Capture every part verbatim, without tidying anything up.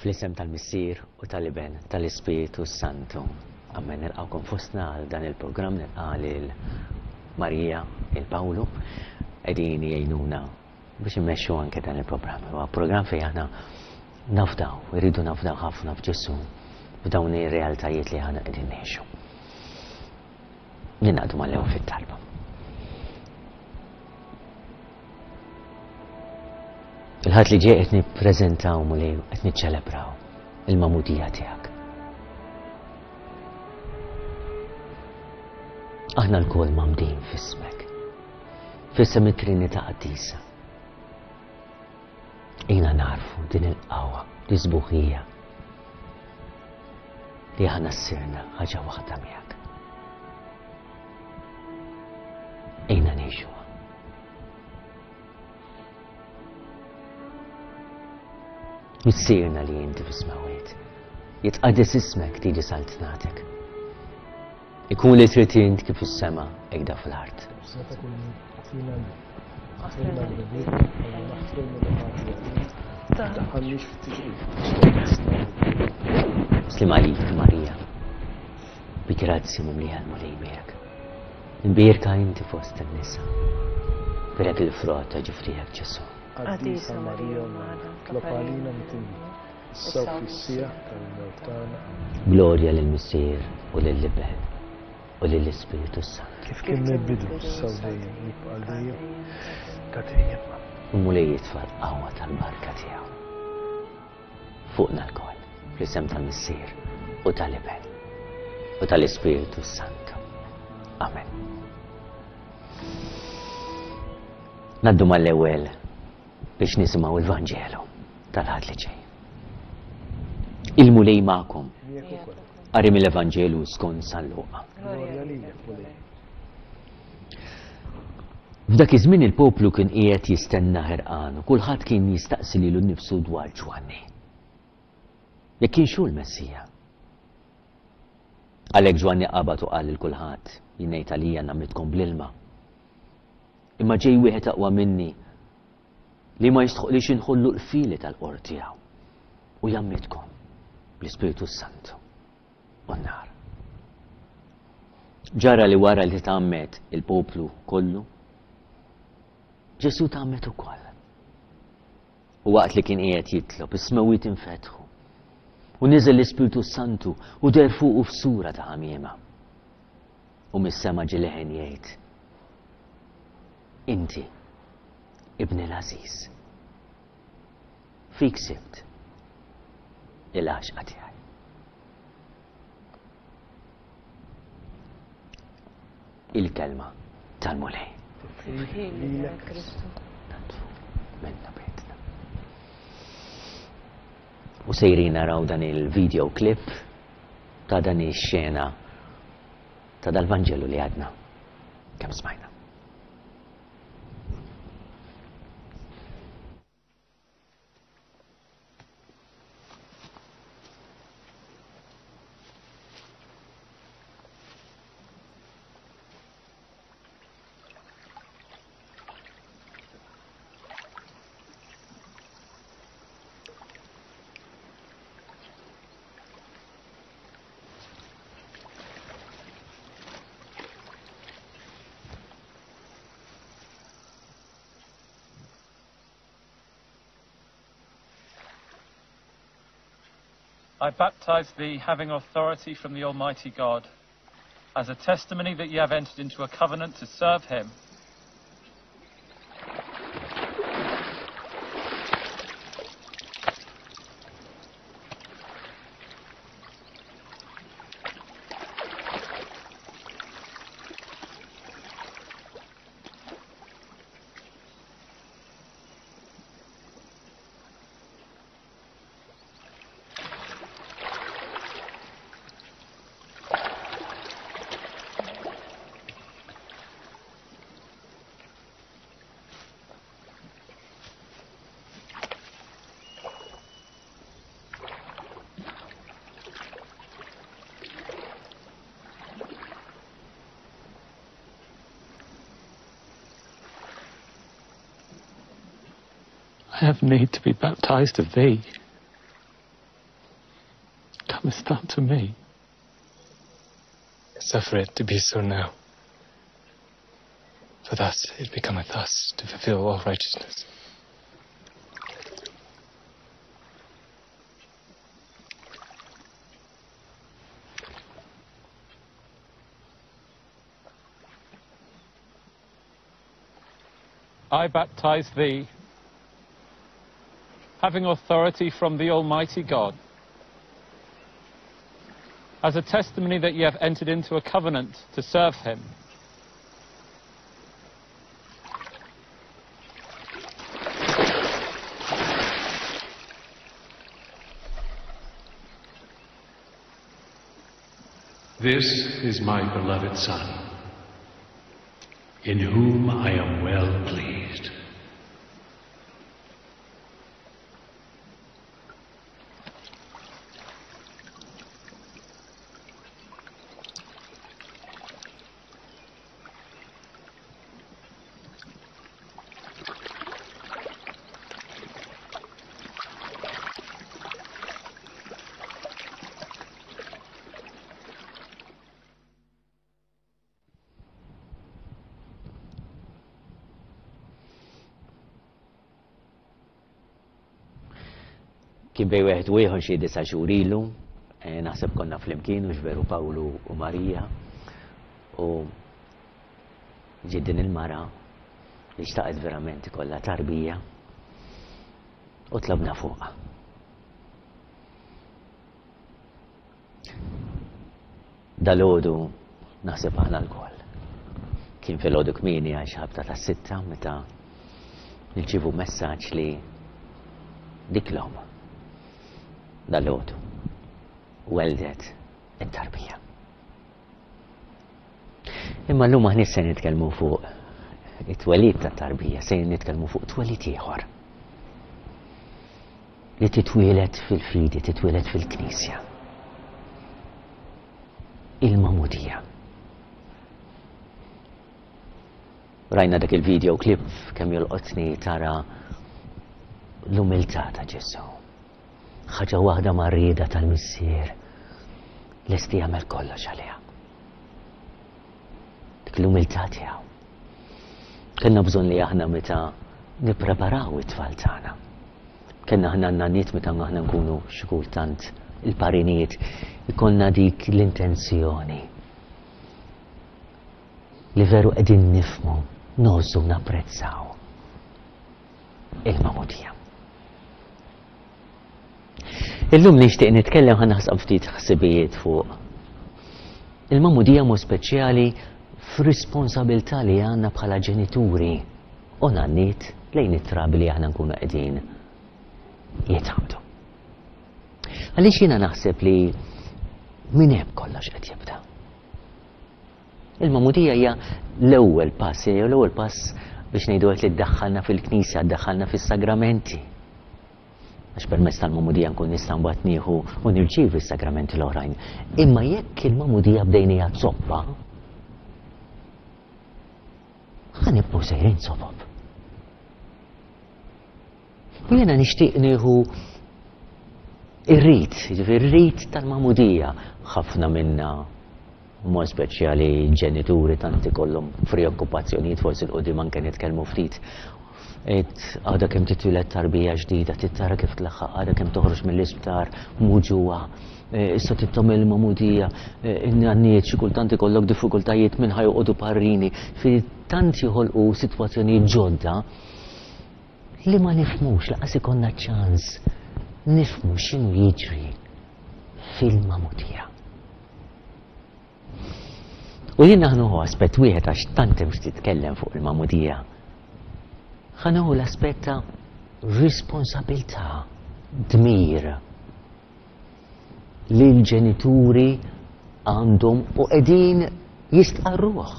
Fl-isem tal-Missier u tal-Iben tal-Ispirtu Santu. Amen. Nilqgħukom fostna għal dan il-programm, nilqa' lil Marija, il Pawlu, qegħdin jgħinuna biex immexxu anke dan il-programm. Huwa programm fejn aħna nafdaw, irridu nafdaw ħafna f'Ġesù, f'dawn ir-realtajiet li aħna qegħdin ngħixu. Ninaqdu mal-ewwel fit-talba. Il-Ħadd li ġej qed nippreżentaw Mulej, qed niċċelebraw il-magħmudija tiegħek. Aħna lkoll mgħammdin f'ismek, f'isem it-Trinità Qaddisa. Ejna narfu din il-qawwa, di sbuħija li aħna ssirna ħaġa waħda miegħek. Ejna ngħixuha. Missierna li inti fis-smewwiet, jitqaddes ismek, tiġi saltnatek. Ikun li trid int kif fis-sema hekk fl-art. Slim għalik Marija, bi grazzja mimlija l-Mulej miegħek. Imbierka inti fost in-nisa. Birek il-frott ta' ġifrijek Ġesù. Qaddisa Marija Ommana, tlob għalina midinbin, issa u fis-siegħa tal-mewt tagħna. Glorja lill-Missier u lill-Iben u lill-Ispirtu Santu. Kif kien mill-bidu, issa u dejjem, jibqa' dejjem ta' dejjem. Il-Mulej jitfa' l-qawwa tal-barka tiegħu fuqna lkoll, fl-isem tal-Missier u tal-Iben u tal-Ispirtu Santu. Amen. Naddu mal-ewwel biex nisimgħu il-Vanġelu tal-Ħadd li ġej. Il-Mulej magħkom. Qari mill-Evanġelu skont San Luqa. F'dak iż-żmien il-poplu kien qiegħed jistenna ħerqan u kulħadd kien jistaqsi lilu nnifsu dwar Ġwanni. Jekk kienx hu l-Messija. Għalhekk Ġwanni qabad u qal lil kulħadd, jien ngħid għalija nagħmlitkom bl-ilma. Imma ġej wieħed aqwa minni li ma jistħoqlix inħollu l-fili tal-qor tiegħu u jgħammidkom bl-Ispirtu Santu u n-nar. Ġara li wara li tgħammed il-poplu kollu, Ġesù tgħammed ukoll. U waqt li kien qiegħed jitlob, is-smewwiet infetħu u niżel l-Ispirtu Santu u deher fuqu f'sura ta' ħamiema. U mis-sema ġie leħen jgħid, Inti, ibni l-għażiż, fik sibt il-għaxqa tiegħi. Il-kelma tal-Mulej. Lilek Kristu. Nantfu minna bejtna. U sejrin naraw dan il-video clip ta' dan ix-xena ta' dal-Vanġelu li għadna kemm smajna. I baptize thee, having authority from the Almighty God, as a testimony that ye have entered into a covenant to serve him. I have need to be baptized of thee. this done to me? Suffer it to be so now. For thus it becometh us to fulfill all righteousness. I baptize thee, having authority from the Almighty God, as a testimony that ye have entered into a covenant to serve him. This is my beloved Son, in whom I am well pleased. Kien bejn wieħed u ieħor xi disa' xhur ilu, naħseb konna flimkien u veru Pawlu u Marija, u ġiet din il-mara li xtaqet verament ikollha tarbija u tlabna fuqha. Dalgħodu naħseb aħna lkoll. Kien filgħodu kmieni għax ħabta tas-sitta meta nirċievu messaġġ li dik l-omm dalgħodu weldet it-tarbija. Imma llum aħna se nitkellmu fuq it-twelid tat-tarbija, se nitkellmu fuq twelid ieħor. Li titwieled fil-fidi, titwieled fil-Knisja. Il-Magħmudija. Rajna dak il-video clip kemm jolqotni tara l-umiltà ta' Ġesù. Ħaġa waħda mar-rieda tal-Missier lesti jagħmel kollox għaliha. Dik l-umiltà tiegħu. Kellna bżonn li aħna meta nippreparaw it-tfal tagħna. Kellna aħna n-nanniet meta aħna nkunu xi kultant il-parinijiet ikollna dik l-intenzjoni li veru qegħdin nifhmu, ngħożżu, napprezzaw il-Magħmudija. Illum nixtieq nitkellem ħa naħseb ftit ħsibijiet fuq il-Magħmudija mod speċjali f'responsabilità li għandna bħala ġenituri u nanniet lejn it-trabi li aħna nkunu qegħdin jitgħammdu. Għaliex jiena naħseb li minn hemm kollox qed jibda. Il-Magħmudija hija l-ewwel pass, hija l-ewwel pass biex ngħidu li ddaħħalna fil-Knisja, ddaħħalna fis-sagramenti. Għax permezz tal-Magħmudija nkun nista' mbagħad nieħu u nirċievi s-sagramenti l-oħrajn. Imma jekk il-Magħmudija bdejnija zoppa, ħa nibqgħu sejrin zopop. U jiena nixtieq nieħu ir-rit, jiġifieri ir-rit tal-Magħmudija. Ħafna minna, mod speċjali ġenituri, tant ikollhom preokkupazzjonijiet, forsi l-qudiem anke nitkellmu ftit. Għadha kemm titwieled tarbija ġdida, tittara kif tlaħħaq, għadha kemm toħroġ mill-isptar muġuha, issa tittom il-Magħmudija, in-nanniet xi kultant ikollok diffikultajiet minn ħajoqogħdu parrini, fi tant joħolqu sitwazzjonijiet ġodda li ma nifhmux, laqas ikollna ċans nifhmu x'inhu jiġri fil-Magħmudija. U jien naħnuħu aspett wieħed għax tant hemm x'titkellem fuq il-Magħmudija. Ħa nieħu l-aspett ta' responsabilità, dmir li l-ġenituri għandhom u qegħdin jistqarruh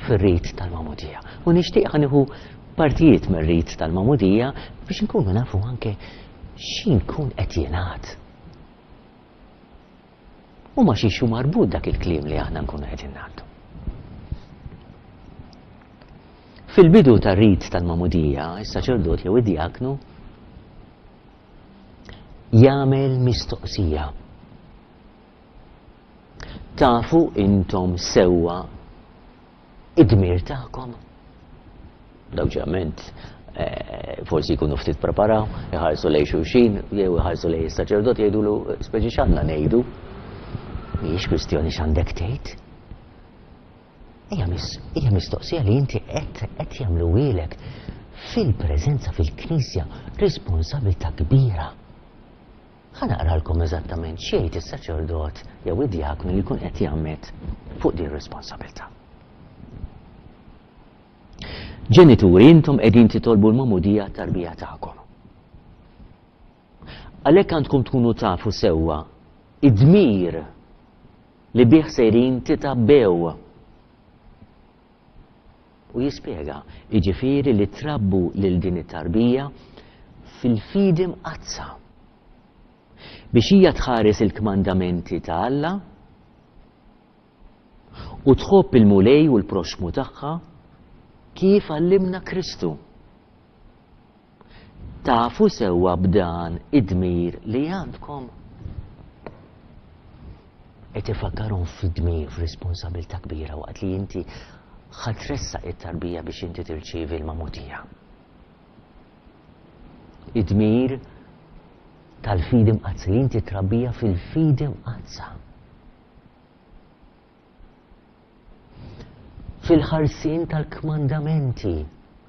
fir-rit tal-Magħmudija. U nixtieq ħa nieħu partijiet mir-rit tal-Magħmudija biex nkunu nafu anke x'inkun qed jingħad. U ma xiex hu marbut dak il-kliem li aħna nkunu qegħdin ngħaddu. Fil-bidu tar-rit tal-Magħmudija, is-saċerdot jew id-diaknu jagħmel mistoqsija. Tafu intom sewwa id-dmir tagħkom? Daw ġeneralment forsi jkunu ftit preparaw, iħarsu lejn xulxin, jew iħarsu lejn is-saċerdot jgħidulu speċi x'għandna ngħidu. Mhijiex kwistjoni x'għandek tgħid. Hija mistoqsija li inti qed qed jagħmluhielek fil-preżenza fil-Knisja, responsabilità kbira. Ħa naqralkom eżattament x'jgħid is-saċerdot jew id-djaknu li jkun qed jgħammed fuq din ir-responsabilità. Ġenituri, intom qegħdin titolbu l-magħmudija tarbija tagħkom. Għalhekk għandkom tkunu tafu sewwa id-dmir li bih sejrin titabbew. U jispjega, jiġifieri li trabbu lil din it-tarbija fil-fidi mqaddsa biex hija tħares il-kmandamenti ta' Alla u tħobb il-Mulej u l-proxmu tagħha kif għallimna Kristu. Tafu sewwa b'dan id-dmir li għandkom. Qed ifakkarhom fid-dmir, f'responsabilità kbira waqt li inti ħa tressaq it-tarbija biex inti tirċievi l-magħmudija. Id-dmir tal-fidi mqaddsa li inti trabbija fil-fidi mqaddsa. Fil-ħarsien tal-kmandamenti.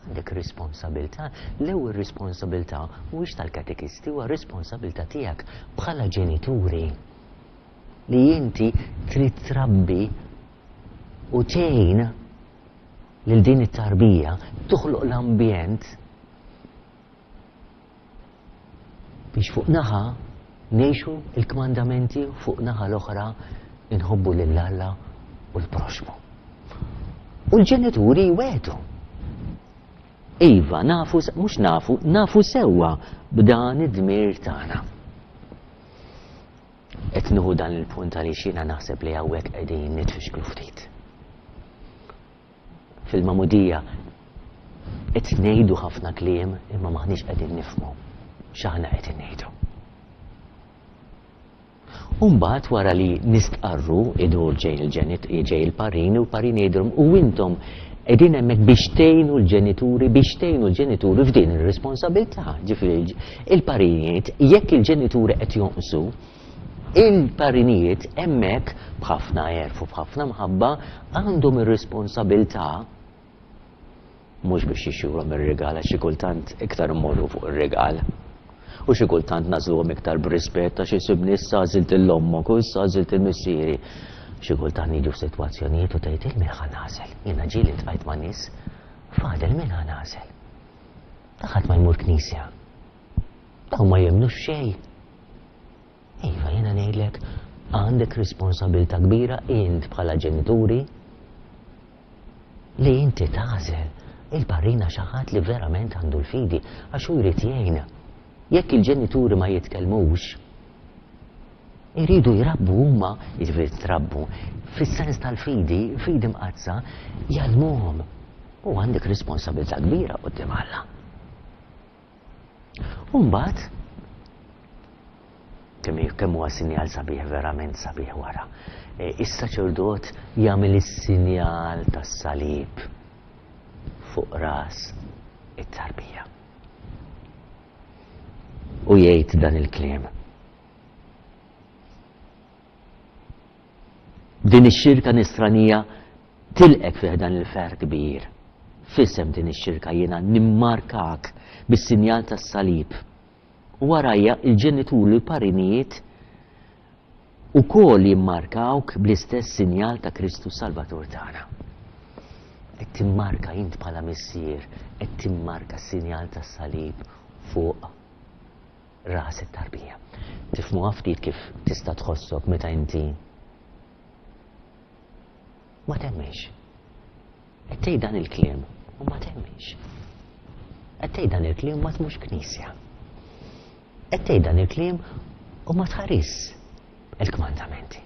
Għandek responsabilità. L-ewwel responsabilità mhuwiex tal-katekisti, huwa responsabilità tiegħek bħala ġenituri li inti trid trabbi u tgħin lil din it-tarbija toħloq l-ambjent biex fuq naħa ngħixu l-kmandamenti, fuq naħa l-oħra inħobbu lil Alla u l-proxmu. U l-ġenituri jwetu. Iva, nafu, mhux nafu, nafu sewwa b'dan id-dmir tagħna. Qed nieħu dan il-punt għaliex jiena naħseb li hawnhekk qegħdin nitfixklu ftit. Fil-magħmudija qed ngħidu ħafna kliem imma maħniex qegħdin nifhmu x'aħna qed ngħidu. U mbagħad wara li nistqarru idur ġej il-ġenit, ġej il-parini u l-parini jgħidulhom u intom qegħdin hemmhekk biex tgħinu l-ġenituri, biex tgħinu l-ġenituri f'din ir-responsabilità. Ġifieri il-parinijiet jekk il-ġenituri qed jonqsu, il-parinijiet hemmhekk b'ħafna għerf u b'ħafna mħabba għandhom ir-responsabilità mhux biex jixxuhom ir-rigal għax xi kultant iktar immorru fuq ir-rigal. U xi kultant nażluhom iktar b'rispett għax isibni issa għażilt il-ommok u issa għażilt il-missieri. Xi kultant niġu f'sitwazzjonijiet u tgħid il min ħa nagħżel. Jiena ġieli ltqajt ma' nies, fadel min ħa nagħżel. Ta' ħadd ma jmur knisja. Dawn ma jemmnux xejn. Iva, jiena ngħidlek għandek responsabilità kbira int bħala ġenituri li inti tagħżel il-parrina xi ħadd li verament għandu l-fidi għax hu jrid jgħinha. Jekk il-ġenituri ma jitkellmux, iridu jrabbu huma, jiġifieri trabbu, fis-sens tal-fidi, fidi mqaddsa, jgħallmuhom. U għandek responsabilità kbira quddiem Alla. U mbagħad kemm kemm huwa sinjal sabiħ, verament sabiħ wara. Is-saċerdot jagħmel is-sinjal tas-salib fuq ras it-tarbija. U jgħid dan il-kliem. Din ix-xirka nisranija tilqek fih dan il-ferħ kbir. F'isem din ix-xirka jiena nimmarkak bis-sinjal tas-salib. U warajja il-ġenituri u l-parinijiet ukoll jimmarkawk bl-istess sinjal ta' Kristu Salvatur tagħna. Qed timmarka int bħala missier, qed timmarka s-sinjal tas-salib fuq ras it-tarbija. Tifhmuha ftit kif tista' tħossok meta inti ma temminx. Qed tgħid dan il-kliem u ma temminx. Qed tgħid dan il-kliem ma tmux knisja. Qed tgħid dan il-kliem u ma tħaris il-kmandamenti.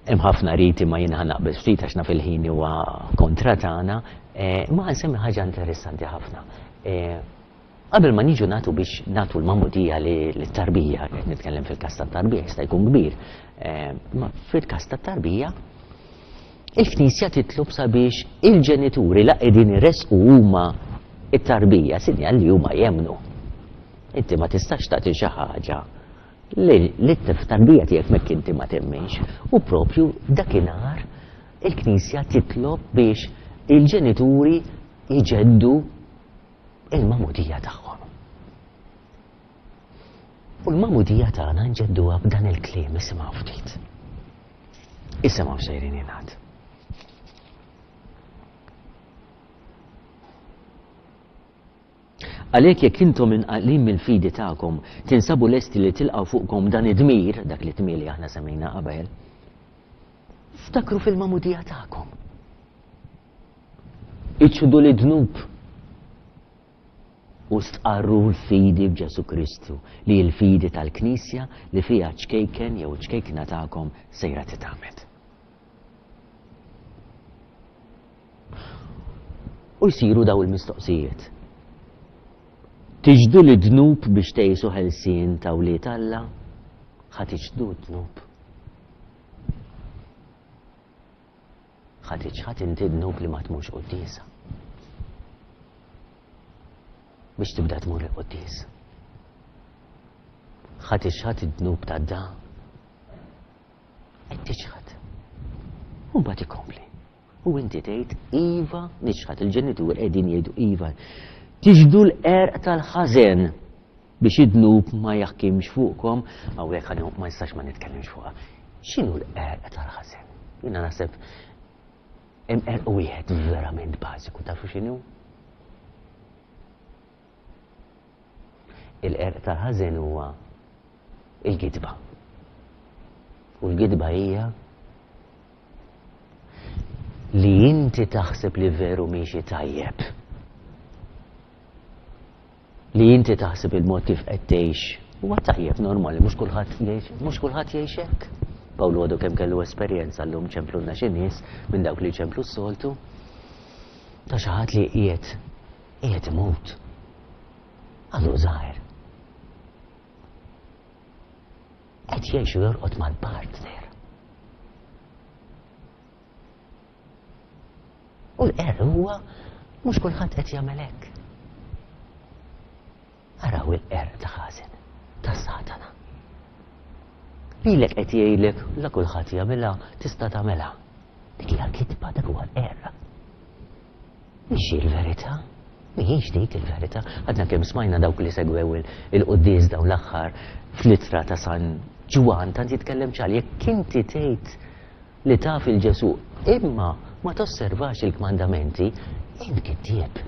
Hemm ħafna riti ma jiena naqbel ftit għax naf il-ħin huwa kontra tagħna, ma nsemmi ħaġa interessanti ħafna. Qabel ma niġu nagħtu biex nagħtu l-magħmudija lit-tarbija, qed nitkellem fil-każ tat-tarbija, jista' jkun kbir, ma fil-każ tat-tarbija il-Knisja titlob sabiex il-ġenituri la qegħdin iressqu huma it-tarbija, sinjal li huma jemmnu. Inti ma tistax tagħti xi ħaġa li t-tarbija tiegħek mekk inti ma temminx. U propju dakinhar il-Knisja titlob biex il-ġenituri jġeddu il-magħmudija tagħhom. U l-magħmudija tagħna nġedduha b'dan il-kliem, isimgħu ftit. Isimgħu xejrin jingħad. Għalhekk jekk intom inqalin mill-fidi tagħkom tinsabu lesti li tilqgħu fuqkom dan id-dmir, dak li tmir li aħna semmejna qabel, ftakru fil-magħmudija tagħkom. Iċċudu li dnub u stqarru l-fidi b'Ġesu Kristu, li l-fidi tal-Knisja li fiha ċkejken jew ċkejkna tagħkom sejra titgħammed. U jsiru daw il-mistoqsijiet. Tiġdu li dnub biex tgħixu ħelsien ta' wlied Alla? Ħa tiġdu dnub. Ħa tiġħad inti dnub li ma tmurx quddiesa. Biex tibda tmur il-quddies. Ħa tiġħad id-dnub ta' da. Qed tiġħad. U mbagħad ikompli. U inti tgħid iva niġħad, il-ġenitur qegħdin jgħidu iva. Tiġdu l-qerq tal-ħażen biex id-dnub ma jaħkimx fuqkom. Hawnhekk ma nistax ma nitkellimx fuqha. X'inhu l-qerq tal-ħażen? Jiena naħseb hemm qerq wieħed verament bażiku, tafu x'inhu? Il-qerq tal-ħażen huwa il-gidba. U l-gidba hija li inti taħseb li veru miexi tajjeb. Li inti taħseb il-mod kif qed tgħix huwa tajjeb normali, mhux kulħadd jgħix, mhux kulħadd jgħix hekk. Pawlu għadu kemm kellu esperjenza llum ċemplulna xi nies minn dawk li ċemplu s-soltu ta' xi ħadd li qiegħed qiegħed imut. Għadu żgħir. Qed jgħix u jorqod mal-partner. U l-qerq huwa mhux kulħadd qed jagħmel hekk. Araw il-qerq ta' ħażen, ta' Satana. Lilek qed jgħidlek la kulħadd jagħmilha, tista' tagħmilha. Dik hija kitba, dak huwa l-qerq. Mhix il-verità, mhijiex dik il-verità. Għadna kemm smajna dawk li segwew il-quddies dawn l-aħħar fl-ittra ta' San Ġwann tant jitkellem ċar, jekk inti tgħid li taf il-Ġesu imma ma tosservax il-kmandamenti, int kittieb.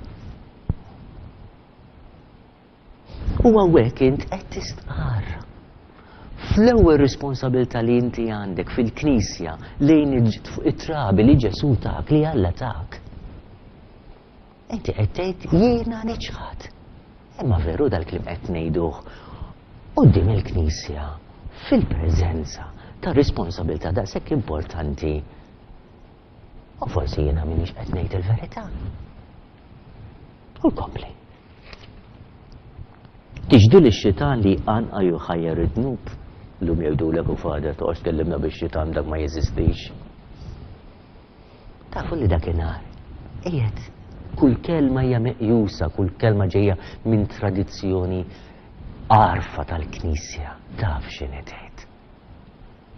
U hawnhekk int qed tistqarr. Fl-ewwel responsabilità li inti għandek fil-Knisja lejn it-trabi li Ġesu tak, li Alla tak. Inti qed tgħid jiena niċħad. Imma veru dal-kliem qed ngħiduh quddiem il-Knisja fil-preżenza ta' responsabilità daqshekk importanti. U forsi jiena m'iniex qed ngħid il-verità. U kompli. Tiġdu li x-xitan li għanqa juħajjar id-dnub. Llum jgħidulek u fader toqgħodx tkellimna bix-xitan dak ma jeżistix. Tafu li dakinhar qiegħed kull kelma hija meqjusa, kull kelma ġejja minn tradizzjoni għarfa tal-Knisja. Taf x'inhi tgħid.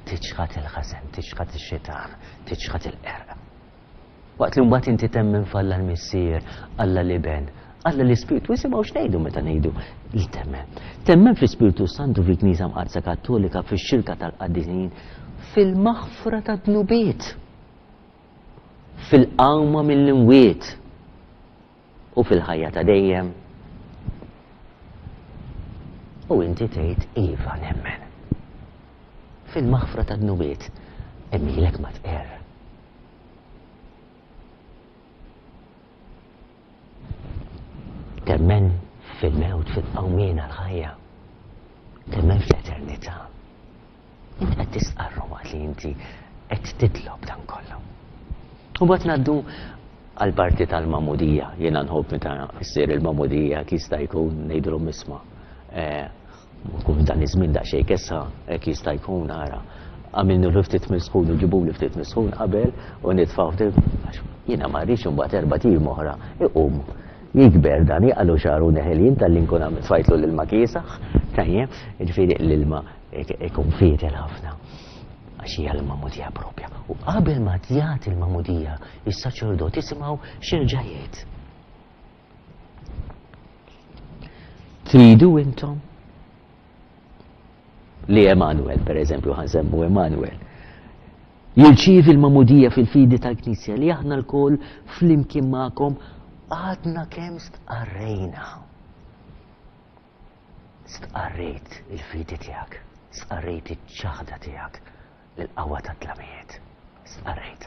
Tiċħad il-ħażen, tiċħad ix-xitan, tiċħad il-qerq. Waqt li mbagħad inti temmen f'Alla l-Missier, Alla l-Iben, Alla l-Ispirtu, isimgħu x'ngħidu meta ngħidu li temmen. Temmen fl-Ispirtu Santu fil-Knisja Mqaddsa Kattolika, fix-xirka tal-qaddisin, fil-maħfra tad-dnubiet, fil-qawma mill-imwiet u fil-ħajja ta' dejjem. U inti tgħid iva nemmen. Fil-maħfra tad-dnubiet, emmilek ma tqerr. Temmen fil-mewt, fil-qawmien għal-ħajja. Temmen fl-eternità. Inti qed tistqarru waqt li inti qed titlob dan kollu. U mbagħad ngħaddu Għal-parti tal-magħmudija, jiena nħobb meta ssir il-magħmudija jista' jkun ngħidulhom isma'. Kun dan iż-żmien daqsxejn kessa hekk jista' jkun ara. Għamilnu l ftit misħun u ġibu li ftit misħun qabel u nitfgħu ftit għax jiena ma rridx imbagħad erba' tim oħra iqum jikber dan jaqalu xagħru neħelin talli nkun għamil tfajtlu l-ilma kiesaħ, tajjeb, jiġifieri l-ilma ikun fietel ħafna. Għax hija l-magħmudija propja. U qabel ma tjagħti l-magħmudija, is-saċerdot isimgħu x'erġa' jgħid. Tridu intom li Emanuel, per eżempju, ħa nsemmu Emanuel, jirċievi l-magħmudija fil-fidi tal-Knisja li aħna lkoll flimkien magħkom għadna kemm stqarrejna. Stqarrejt il-fidi tiegħek, stqarrejt iċ-ċaħda tiegħek l-qawwa tat-tlamijiet. Stqarrejt.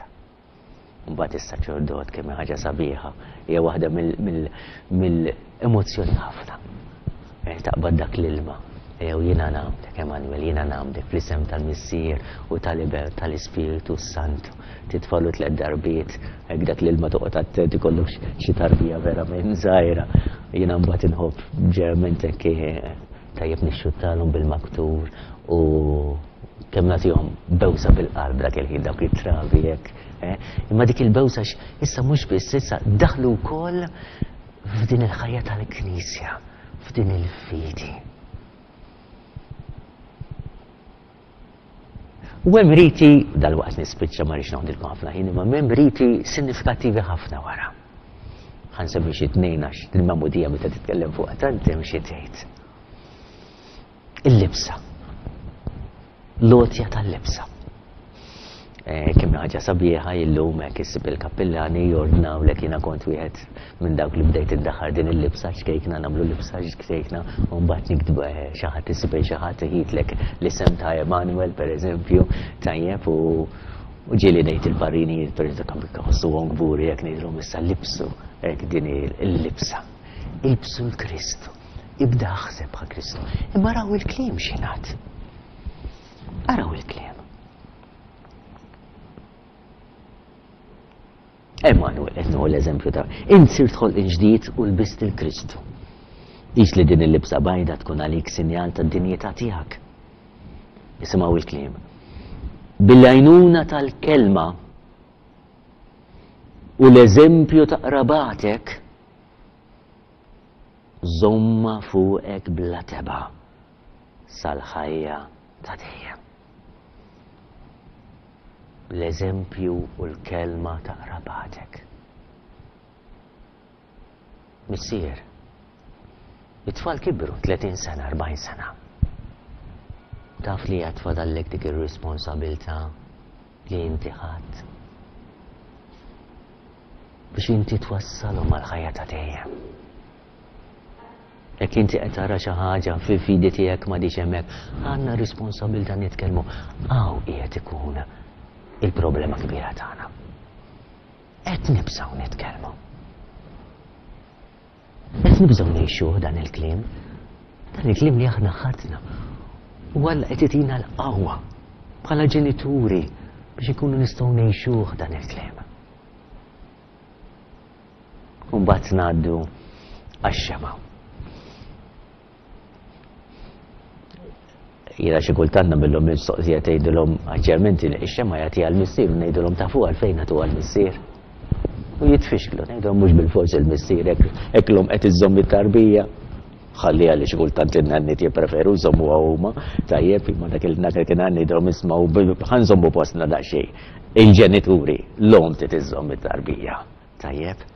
Mbagħad is-saċerdot kemm ħaġa sabiħa, hija waħda mill-emozzjoni ħafna. Taqbad dak l-ilma. Jew jiena nagħmdek, Emanuel, jiena nagħmdek fl-isem tal-Missier u tal-Iben tal-Ispirtu Santu. Titfalu tliet darbiet, hekk dak l-ilma toqgħod attent ikollok xi tarbija verament żgħira. Jiena mbagħad inħobb ġerament hekk tajjeb nixxuttalhom bil-maktur u kemm nagħtihom bewsa bil-qalb dak il-ħin dawk it-trabi hekk. Imma dik il-bewsa issa mhux biss issa daħlu wkoll f'din il-ħajja tal-Knisja, f'din il-fidi. U hemm riti, dal-waqt nispiċċa ma rridx noħdilkom ħafna ħin, imma hemm riti sinifikattivi ħafna wara. Ħa nsemmi xi tnejn għax il-magħmudija meta titkellem fuqha tant hemm xi tgħid. Il-libsa. L-għotja tal-libsa. Kemm ħaġa sabiħa illum hekk issib il-kappillani jordnawlek, jiena kont wieħed minn dawk li bdejt iddaħħar din il-libsa xkejkna, nagħmlu libsa xkejkna, u mbagħad niktbu xi ħadd isib xi ħadd iħitlek l-isem ta' Emanuel pereżempju, tajjeb, u ġieli ngħid il-parrini pereżempju ħossuhom kburi jekk ngħidilhom issa libsu hekk din il-libsa. Ilbsu l-Kristu, ibda aħseb bħal Kristu. Imma raw il-kliem x'ingħad. Araw il-kliem. Emanuel, qed nieħu l-eżempju ta' int sirt ħolqien ġdid u lbist il-Kristu. Qis li din il-libsa bajda tkun għalik sinjal tad-dinjità tiegħek. Isimgħu il-kliem. Bil-għajnuna tal-kelma u l-eżempju ta' qrabatek, żomma fuqek bla teba' sal-ħajja ta' dejjem. L-eżempju u l-kelma ta' qrabatek. Missier, it-tfal kibru tletin sena, erbgħin sena. Taf li għad fadallek dik ir-responsabilità li inti ħadd biex inti twassalhom għall-ħajja ta' dejjem. Jekk inti qed tara xi ħaġa fil-fidi tiegħek m'għadix hemmhekk, għandna responsabilità nitkellmu. Hawn qiegħed ikun il-problema kbira tagħna. Qed nibżgħu nitkellmu. Qed nibżgħu ngħixuh dan il-kliem. Dan il-kliem li aħna ħadna. U Alla qed itina l-qawwa bħala ġenituri biex ikunu nistgħu ngħixuh dan il-kliem. U mbagħad ngħaddu għax-xema'. Jiena xi kultant nagħmilhom mistoqsija tgħidilhom aġġerment ix-xema' jagħtiha l-missier u ngħidilhom tafu għalfejn nagħtuha l-missier. U jitfixklu, ngħidilhom mhux bil-fors il-missier hekk l-omm qed iżżomm it-tarbija. Ħalliha li xi kultant in-nanniet jippreferu jżommuha huma, tajjeb, imma dak il-dak kien ngħidilhom ismgħu ħa nżommu postna daqsxejn. Il-ġenituri, l-omm trid iżżomm it-tarbija. Tajjeb.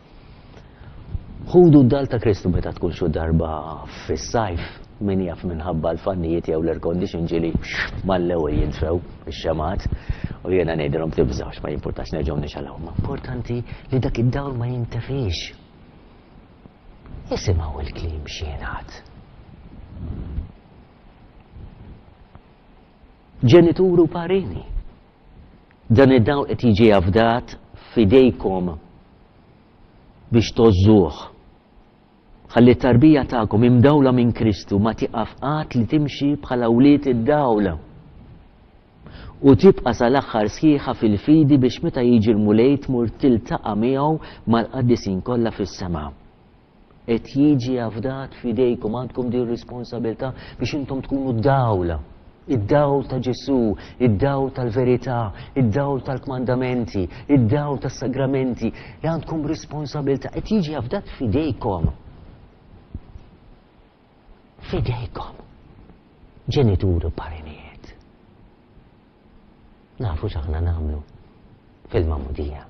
Ħudu d-dal ta' Kristu meta tkun xi darba fis-sajf, min jaf minħabba l-fannijiet jew l-air condition ġieli mal-ewwel jintfew ix-xemat, u jiena ngħidilhom tibżgħux, ma jimpurtax nerġgħu nixalgħu. Ma importanti li dak id-dawl ma jintefix. Isimgħu il-kliem x'jingħad. Ġenitur u parini. Dan id-dawl qed jiġi afdat f'idejkom biex tożżuh. Ħalli t-tarbija tagħkom imdawla minn Kristu ma tieqaf qatt li timxi bħala wlied id-dawl. U tibqa' sal-aħħar sħiħa fil-fidi biex meta jiġi l-Mulej tmur tiltaqa' miegħu mal-qaddisin kollha fis-sema. Qed jiġi afdat f'idejkom, għandkom din responsabilità biex intom tkunu d-dawl. Id-dawl ta' Ġesù, id-dawl tal-verità, id-dawl tal-kmandamenti, id-dawl tas-sagramenti, li għandkom responsabilità, qed jiġi afdat f'idejkom. F'idejkom. Ġenituri u parinijiet. Nafu x'aħna nagħmlu fil-magħmudija.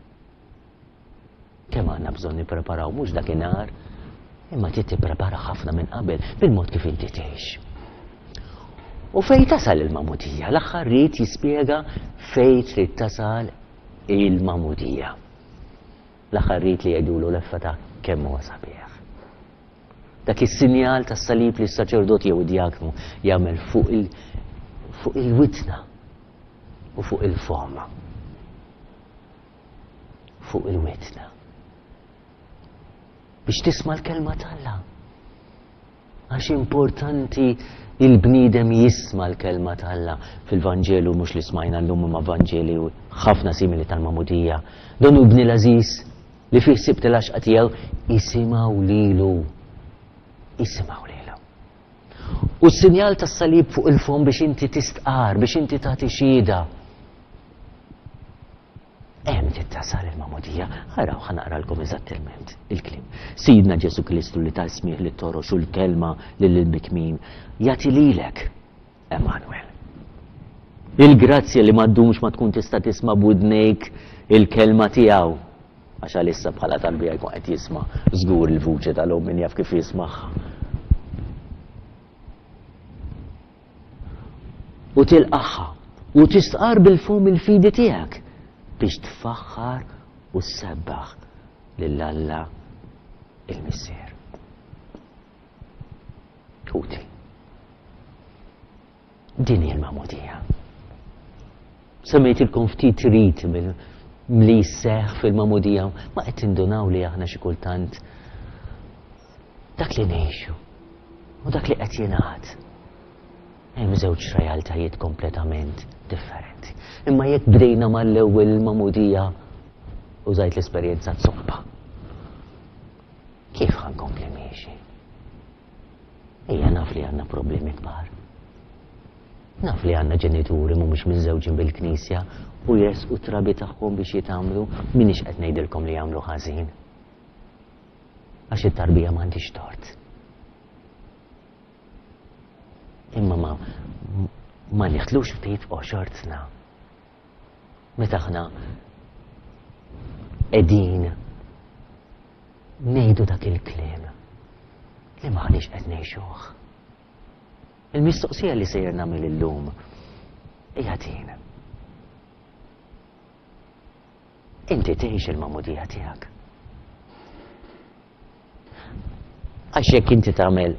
Kemm għandna bżonn nippreparaw mhux dakinhar, imma trid tipprepara ħafna minn qabel bil-mod kif inti tgħix. U fej tasal il-magħmudija? L-aħħar rit jispjega fej trid tasal il-magħmudija. L-aħħar rit li jgħidulu l-effata kemm huwa sabiħ. Dak is-sinjal tas-salib li s-saċerdot jew id-djaknu jagħmel fuq il fuq il-witna u fuq il-fom. Fuq il-witna. Biex tisma' l-kelma t'Alla. Għax importanti il-bniedem jisma' l-kelma t'Alla. Fil-Vanġelu mhux li smajna llum imma Vanġeli ħafna simili tal-magħmudija. Dan hu ibni l-għażiż li fih sibt l-għaxqa tiegħu, isimgħu lilu. Isimgħu lilu. U s-sinjal tas-salib fuq il-fom biex inti tistqar, biex inti tagħti xhieda. Hemm trid tasal il-magħmudija. Araw, ħa naqralkom eżattament il-kliem. Sidna Ġesù Kristu li ta smigħ lit-torox u l-kelma lill-bikmin jagħti lilek, Emanuel. Il-grazzja li ma ddumx ma tkun tista' tisma' b'widnejk il-kelma tiegħu. Għax għalissa bħala tarbija jkun qed jisma' żgur il-vuċi tal-omm min jaf kif jismagħha. U tilqaħħa u tistqar bil-fom il-fidi tiegħek biex tfaħħar u ssebbaħ lil Alla il-Missier. Ħuti, din hi l-magħmudija. Semmejtilkom ftit rit li jseħħ fil-magħmudija, ma qed tindunaw li aħna xi kultant dak li ngħixu u dak li qed jingħad. Hemm żewġ realtajiet kompletament differenti. Imma jekk bdejna mal-ewwel il-magħmudija użajt l-esperjenza zoppa. Kif ħankompli miexi? Ejja naf li għandna problemi kbar. Naf li għandna ġenituri mhumiex miżżewġin bil-Knisja u jresqu trabi tagħhom biex jitgħammdu, m'iniex qed ngħidilkom li jagħmlu ħażin. Għax it-tarbija m'għandix tort. Imma ma, ma niħtlux ftit f'qoxortna. Meta aħna qegħdin ngħidu dak il-kliem li m'aħniex qed ngħixuh. Il-mistoqsija li sejjer nagħmel illum hija din. Inti tgħix il-magħmudija tiegħek. Għax jekk inti tagħmel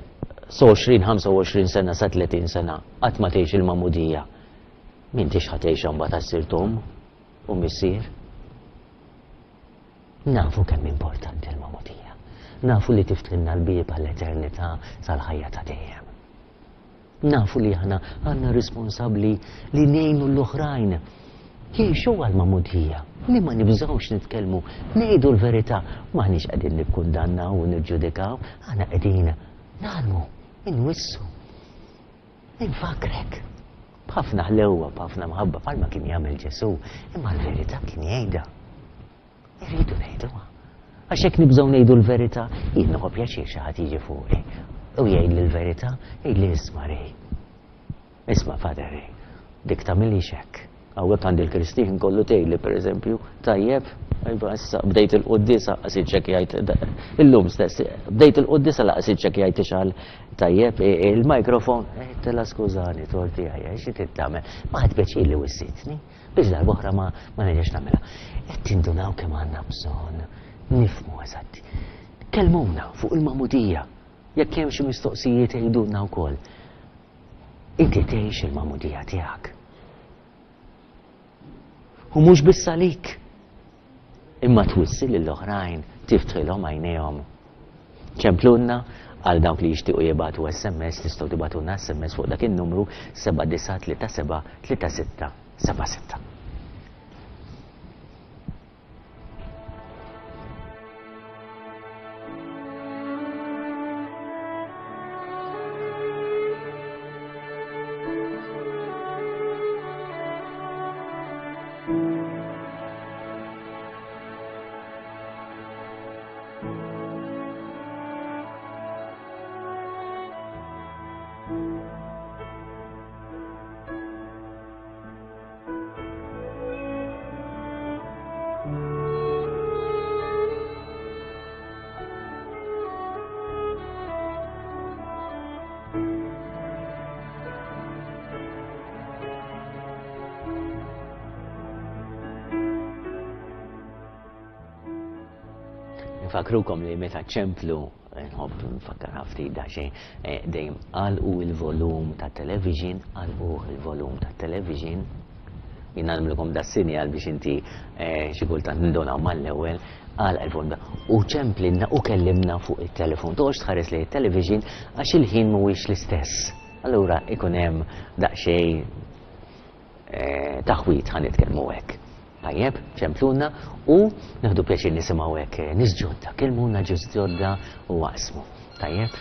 għoxrin, ħamsa u għoxrin sena sa tletin sena qatt ma tgħix il-magħmudija, m'intix ħa tgħixha mbagħad għas-sir tom u missier. Nafu kemm importanti l-magħmudija. Nafu li tiftħilna l-bieb għall-eternità sal-ħajja ta' dejjem. Nafu li aħna għandna responsabbli li ngħinu l-oħrajn jgħixu għall-magħmudija, li ma nibżgħux nitkellmu, ngħidu l-verità, m'aħniex qegħdin nikkundannaw u niġġudikaw, aħna qegħdin nagħlmu, inwissu, infakrek. B'ħafna ħlewwa, b'ħafna mħabba, bħalma kien jagħmel Ġesù, imma l-verità kien jgħidha. Irridu ngħiduha. Għax jekk nibżgħu ngħidu l-verità, jien nieħu pjaċir xi ħadd jiġi fuqi u jgħidli l-verità, jgħidli isma' Ray. Isma' Father Ray, dik tagħmilix hekk. Hawnhekk għandi l-Kristin kollu tgħidli pereżempju, tajjeb, iva issa bdejt il-quddiesa laqas iċċekkjajt illum stess, bdejt il-quddiesa laqas iċċekkjajt ixgħal tajjeb il-mikrofon, tela skużani torti għajja, xi trid tagħmel? Ma ħadd pjaċir li wissitni biex darb'oħra ma ma nerġax nagħmilha. Qed tindunaw kemm għandna bżonn nifhmu eżatti. Kellmuna fuq il-magħmudija. Jekk hemm xi mistoqsijiet għidulna wkoll. Inti tgħix il-magħmudija tiegħek. U mhux biss għalik, imma twissi lill-oħrajn, tiftħilhom għajnejhom. Ċemplunna għal dawk li jixtiequ jibagħtu S M S, tistgħu tibagħtulna S M S fuq dak in-numru seba' disa' tlieta seba' tlieta sitta seba' sitta. Nfakrukom li meta ċemplu, nħobb nfakkar ħafti daqsxejn, dejjem għalqu il-volum ta' television, għalqu il-volum ta' television. Jien nagħmlukom da sinjal biex inti xi kultant nindunaw mal-ewwel, għalaq il-volum u ċemplinna u kellimna fuq it-telefon. Toqgħodx tħares lejn it-television għax il-ħin mhuwiex l-istess. Allura ikun hemm daqsxejn taħwit ħa nitkellmu hekk. Tajjeb, ċempluna u nieħdu pjaċir nisimgħu hekk nies ġodda, kellmuna ġus ġodda u waqsmu. Tajjeb,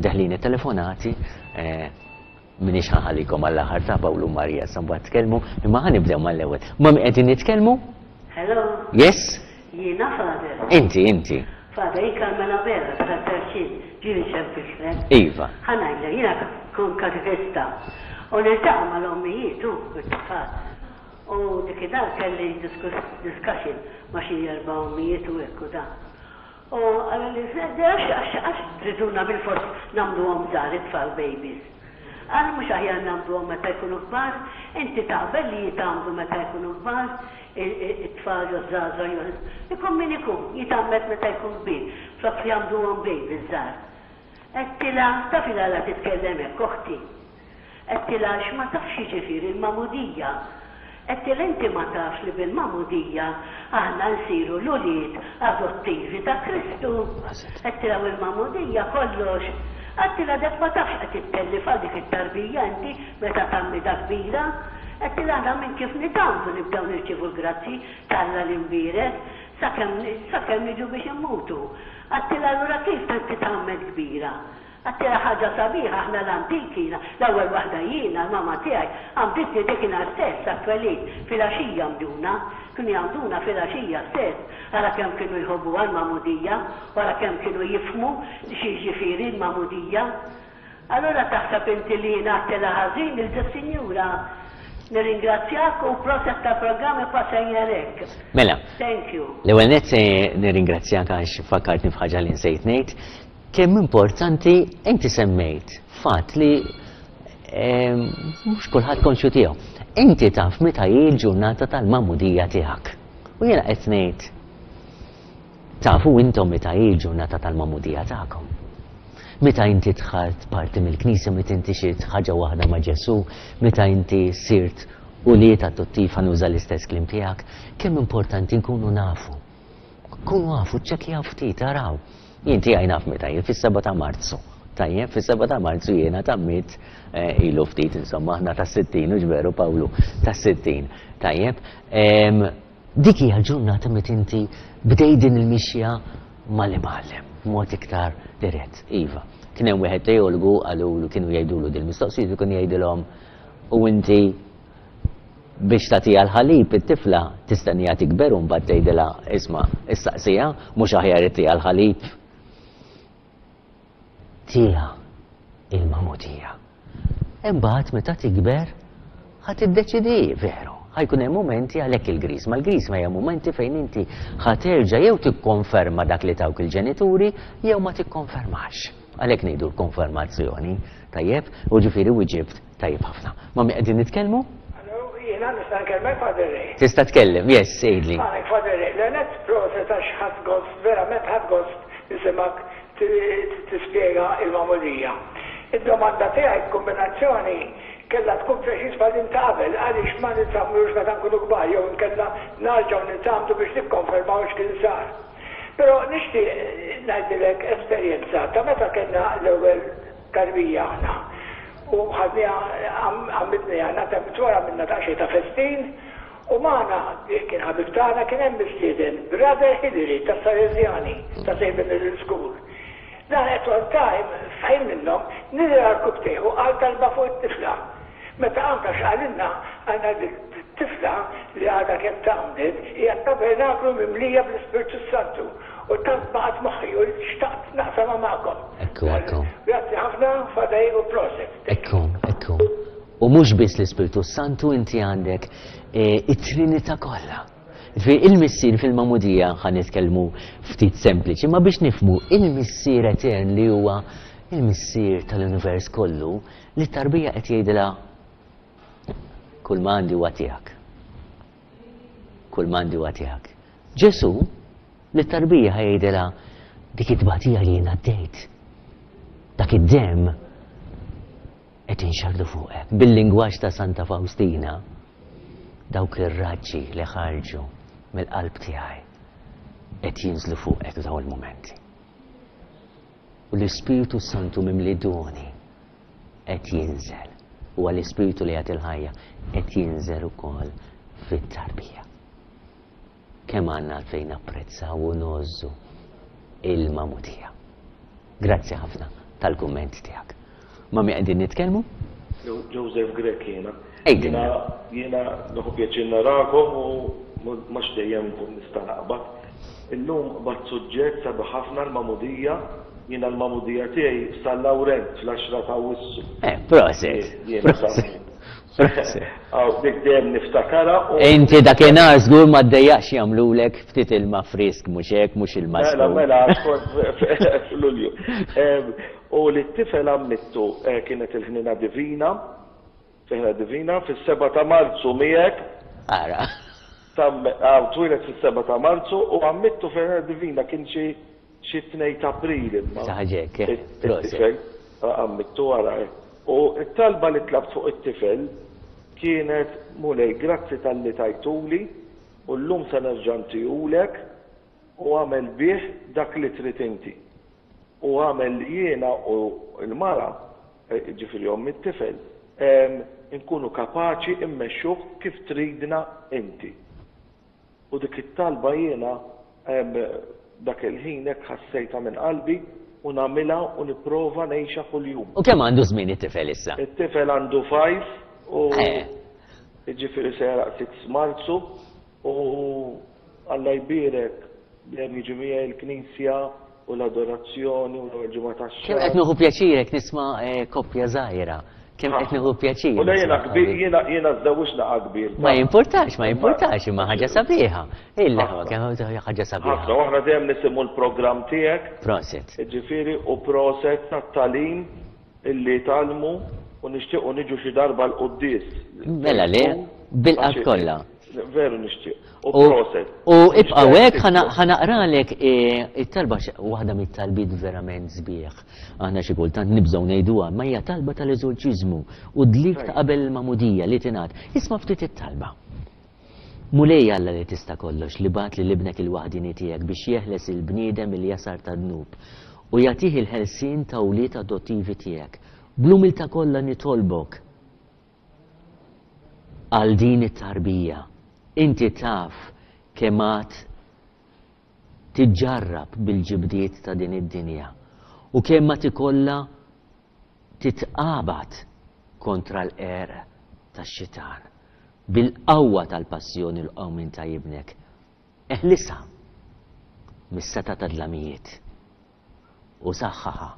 deħlin it-telefonati, minix ħaħalikom għall-aħħar ta' Pawlu Marija sa mbagħad tkellmu, imma ħa nibdew mal-ewwel. Ma qegħdin nitkellmu? Hello. Yes? Jiena Father. Inti, inti. Father, jien Carmela Vera, ta' Terċin, ġieli ċempiltlek. Iva. Ħa ngħidlek, jiena kont katekista u niltaqa' mal-ommijiet u t-tfal. U dik id-dar kelli discussion ma' xi erba' ommijiet u hekk u da. U qalli għax għax triduna bilfors nagħmluhom żgħar it-tfal babies. Qal mhux aħjar nagħmluhom meta jkunu kbar, inti taqbel li jitgħammdu meta jkunu kbar, it-tfal jew żgħażagħ jew ikun min ikun, jitgħammed meta jkun kbir, flok jagħmluhom babies żgħar. Għedtilha taf il-għala titkellem hekk oħti. Għedtilha għax ma tafx jiġifieri l-magħmudija. Għedtilha inti ma tafx li bil-magħmudija aħna nsiru l-ulied adottivi ta' Kristu. Għedtilha u l-magħmudija kollox. Għedtilha dak ma tafx qed ittellif għal dik it-tarbija inti meta tgħammidha kbira. Għedtilha aħna minn kif nitgħammdu nibdew nirċievu l-grazzi t'Alla l-imbierek sakemm sakemm niġu biex immutu. Għedtilha allura kif titgħammed kbira? Għedtilha ħaġa sabiħa aħna l-antiki, l-ewwel waħda jiena, l-mama tiegħi, għamditni dakinhar stess għat-twelid, filgħaxija għamduna, kienu jgħamduna filgħaxija stess, ara kemm kienu jħobbuha l-magħmudija, u ara kemm kienu jifhmu xi jiġifieri l-magħmudija. Allura taħseb inti li jiena għedtilha ħażin lil dis-sinjura. Nirringrazzjak u proset tal-programm ibqa' sejjer hekk. Mela. Thank you. L-ewwel nett se nirringrazzjak għax fakkartni f'ħaġa li nsejt ngħid. Kemm importanti inti semmejt fatt li mhux kulħadd konxju tiegħu. Inti taf meta hi l-ġurnata tal-magħmudija tiegħek. U jiena qed ngħid tafu intom meta hi l-ġurnata tal-magħmudija tagħkom. Meta inti dħalt parti mill-Knisja, meta inti sirt ħaġa waħda ma' Ġesù, meta inti sirt ulied adottiv, ħa nuża l-istess kliem tiegħek, kemm importanti nkunu nafu. Kunu nafu, ċċekkjaw ftit, araw. Jien tiegħi naf meta jien fis-seba' ta' Marzu. Tajjeb, fis-seba' ta' Marzu jiena tgħammidt ilu ftit, insomma, aħna tas-sittin, hux veru Pawlu, tas-sittin. Tajjeb, dik hija l-ġurnata meta inti bdejt din il-mixja mal-imgħallem, b'mod iktar dirett. Iva, kien hemm wieħed teologu qalulu kienu jgħidulu din il-mistoqsijiet u kien jgħidilhom u inti biex tagħtiha l-ħalib it-tifla tistenniha tikber u mbagħad tgħidilha isma' issaqsiha mhux aħjar ittiha l-ħalib. Tiha il-magħmudija. Imbagħad meta tikber ħa tiddeċidi veru. Ħajkun hemm mumenti għalhekk il-grisma. Il-grisma hija mumenti fejn inti ħa terġa' jew tikkonferma dak li tawk il-ġenituri jew ma tikkonfermax. Għalhekk ngħidu l-konfermazzjoni. Tajjeb, u ġifieri wieġibt tajjeb ħafna. Ma' min qegħdin nitkellmu? Hello, jiena nista' nkellmek Father Ray. Tista' tkellem, yes, għidli. Għalek Father Ray, l-għenet proset għax ħadt gost, verament ħadt gost nisimgħek tispjega il-magħmudija. Id-domanda tiegħi kombinazzjoni kellha tkun preċiż bħal din ta' qabel, għaliex ma nitgħammdux meta nkunu kbar jew inkella narġgħu nitgħammdu biex nikkonfermaw x'kien sar. Però nixtieq ngħidilek esperjenza ta' meta kellna l-ewwel tarbija aħna. U ħadniha għammidniha nata wara minna daqsxejn ta' festin u magħna kien ħabib tagħna kien hemm mistieden Brother Hillary tas-Salesjani ta' Saint Middle School. Dan at one time f'ħin minnhom niżel għarkupptejh u qal talba fuq it-tifla. Meta qam ta' x'qalilna għandna tifla li għadha kemm tgħammdet hija tabernaklu mimlija bl-Ispirtu Santu u tant baqgħet moħħi u xtaqt naqsamha magħkom. Ekku, ekku. Grazzi ħafna, Father u proset. Ekku, ekku. U mhux biss l-Ispirtu Santu inti għandek eh, it-Trinità kollha. Ġifieri il-missier fil-magħmudija ħa nitkellmu ftit sempliċi, ma biex nifhmu il-missier etern li huwa il-missier tal-univers kollu li tarbija qed jgħidilha kull ma għandi huwa tiegħek. Kull ma għandi huwa tiegħek. Ġesu li tarbija ħa jgħidilha dik it-tbatija li jien għaddejt. Dak id-demm qed inxardu fuqek. Bil-lingwaġġ ta' Santa Faustina, dawk ir-raġġi li ħarġu mill-qalb tiegħi qed jinżlu fuqek f'dawn il-mumenti. U l-Ispirtu Santu mimli doni qed jinżel. Huwa l-Ispirtu li jagħti l-ħajja qed jinżel ukoll fit-tarbija. Kemm għandna għalfejn napprezzaw u ngħożżu il-magħmudija. Grazzi ħafna tal-kumment tiegħek. Ma' min qegħdin nitkellmu? Joseph Grech jiena. Ejdilna. Jiena nieħu pjaċir narakom u mhux dejjem nkun nista' naqbad. Illum qbadt suġġett sabiħ ħafna l-magħmudija. Jiena l-magħmudija tiegħi f'San Lawrenz fl-għaxra ta' Awwissu. Eh, proset. Jiena Proset. Proset. Aw, dik dejjem niftakarha u Inti dakinhar żgur ma ddejjaqx jagħmlulek ftit ilma frisk mhux hekk mhux ilma Mela, sħun. mela, kont f'Lulju. Em, U li t-tifel għammittu eh, kienet il-ħnina divina, il-ħnina divina, fis-seba ta' Marzu miegħek, Ara. tam għaw twieled fis-seba ta' Marzu u għammittu fil-ħnina divina kien xi xi tnejn ta' April imma. Xi ħaġa hekk, eh, proset. It-tifel għammittu wara. eh. U t-talba li tlabt fuq it-tifel kienet Mulej, grazzi talli tajtuli u llum se nerġa' ntihulek u għamel bih dak li trid inti. U għamel jiena u l-mara, eh, ġifieri omm it-tifel, em, nkunu kapaċi immexxuh kif tridna inti. U dik it-talba jiena em, dak il-ħin hekk ħassejta minn qalbi u nagħmilha u nipprova ngħixha kuljum. U kemm għandu żmien it-tifel issa? It-tifel għandu five u Eh. ġifieri se jagħlaq sitta Marzu u Alla jbierek dejjem jiġi miegħi l-knisja u l-adorazzjoni u l-ewwel ġimgħa Kemm tax-xahar. qed nieħu pjaċir nisma' eh, koppja żgħira. Kemm qed nieħu pjaċir. U le jiena nisma' kbir, ħabib. jiena jiena żżewwiġna kbir. Ma jimportax, ma jimportax, imma ħaġa sabiħa. Illa, Ħafna. kemm ħaġa Ħafna, sabiħa. u aħna dejjem nisimgħu l-programm tiegħek, Proset. ġifieri u proset tat-tagħlim illi tgħallmu u nixtiequ niġu xi darba l-quddies. Mela le, bil-qalb kollha. Veru nixtieq. U U proset. u ibqa' hekk ħa naqralek eh, it-talba x- waħda mit-talbiet verament sbieħ. Aħna xi kultant nibżgħu ngħiduha, ma hija talba tal-eżorċiżmu u dlik ta' qabel il-magħmudija li tingħad. Isma' ftit it-talba. Mulej Alla li tista' kollox li bagħat lil ibnek il-waħdini tiegħek biex jeħles il-bniedem il-jasar ta' dnub u jagħtih il-ħelsien ta' wlied adottivi tiegħek. Bl-umiltà kollha nitolbok għal din it-tarbija. Inti taf kemm għad tiġġarrab bil-ġibdiet ta' din id-dinja u kemm ma tikolla titqabad kontra l-qerq tax-xitan bil-qawwa tal-passjoni l-qawmin ta' ibnek. Eħlisha mis-setgħa ta' dlamijiet u saħħaħa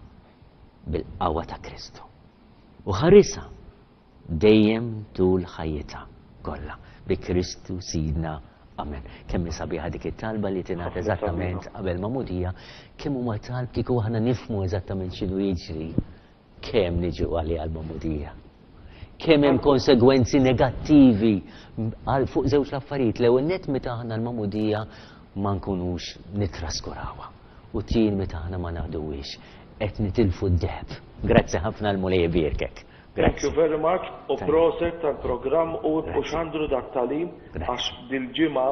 bil-qawwa ta' Kristu. U ħarisha dejjem tul ħajjitha kollha bi Kristu Sidna. Amen. Kemm hi sabiħa dik it-talba li tingħad Ħafna eżattament sabiħa. qabel magħmudija, kemm huma talb kieku aħna nifhmu eżattament x'inhu jiġri, kemm niġu għalija l-magħmudija. Kemm hemm konsegwenzi negattivi għal fuq żewġ l-affarijiet. L-ewwel nett meta aħna l-magħmudija ma nkunux nitraskurawha. U tieni meta aħna ma naħduwiex qed nitilfu d-deheb. Grazzi ħafna l-Mulej ibierkek. Thank you Grazzi. very much u Thank you. proset tal-programm u u Grazzi. xandru dat tagħlim Grazzi. għax dil-ġimgħa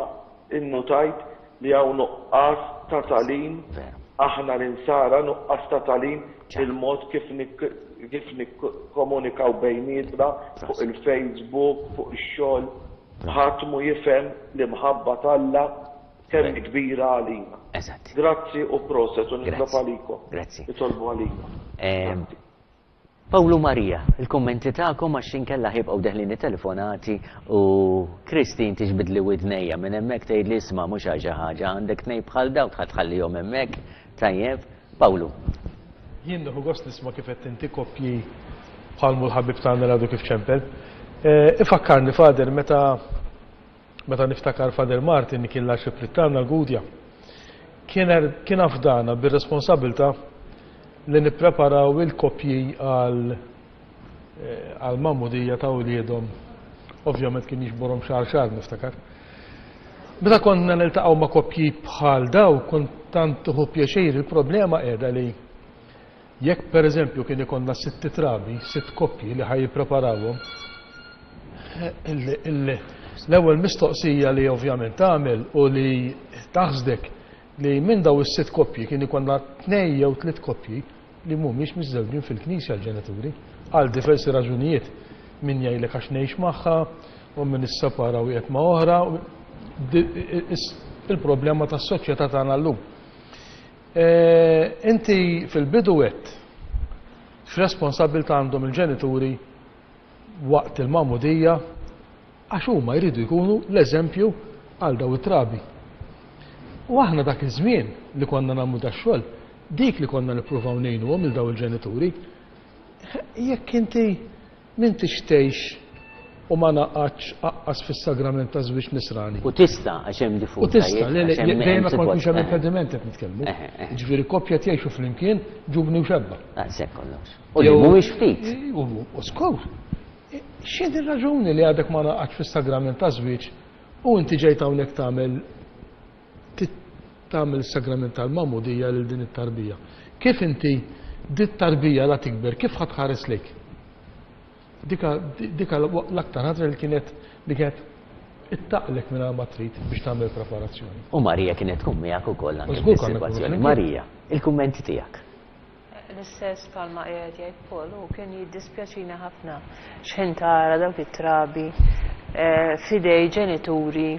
innutajt li hawn nuqqas ta' tagħlim Veru. aħna l-insara nuqqas ta' tagħlim Ċar. il-mod kif nik- kif nikkomunikaw bejnietna fuq il-Facebook, fuq ix-xogħol, ħadd mu jifhem l-imħabba t'Alla kemm kbira għalina. Eżatt. Grazzi u proset u nitlob għalikom. Grazzi. Nitolbu għalina. Pawlu Marija, il-kommenti tagħkom għax inkella ħibqgħu deħlin telefonati u Christine tiġbidli widnejja minn hemmhekk tgħidli isma' mhux xi ħaġa għandek tnejn bħal dawk ħa tħallihom hemmhekk. Tajjeb, Pawlu. Jien nieħu gost nisma' kif qed inti koppji bħal l-ħabib tagħna għadu kif ċempel. Ifakkarni Father meta meta niftakar Father Martin kien l-arċipriet tagħna l-Gudja. Kien afdana bir-responsabilità li nippreparaw il-koppji għal għal-magħmudija ta' uliedhom. Ovvjament kien jiġborhom xahar xahar niftakar. Meta konna niltaqgħu ma' koppji bħal daw, kont tant tieħu pjaċir, il-problema qiegħda li jekk pereżempju kien ikollna sitt trabi, sitt koppji li ħaj jippreparawhom, l-ewwel mistoqsija li ovvjament tagħmel u li taħsdek li minn daw is-sitt koppji kien ikollna tnejn jew tliet koppji li mhumiex miżżewġin fil-knisja l-ġenituri għal diversi raġunijiet. Min jgħidlek għax ngħix magħha u min issepara u qiegħed ma' oħra, il-problema tas-soċjetà tagħna llum. Inti fil-bidu għedt x'responsabilità għandhom il-ġenituri waqt il-magħmudija għax huma jridu jkunu l-eżempju għal daw it-trabi. U aħna dak iż-żmien li konna nagħmlu dax-xogħol, dik li konna nippruvaw ngħinuhom lil daw il-ġenituri, jekk inti m'intix tgħix u ma naqgħadx aqqas fis-sagrament ta' żwieġ nisrani. U tista' għax hemm diffuż. U tista', le dejjem ma jkunx hemm impediment qed nitkellmu. Jiġifieri koppja jgħixu flimkien ġuvni u xebba. Daqshekk kollox. U li mhuwiex ftit. U skur. X'inhi r-raġuni li għadek ma naqgħadx fis-sagrament ta' żwieġ u inti ġejt hawnhekk tagħmel tagħmel is-sagrament tal-magħmudija lil din it-tarbija? Kif inti dit tarbija la tikber, kif ħa tħares lejk? Dika dika l-aktar ħaġa li kienet li kienet ittaqlek minn ma trid biex tagħmel preparazzjoni. U Marija kienet tkun miegħek ukoll anke fis-sitwazzjoni. Marija, il-kummenti tiegħek. L-istess bħalma qiegħed jgħid Paul, u kien jiddispjaċina ħafna x'ħin tara dawk it-trabi f'idej ġenituri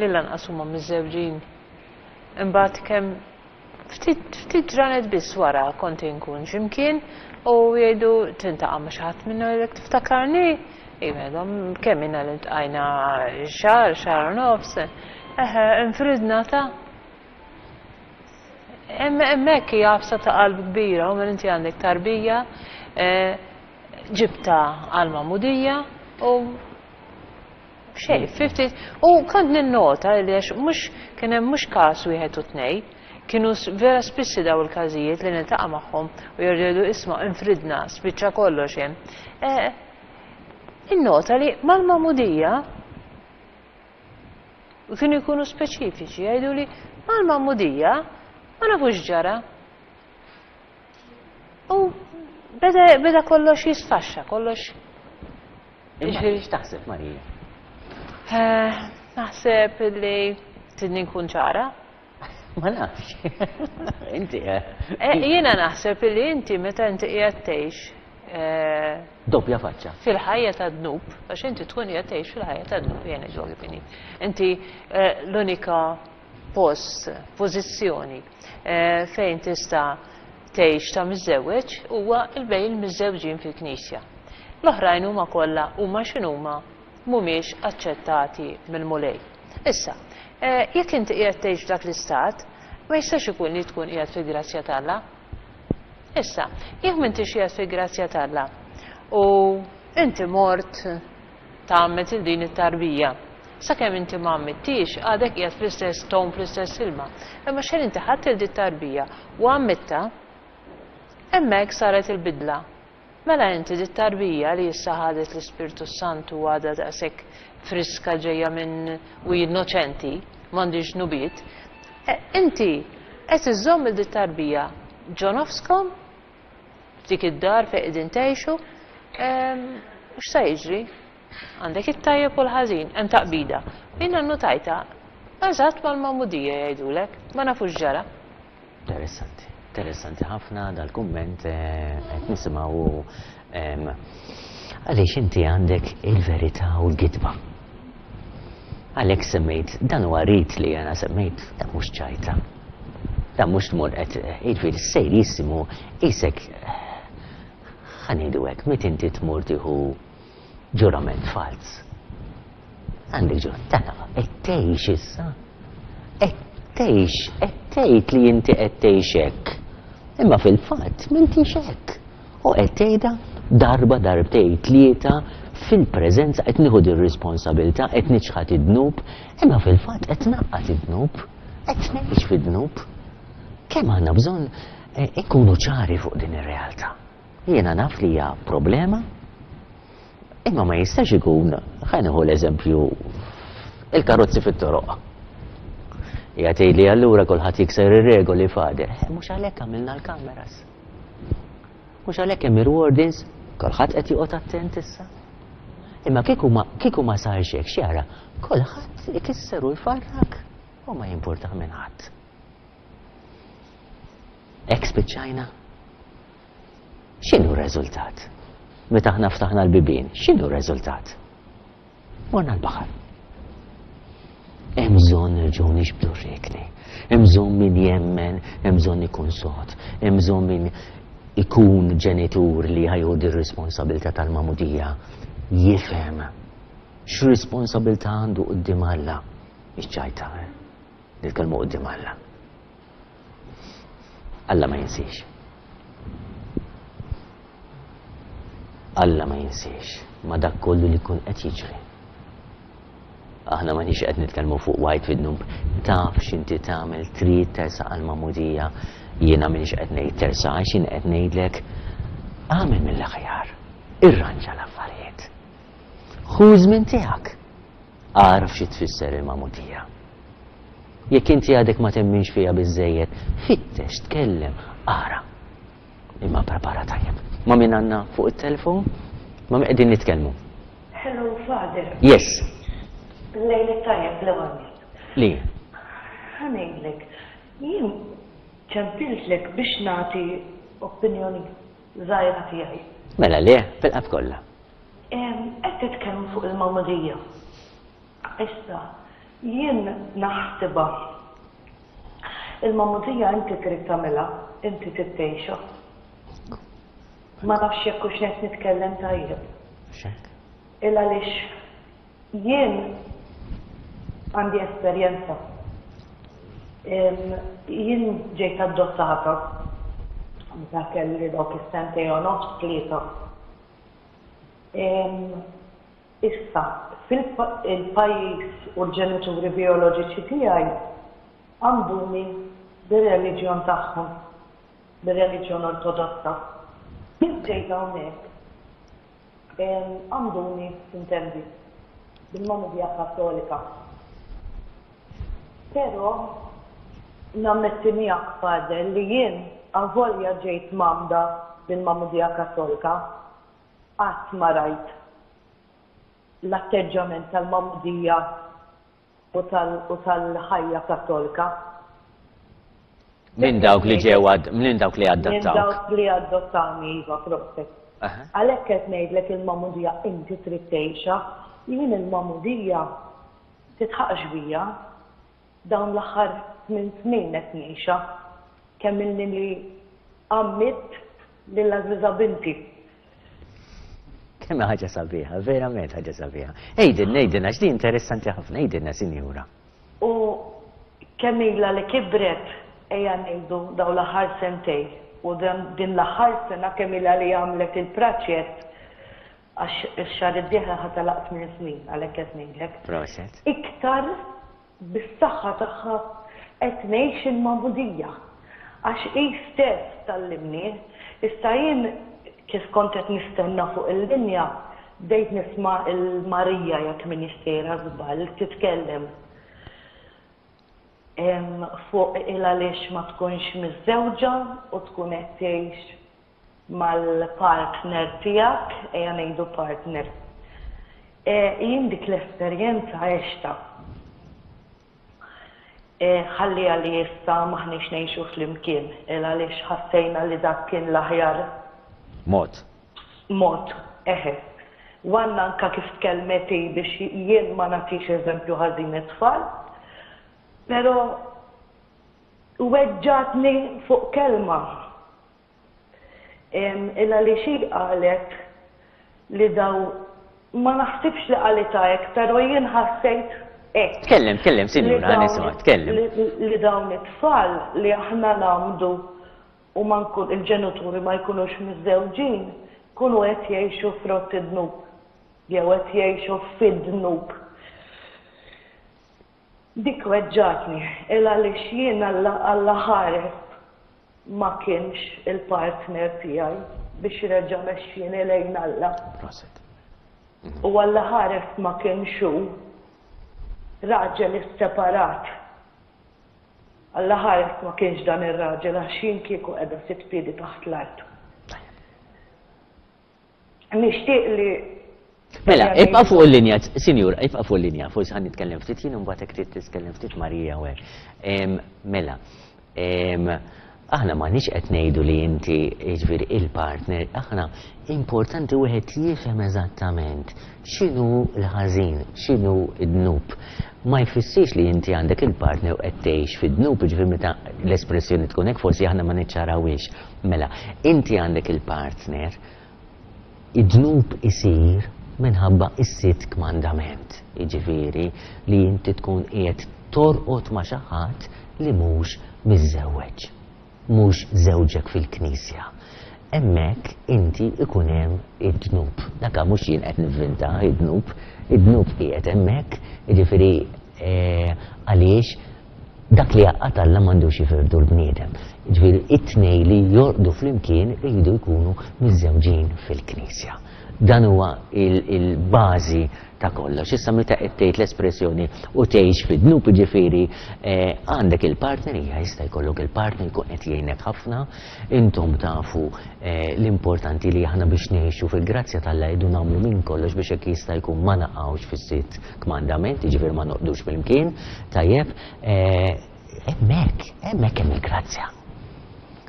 li lanqas huma miżżewġin. Imbagħad kemm ftit ftit ġranet biss wara kont inkun x'imkien u jgħidu tintaqa' ma' xi ħadd minnu jgħidlek tiftakarni? Jgħidhom kemm ilna li ltqajna xahar, xahar u nofs, eħe infridna ta' hemmhekk hija għafsa ta' qalb kbira u minn inti għandek tarbija ġibta għal-magħmudija u xejn, fifty, u kont ninnota li għax mhux kien hemm mhux każ wieħed u tnej, kienu vera spissi daw il-każijiet li niltaqa' magħhom u jerġgħu isma' infridna, spiċċa kollox hemm. Innota li mal-magħmudija u kienu jkunu speċifiċi, jgħidu li mal-magħmudija ma nafux ġara. U beda, beda kollox jisfaxxa, kollox. Jiġifieri x'taħseb Marija? Naħseb li tidni nkun ċara. Ma nafx. Inti. Jiena naħseb li inti meta inti qiegħed tgħix doppja faċċa. Fil-ħajja ta' dnub, għax inti tkun qiegħed tgħix fil-ħajja ta' dnub, jien ngħidu kif inhi. Inti l-unika post, pożizzjoni fejn tista' tgħix ta' miżżewweġ huwa l-bejn il-miżżewġin fil-Knisja. L-oħrajn huma kollha huma x'inhuma mhumiex aċċettati mill-Mulej. Issa, jekk inti qiegħed tgħix f'dak l-istat, ma jistax ikun li tkun qiegħed fil-grazzja t'Alla. Issa, jekk m'intix qiegħed fil-grazzja t'Alla u inti mort tgħammed il din it-tarbija, sakemm inti ma għammittix għadek qiegħed fl-istess ton, fl-istess ilma. Imma xejn inti ħadd il din tarbija u għammitta, hemmhekk saret il-bidla. Mela inti dit tarbija li issa ħadet l-Ispirtu Santu għadha daqshekk friska ġejja minn u innoċenti, m'għandix nubiet, inti qed iżżomm il dit tarbija ġo nofskom f'dik id-dar fejn qegħdin tgħixu, u x'sa jiġri? Għandek it-tajjeb u l-ħażin, hemm taqbida. Jiena nnotajta eżatt mal-magħmudija jgħidulek, ma nafux ġara. Interessanti. Interessanti ħafna dal-kumment eh, qed nisimgħu em, għaliex inti għandek il-verità u l-gidba. Għalhekk semmejt, dan huwa rit li jena semmejt, dan mhux ċajta. Dan mhux tmur qed jiġifieri serjissimu isek ħa ngħidu hekk, meta inti tmur tieħu ġurament falz. Għandek ġur, dan qed tgħix issa. Qed tgħix, qed tgħid li inti qed tgħix hekk. Imma fil-fatt m'intix hekk. U qed tgħidha darba darbtejn tlieta fil-preżenza qed nieħu dir responsabilità, qed niċħad id-dnub, imma fil-fatt qed naqqat id-dnub, qed ngħix fid-dnub. Kemm għandna bżonn eh, ikunu ċari fuq din ir-realtà. Jiena naf li hija problema, imma ma jistax ikun, ħa nieħu l-eżempju, il-karozzi fit-toroq. Jgħid li allura kulħadd jikser ir-regoli Father. Eh, mhux għalhekk għamilna l-kameras. Mhux għalhekk hemm il-wardens, kulħadd qed joqgħod attent issa. Imma kieku ma kieku ma sarx hekk x'jara, kulħadd ikisser u jfarrak u ma jimpurtah minn ħadd. Hekk spiċċajna. X'inhu r-reżultat? Meta aħna ftaħna l-bibien, x'inhu r-reżultat? Morna l-baħar. Hemm bżonn nerġgħu nixbdu r-riekni. Hemm bżonn min jemmen, hemm bżonn ikun sod, hemm bżonn min ikun ġenitur li ħa jieħu r-responsabilità tal-magħmudija. Jifhem x'responsabilità għandu quddiem Alla. Mhix ċajta, eh? Nitkellmu quddiem Alla. Alla ma jinsiex. Alla ma jinsiex ma dak kollu li kun qed jiġri. Aħna ma nix qed nitkellmu fuq white fid-dnub, taf x'inti tagħmel, trid tersaq għall-magħmudija, jiena m'iniex qed ngħid tersaq għax jien qed ngħidlek agħmel mill-aħjar, irranġa l-affarijiet. Ħu żmien tiegħek. Araf xi tfisser il-magħmudija. Jekk inti għadek ma temminx fiha biżejjed, fittex, tkellem, ara. Imma prepara tajjeb. Ma min għandna fuq it-telefon? Ma min qegħdin nitkellmu? Hello, Father. Yes. Lejl it-tajjeb l-ewwel. Li? Ħa ngħidlek, jien ċempiltlek biex nagħti opinjoni żgħira tiegħi. Mela le, fil-qalb kollha. Qed titkellmu fuq il-magħmudija. Issa, jien naħsibha. Il-magħmudija inti trid tagħmilha, inti trid tgħixha. Ma nafx jekk hux qed nitkellem tajjeb. Xek. Il għaliex jien għandi esperjenza. Jien ġejt adottata meta kelli dawk is-sentejn u nofs tlieta. Issa, fil-pajjiż u l-ġenituri bioloġiċi tiegħi għanduni bir-reliġjon tagħhom, bir-reliġjon ortodossa. Kif ġejt hawnhekk għanduni intendi bil-magħmudija Kattolika. Però nammetti miegħek Father li jien avolja ġejt mgħammda bil-magħmudija Kattolika, qatt ma rajt l-atteġġament tal-magħmudija u tal-ħajja Kattolika. Minn dawk li ġew minn dawk li adottawk. Minn dawk li adottawni, iva, proset. Għalhekk qed ngħidlek il-magħmudija inti trid tgħixha, jien il-magħmudija titħaqx bija dawn l-aħħar tmien snin qed ngħixha kemm ilni li għammidt lil għażiża binti. Kemm ħaġa sabiħa, verament ħaġa sabiħa. Ejdilna, ejdilna, x'di interessanti ħafna, ejdilna, sinjura. U kemm ilha li kibret, ejja ngħidu dawn l-aħħar sentej, u din l-aħħar sena kemm ilha li għamlet il-praċett, għax ix-xahar id-dieħel ħa tagħlaq tmien snin, għalhekk qed ngħidlek. Proset. Iktar bis-saħħa tagħha qed ngħix il-magħmudija. Għax hi stess tallimni, issa jien kif kont qed nistenna fuq il-linja, bdejt nisma' il-Marija jekk min sejra żball titkellem fuq il għaliex ma tkunx miżżewġa u tkun qed tgħix mal-partner tiegħek, ejja ngħidu partner. Jien dik l-esperjenza għexta. Ħalli għalli issa m'aħniex ngħixu flimkien, il għaliex ħassejna li dak kien l-aħjar Mod. Mod, eħe. U għandna anka kif tkellmet hi biex jien ma nagħtix eżempju ħażin it-tfal, però weġġatni fuq kelma. Il għaliex hi qalet li daw, ma naħsibx li qalitha hekk, però jien ħassejt hekk. Tkellem, tkellem, sinjura, Li dawn- nisma', tkellem. Li li dawn it-tfal li aħna ngħammdu u ma nkun il-ġenituri ma jkunux miżżewġin, kunu qed jgħixu frott id-dnub, jew qed jgħixu fid-dnub. Dik weġġatni, il għaliex jien Alla Alla ħares ma kienx il-partner tiegħi biex reġa' mexxini lejn Alla. Prosit. U Alla ħares ma kienx hu raġel isseparat. Alla ħares ma kienx dan ir-raġel, għax jien kieku qiegħda sitt piedi taħt l-art. Nixtieq li Mela, ibqa' fuq il-linja, sinjur, ibqa' fuq il-linja, forsi ħa nitkellem ftit jien, mbagħad hekk trid titkellem ftit Marija u hekk. Em, Mela, em, aħna m'aħniex qed ngħidu li inti, jiġifieri, il-partner, aħna importanti wieħed jifhem eżattament x'inhu l-ħażin, x'inhu d-dnub. Ma jfissirx li inti għandek il-partner u qed tgħix fid-dnub, jiġifieri meta l-espressjoni tkun hekk forsi aħna ma niċċarawhiex. Mela, inti għandek il-partner, id-dnub isir minħabba is-sitt kmandament, jiġifieri li inti tkun qiegħed torqod ma' xi ħadd li mhux miżżewweġ, mhux żewġek fil-knisja. Hemmhekk inti ikun hemm id-dnub. Dak mhux jien qed nivvinta id-dnub, id-dnub qiegħed hemmhekk, jiġifieri eh, għaliex dak li għaqqad Alla m'għandux jifirdu l-bniedem. Jiġifieri it-tnej li jorqdu flimkien iridu jkunu miżżewġin fil-knisja. Dan huwa il-bażi ta' kollox. Issa meta qed tgħid l-espressjoni u tgħix fid-dnub, jiġifieri eh, għandek il-partner, hija jista' jkollok il-partner jkun qed jgħinek ħafna, intom tafu eh, l-importanti li aħna biex ngħixu fil-grazzja t'Alla jdu nagħmlu minn kollox biex hekk jista' jkun ma naqgħux fis-sitt kmandament, jiġifieri ma noqdux flimkien, tajjeb, eh, hemmhekk, hemmhekk hemm il-grazzja.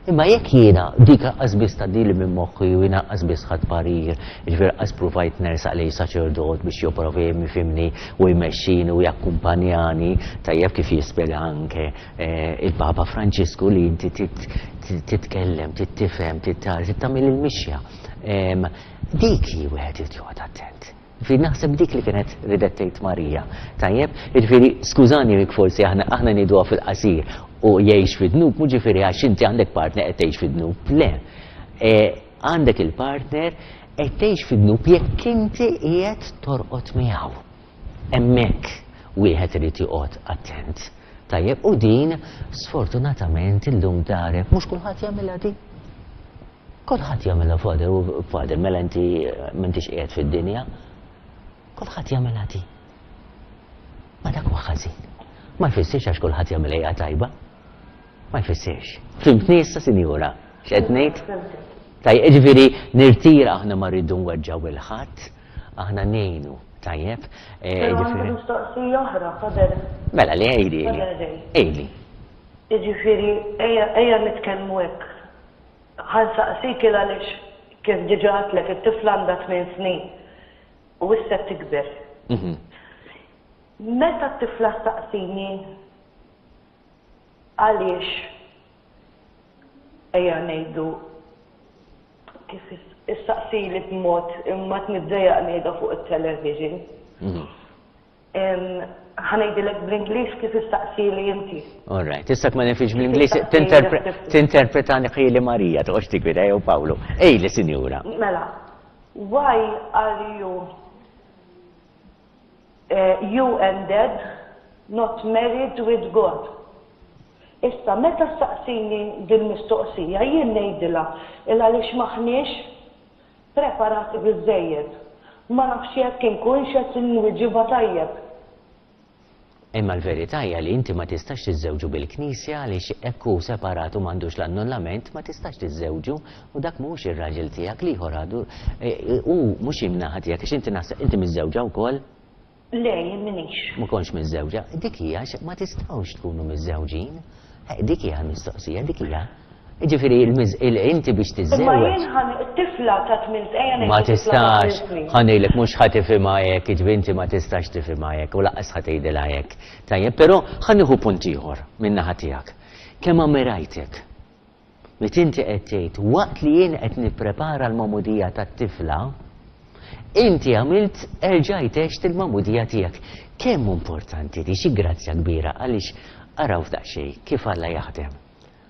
Imma jekk jiena dik lanqas biss tgħaddili minn moħħi u jiena lanqas biss ħadt parir, jiġifieri lanqas provajt nersaq lejn saċerdot biex jipprova jifhimni u jmexxini u jakkumpanjani, tajjeb, kif jispjega anke eh, il-Papa Franċisku li inti titkellem, tifhem, tagħmel il-mixja. Dik hi wieħed irid joqgħod attent. Fi naħseb dik li kienet ridet tgħid Marija. Tajjeb, jiġifieri skużani jekk forsi aħna aħna ngħiduha fil-qasir u jgħix fid-dnub, mhux ġifieri għax inti għandek partner qed tgħix fid-dnub. Le. E, għandek il-partner, qed tgħix fid-dnub jekk inti qiegħed torqod miegħu. Hemmhekk wieħed irid joqgħod attent. Tajjeb, u din sfortunatament illum darek mhux kulħadd jagħmilha din. Kulħadd jagħmilha, Father, u Father, mela inti m'intix qiegħed fid-dinja. Kulħadd jagħmilha din. Ma dak huwa ħażin. Ma jfissirx għax kulħadd jagħmilha hija tajba. Ma jfissirx. Fhimtni issa, sinjura? X'qed ngħid? Tajjeb, jiġifieri nirtira, aħna ma rridu nweġġaw 'il ħadd, aħna ngħinu, tajjeb. Eh, Però għandi mistoqsija oħra, Father. Mela li għidli. Għidli. Jiġifieri ejja nitkellmu hekk. Ħa nsaqsik għaliex kif diġà għedtlek, it-tifla għandha tmien snin u issa tikber. Mhm. Meta t-tifla staqsini għaliex, ejja ngħidu kif issaqsili b'mod imma niddejjaq ngħidha fuq it-television. Mhm. Ħa ngħidilek bl-Ingliż kif issaqsili inti. All right, issa ma nafx bl-Ingliż, tinterpretani ħili Marija, toqgħodx tikwida jew Pawlu. Ejli, sinjura. Mela, why are you uh, you and dad not married with God? Issa, meta staqsini din mistoqsija, jien ngħidilha il għaliex m'aħniex preparati biżejjed. Ma nafx jekk inkunx qed inwiġibha tajjeb. Imma l-verità hija li inti ma tistax tiżżewġu bil-Knisja għaliex hekk hu separat u m'għandux l-annullament, ma tistax tiżżewġu u dak mhux ir-raġel tiegħek, l-ieħor għadu e, u mhux in-naħa tiegħek, għax inti naħseb inti miżżewġa wkoll. Le, jien m'iniex. Ma kontx miżżewġa. Dik hija ma tistgħux tkunu miżżewġin. Dik hija l-mistoqsija, dik hija. Ġifieri inti biex tiżżewweġ. Imma jien ħan tifla ta' tmien ejja Ma tistax, ħa ngħidlek mhux ħa tifhimha hekk, jiġifieri inti ma tistax tifhimha hekk u lanqas ħa tgħidilha hekk. Tajjeb, però ħa nieħu punt ieħor min-naħa tiegħek. Kemm ammirajtek? Meta inti qed tgħid waqt li jien qed nipprepara l-magħmudija tat-tifla, inti għamilt erġajt għext il-magħmudija tiegħek. Kemm importanti di xi grazzja kbira għaliex araw f'daqsxejn kif Alla jaħdem.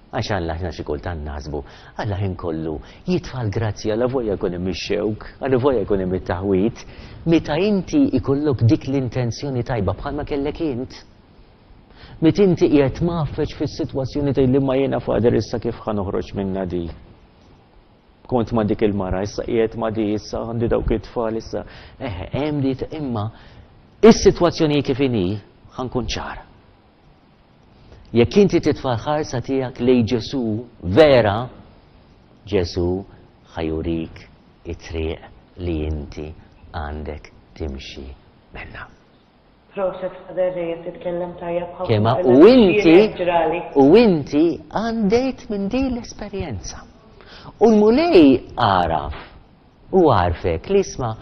Għax Alla aħna xi kultant naħsbu, Alla ħin kollu jitfa' l-grazzja la volja jkun hemm ix-xewk, alla volja jkun hemm it-taħwid, meta inti ikollok dik l-intenzjoni tajba bħalma kellek int. Meta inti qiegħed mgħaffeġ fis-sitwazzjoni tgħid li ma jiena Father issa kif ħa noħroġ minnha di. Kont ma' dik il-mara, issa qiegħed ma' di, issa għandi dawk it-tfal, issa. Eħe, hemm di imma is-sitwazzjoni kif inhi ħa nkun ċar. Jekk inti titfa' l-ħarsa tiegħek lejn Ġesù vera, Ġesù ħa jurik it-triq li inti għandek timxi minnha. Proset Father Ray, titkellem tajjeb ħafna. Kema u inti u inti għandejt minn din l-esperjenza. U l-Mulej għaraf u għarfek li isma'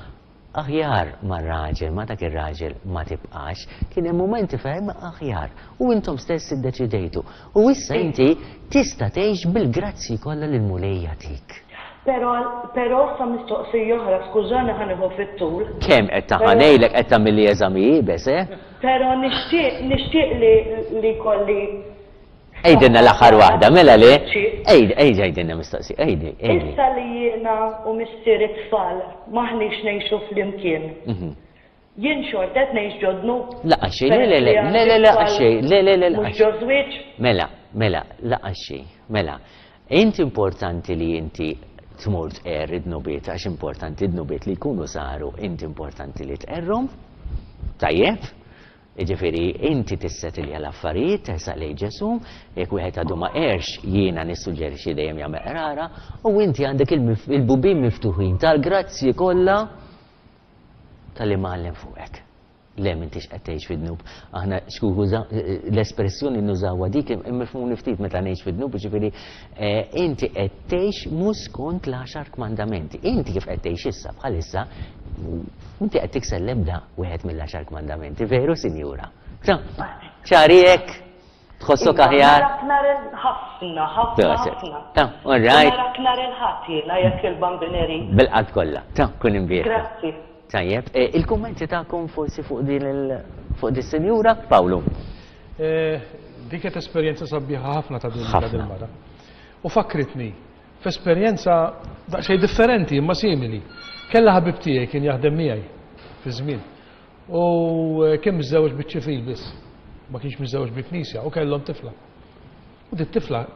aħjar ma' raġel, ma' dak ir-raġel ma tibqax, kien hemm mumenti fejn aħjar u intom stess iddeċidejtu. U issa inti tista' tgħix bil-grazzi kollha li l-Mulej jagħtik. Però però sa mistoqsija oħra, skużani ħa nieħu fit-tul. Kemm qed taħanejlek qed tagħmilli eżami iebes, eh? Però nixtieq nixtieq li li kolli Għidilna l-aħħar waħda, mela le? Ejd, ejd, għidilna mistoqsija, għidi, għidi. Issa li jiena u missier it-tfal m'aħniex ngħixu flimkien. Jien xorta qed ngħix ġo dnub. Lanqas xejn, le, le, le, le, le, lanqas xejn, le, le, le, Mhux ġo żwieġ. Mela, mela, lanqas xejn, mela. Inti importanti li inti tmur tqerr id-dnubiet, għax importanti id-dnubiet li jkunu saru, inti importanti li tqerrhom. Tajjeb? Jiġifieri inti tissetilja l-affarijiet, tersaq lejn Ġesù, jekk wieħed għadu ma qerx, jiena nissuġġerixxi dejjem jagħmel qrara, u inti għandek il-bubien miftuħin tal-grazzji kollha tal-imgħallem fuqek. Le, m'intix qed tgħix fid-dnub. Aħna skuża, l-espressjoni nużawha dik imifhmuni ftit meta ngħix fid-dnub, jiġifieri inti qed tgħix mhux skont l-għaxar kmandamenti. Inti kif qed tgħix issa bħalissa, inti qed tikser l-ebda wieħed mill-għaxar kmandamenti, veru, sinjura? Ċari hekk? Tħossok aħjar? Narak nhar ħafna, ħafna, ħafna. Ta, all right. Narak nhar il-Ħadd jiena jekk il-Bambin irid. Bil-qalb kollha. Ta, kun imbierka. Grazzi. Tajjeb, il-kummenti tagħkom forsi fuq din il fuq din sinjura, Pawlu. Dik qed esperjenza sabiħa ħafna ta' din il-mara. U fakkritni f'esperjenza daqsxejn differenti imma simili. Kella ħabib tiegħi kien jaħdem miegħi fi żmien. U kien miżżewweġ biċ-ċivil biss, ma kienx miżżewweġ bil-knisja u kellhom tifla. U dit tifla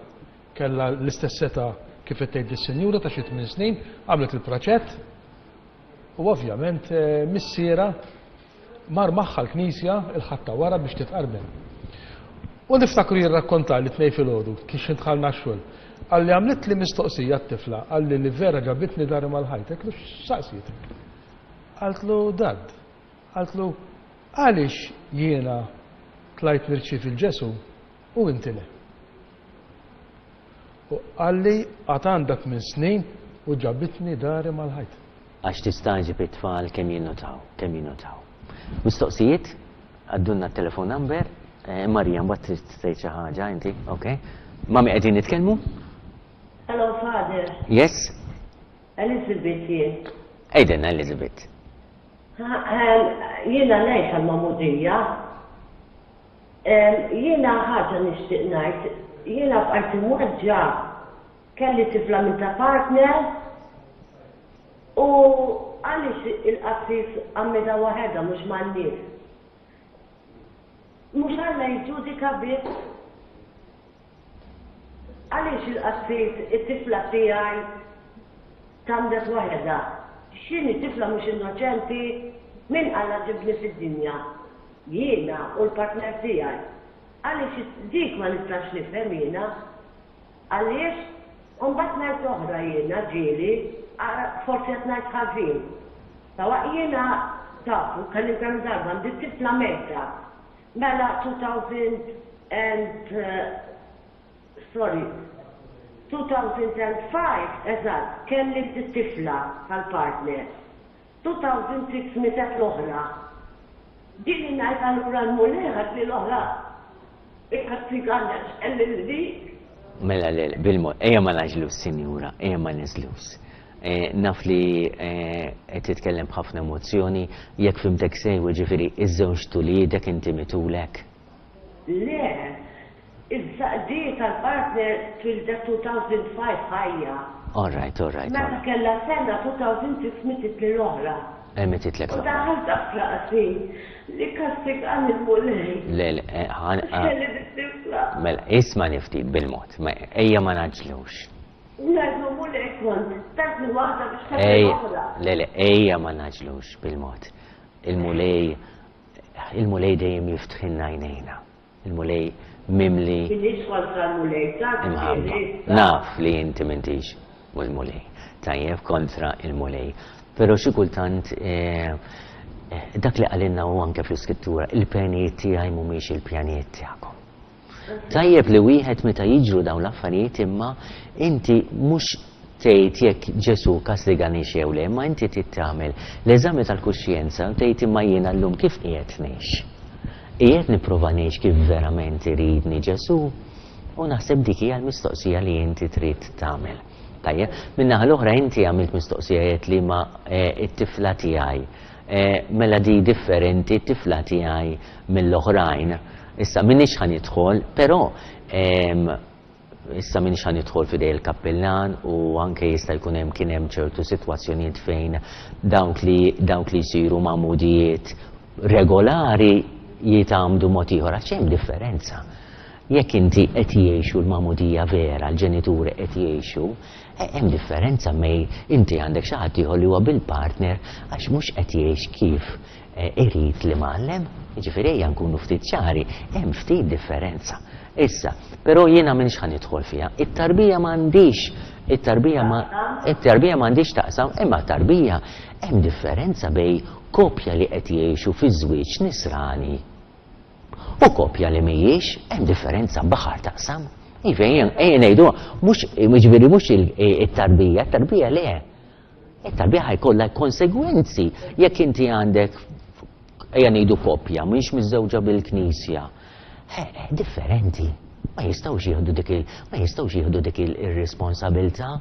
kellha l-istess età kif qed tgħid is-sinjura ta' xi tmien snin, għamlet il-praċett. U ovvjament missiera mar magħha l-knisja il-Ħadd ta' wara biex titqarben. U niftakru jirrakkonta li tnej filgħodu kif dħalna x-xogħol. Qalli għamlet li mistoqsija t-tifla, qalli li vera ġabitni dari mal-ħajt, għedtlu x'saqsietek? Qaltlu dad, qaltlu għaliex jiena tlajt nirċievi l-Ġesù u inti le. U qalli għad għandek minn snin u ġabitni dari mal-ħajt. Għax tistagħġeb it-tfal kemm jinnotaw, kemm jinnotaw. Mistoqsijiet, għaddunna t-telefon number, Marija, mbagħad trid tgħid xi ħaġa inti, ok? Mami qegħdin nitkellmu? Hello, Father. Yes? Elizabeth jien. Għidilna Elizabeth. Jiena ngħix għall-magħmudija. Jiena ħaġa nixtieq ngħid, jiena bqajt imweġġa' kelli tifla minn ta' partner u għaliex il-qassis għammidha waħedha mhux man-nies. Mhux Alla jiġġudika biss. Għaliex il-qassis it-tifla tiegħi tgħammdet waħedha? X'inhi tifla mhux innoċenti? Min Alla ġibni fid-dinja? Jiena u l-partner tiegħi. Għaliex dik ma nistax nifhem jiena? Għaliex? U mbagħad ngħid oħra jiena ġieli, forsi qed ngħid ħażin. Sawa jiena tafu, kelli kemm darba għandi tifla mejta. Mela two thousand and uh, sorry, two thousand and five, eżatt, kelli tifla tal-partner. two thousand six mietet l-oħra. Din ngħid allura l-Mulej li l-oħra ikkastigani għax li Mela, le, bil-mod, ejja ma ngħaġġlux, sinjura, ejja ma ngħaġġlux. Eh, naf li eh, qed titkellem b'ħafna emozzjoni, jekk fhimtek sew, ġifieri iż-żewġ uliedek inti mitulek. Le, iż-żaqdi tal-partner twieldet two thousand five ħajja. All right, all right. Meta kellha sena two thousand six mietet li l-oħra. Eh, Mititlek U l-oħra. daħalt f'rasi li kkastigani l-Mulej. Le, le, eh, ħan- ah, Kelli tifla. Mela, isma' ftit bil-mod, ma- ejja ma ngħaġġlux. Ngħidlu Mulej kont, tatni waħda biex tatni Ejja, oħra. Le, le, ejja ma ngħaġġlux bil-mod. Il-Mulej, il-Mulej dejjem jiftħilna għajnejna. Il-Mulej mimli Minix kontra l-Mulej, taf imħabba. Naf li inti m'intix u l-Mulej. Tajjeb, kontra il-Mulej. Pero xi kultant eh, eh, dak li qalilna u anke fl-iskrittura, il-pjanijiet tiegħi mhumiex il-pjanijiet tiegħekom. Tajjeb li wieħed meta jiġru dawn l-affarijiet, imma inti mhux tgħid jekk Ġesu kkastiganix jew le, imma inti trid tagħmel l-eżami tal-kuxjenza u tgħid, imma jiena llum kif qiegħed ngħix? Qiegħed nipprova ngħix kif verament iridni Ġesu? U naħseb dik hija l-mistoqsija li inti trid tagħmel. Tajjeb, min-naħa l-oħra inti għamilt mistoqsijiet li ma eh, it-tifla tiegħi. Eh, mela di differenti t-tifla tiegħi mill-oħrajn. Issa minix ħa nidħol, però em, issa minix ħa nidħol f'idej il-kappillan u anke jista' jkun hemm kien hemm ċertu sitwazzjonijiet fejn dawk li dawk li jsiru magħmudijiet regolari jitgħammdu mod ieħor, għax hemm differenza. Jekk inti qed jgħixu l-magħmudija vera, l-ġenituri qed jgħixu, eh, hemm differenza mej inti għandek xi ħadd ieħor li huwa bil-partner għax mhux qed jgħix kif eh, irid l-Imgħallem. Jiġifieri ejja nkunu ftit ċari, hemm ftit differenza. Issa, però jiena minix ħa nidħol fiha. It-tarbija m'għandix, it-tarbija ma it-tarbija m'għandix taqsam, imma tarbija hemm differenza bejn kopja li qed jgħixu fi żwieġ nisrani u kopja li mhijiex, hemm differenza baħar taqsam. Iva, ejja ngħidu, mhux jiġifieri mhux il-tarbija, it-tarbija le. It-tarbija ħa jkollha konsegwenzi jekk inti għandek, ejja ngħidu, koppja mhix miżżewġa bil-Knisja. Eh, Differenti. Ma jistgħux jieħdu dik il ma jistgħux jieħdu dik il-responsabilità.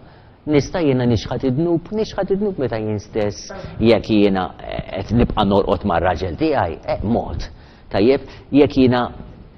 Nista' jiena nixħat id-dnub, nixħat id-dnub meta jien stess jekk jiena qed nibqa' norqod mar-raġel tiegħi, eh, mod. Tajjeb, jekk jiena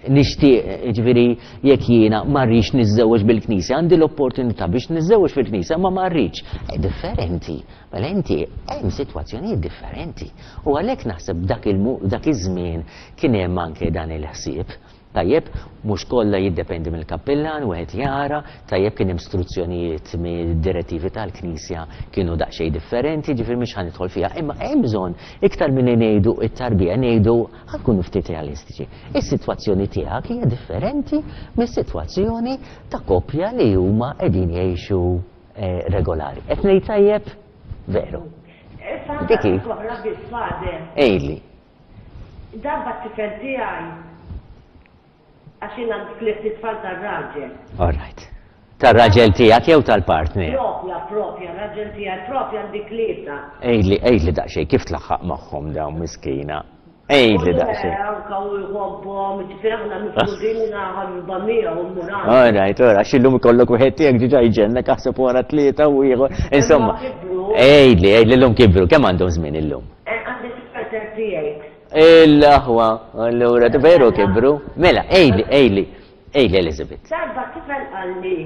nixtieq, ġifieri, jekk jiena ma rridx niżżewweġ bil-Knisja, għandi l-opportunità biex niżżewweġ fil-Knisja, ma ma rridx. Eh, differenti. Mela inti hemm sitwazzjonijiet differenti. U għalhekk naħseb dak dak iż-żmien kien hemm anke dan il-ħsieb. Tajjeb, mhux kollha, jiddependi mill-kappillan, wieħed jara, tajjeb, kien hemm istruzzjonijiet mid-direttivi tal-Knisja kienu daqsxejn differenti, ġifieri mhux ħa nidħol fiha, imma hemm bżonn iktar milli ngħidu it-tarbija ngħidu ħa nkunu ftit realistiċi. Is-sitwazzjoni tiegħek hija differenti mis-sitwazzjoni ta' koppja li huma qegħdin jgħixu eh, regolari. Qed ngħid tajjeb? Veru. Diki. Oħra biss, Father. Ejli. Darba t-tifel tiegħi, għax jien għandi tliet tfal tar-raġel. All right. Tar-raġel tiegħek jew tal-partner? Propja, propja, raġel tiegħi, propja għandi tlieta. Ejli, ejli daqsxejn, kif tlaħħaq magħhom dawn, miskina? Ejli daqsxejn. Anka u jħobbhom, ġifieri aħna mifrudin ħabiba miegħu muran. All right, all right, għax illum ikollok wieħed tiegħek diġà jġennek, aħseb wara tlieta u ieħor. Insomma, ejli, ejli llum kibru, kemm għandhom żmien illum? Għandi tifel thirty-eight. Il-aħwa, allura veru kibru. Mela, ejli, ejli, ejli, Elizabeth. Darba tifel qalli,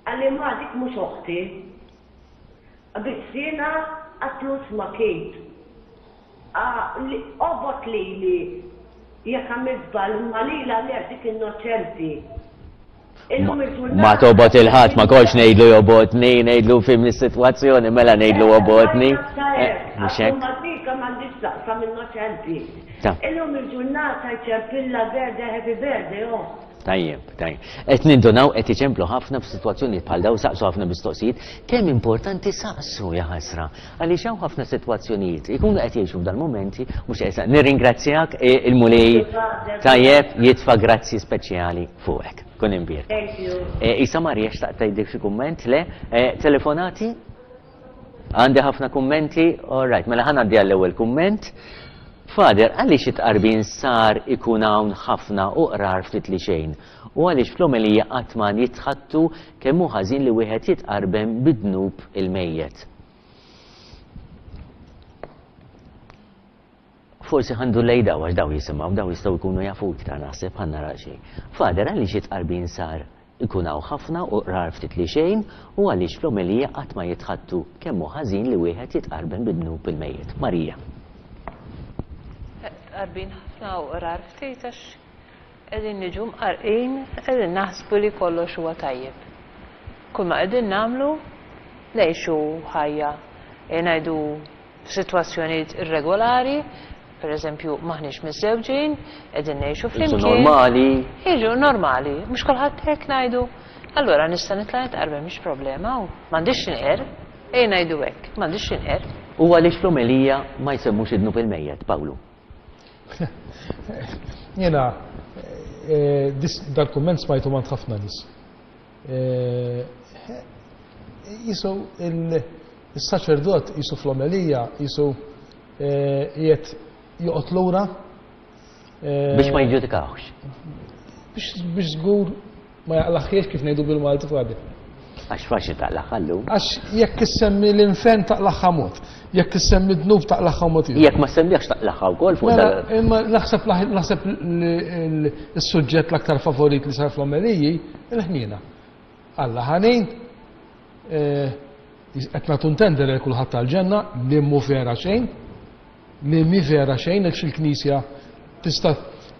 qalli ma dik mhux oħti. Biss jiena għatlus ma kejt. Obgħod lili jekk għamilt żball, imma lila le, dik innoċenti. Illum il-ġurnata- Ma tobgħod 'il ħadd, ma kontx ngħidlu jobgħodni, ngħidlu fhimni s-sitwazzjoni, mela ngħidlu obgħodni. Eh, mhux hekk? Ma dik m'għandix taqsam, innoċenti. Ta. Illum il-ġurnata jċempilla birthday, happy birthday, oh. Tajjeb, tajjeb. Qed nindunaw qed iċemplu ħafna f'sitwazzjonijiet bħal daw saqsu ħafna mistoqsijiet, kemm importanti saqsu ja ħasra. Għaliex hawn ħafna sitwazzjonijiet ikunu qed jgħixu f'dal-momenti mhux qed nirringrazzjak il-Mulej tajjeb jitfa' grazzi speċjali fuqek. Kun imbierek. Thank you. Isa Marija xtaqt tgħidlek xi kumment le? Telefonati? Għandi ħafna kummenti? All right, mela ħa ngħaddi għall-ewwel kumment. Father, għaliex it-tqarbin sar ikun hawn ħafna u qrar ftit li xejn? U għaliex fl-omelija qatt ma jitħattu kemm hu ħażin li wieħed jitqarben bid-dnub il-mejjet? Forsi ħandu lej daw għax daw jisimgħu, daw jistgħu jkunu jafu iktar naħseb ħa nara xejn. Father, għaliex it-tqarbin sar ikun hawn ħafna u qrar ftit li xejn u għaliex fl-omelija qatt ma jitħattu kemm hu ħażin li wieħed jitqarben bid-dnub il-mejjet? Marija. Tqarbin ħafna u qrar ftit għax qegħdin niġu mqarqin, qegħdin naħsbu li kollox huwa tajjeb. Kull ma qegħdin nagħmlu ngħixu ħajja, ngħidu f'sitwazzjonijiet irregolari, per eżempju maħniex miżżewġin, qegħdin ngħixu flimkien. Jiġu normali. Jiġu normali, mhux kulħadd hekk ngħidu. Allura nista' nitla' nitqarben mhix problema u m'għandix inqer, ejja ngħidu hekk, m'għandix inqer. U għaliex fl-omelija ma jsemmux id-dnub il-mejjet, Pawlu? Jena, dal-kumment smajtu mant ħafna nies. Jisu il-saċerdot jisu fl-omelija, jisu jiet joqgħod lura. Biex ma jiġġudikawx. Biex żgur ma jaqlaħħiex kif ngħidu bil-Malti fadi. Għax faċli taqlaħħa llum. Għax jekk issemmi l-infern taqlaħħa mod, jekk issemmi d-dnub taqlaħħa mod ieħor. Jekk ma semmiex taqlaħħa wkoll fuq Mela, imma naħseb naħseb is-suġġett l-aktar favorit li sar fl-omeliji il-ħniena. Alla ħanin, qed nagħtu ntendere lil kulħadd tal-ġenna li mhu vera xejn, li mhi vera xejn għax il-Knisja tista'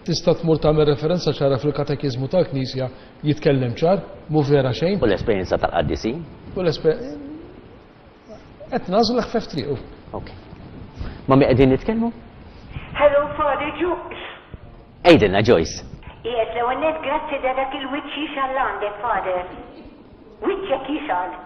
tista' tmur tagħmel referenza ċara fil-katekiżmu tal-Knisja jitkellem ċar, mhu vera xejn. U l-esperjenza tal-qaddisin? U l-esperjenza. Qed nagħżlu l-ħfef triqu. Ok. Ma mi qegħdin nitkellmu? Hello, Father Joyce. Ejdilna Joyce. Yes, l-ewwel nett grazzi da dak il-wiċċ jixgħal għandek, Father. Wiċċek jixgħal.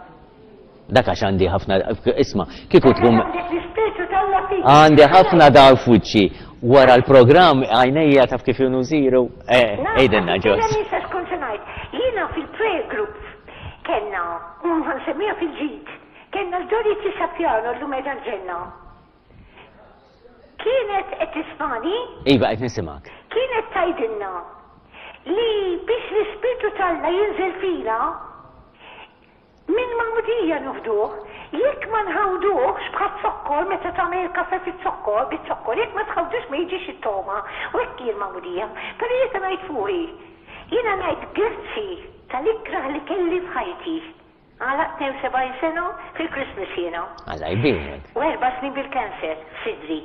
Dak għax għandi ħafna, isma', kieku tkun. Għandek l-ispirtu t'Alla fik. Għandi ħafna daw f'wiċċi. Wara l-programm għajnejja taf kif junu ziru. Ejdilna Joyce. Jiena nista' xkun se ngħid. Jiena fil-prayer group kellna, u nsemmija fil-ġid, kellna l-Dorothy Sapiano llum qiegħda l-ġenna. Kienet qed tismani? Iva, qed nisimgħek. Kienet tgħidilna li biex l-ispirtu t'Alla jinżel fina, minn magħmudija nufduh, jekk ma nħawduhx bħal zokkor meta tagħmel kafe fiz-zokkor, biz-zokkor, jekk ma tħawdux ma jiġix it-toma, u hekk hi l-magħmudija. Però jiena ngħid fuqi, jiena ngħid grazzi tal-ikrah li kelli f'ħajti. Għalaq tnejn u sebgħin sena fil-Christmas jiena. Alla jbierek. U erba' snin bil-kanser f'sidri.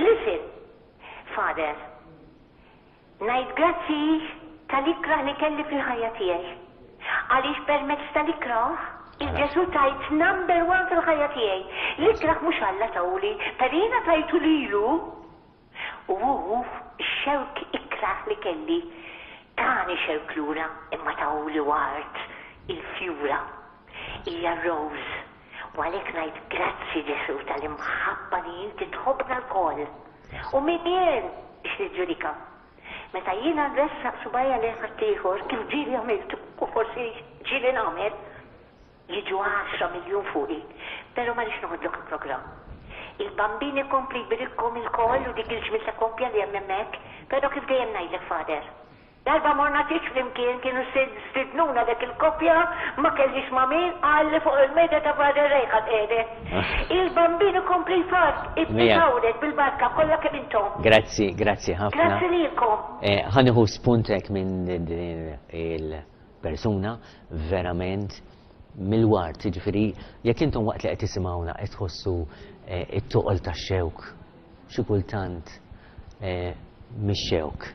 Listen, Father, ngħid grazzi tal-ikrah li kelli fil-ħajja tiegħi. Għaliex permezz tal-ikrah, il-Ġesu tajt number one fil-ħajja tiegħi. L-ikrah mhux Alla tawli, per jiena tajtu lilu. U hu x-xewk ikrah li kelli, tani xewk lura, imma tawli ward il-fjura. Hija rose. U għalhekk ngħid grazzi Ġesu tal-imħabba li inti tħobbna lkoll. U min jien biex niġġudika. Meta jiena nressaq subajja lejn ħaddieħor kif ġieli għamilt u forsi ġieli nagħmel, jiġu għaxra miljun fuqi, però ma rridx noħodlok il-programm. Il-Bambin ikompli jbirikkom ilkoll u dik il-ġmiel ta' koppja li hemm hemmhekk, però kif dejjem ngħidlek Father, darba morna tieġ flimkien kienu stidnuna dak il-koppja, ma kellix ma' min, qalli fuq il-mejda ta' Father Ray ħadd qiegħdet. Il-Bambin ikompli jfark, ibqgħu bil-barka kollha kemm intom. Grazzi, grazzi ħafna. Grazzi lilkom. Ħa nieħu spuntek minn din il-persuna verament mill-wart, jiġifieri jekk intom waqt li qed tisimgħuna qed tħossu it-toqol tax-xewk, xi kultant mix-xewk.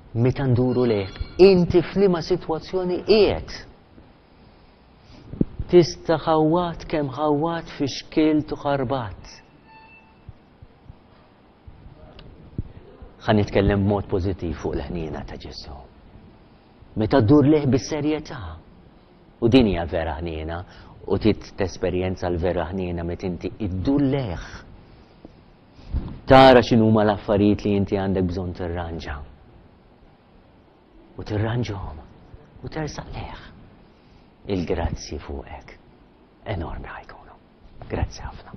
Meta nduru lejk, inti f'liema sitwazzjoni qiegħed. Tista' ħawat kemm ħawat fi xkilt u ħarbat. Ħa nitkellem b'mod pożittiv fuq l-ħniena ta' Ġesu. Meta ddur lejh bis-serjetà. U din hija vera ħniena, u tit tesperjenza l-vera ħniena meta inti iddur lejh. Tara x'inhuma l-affarijiet li inti għandek bżonn tirranġa. U tirranġhom u tersaq lejh. Il-grazzi fuqek enormi ħa jkunu. Grazzi ħafna.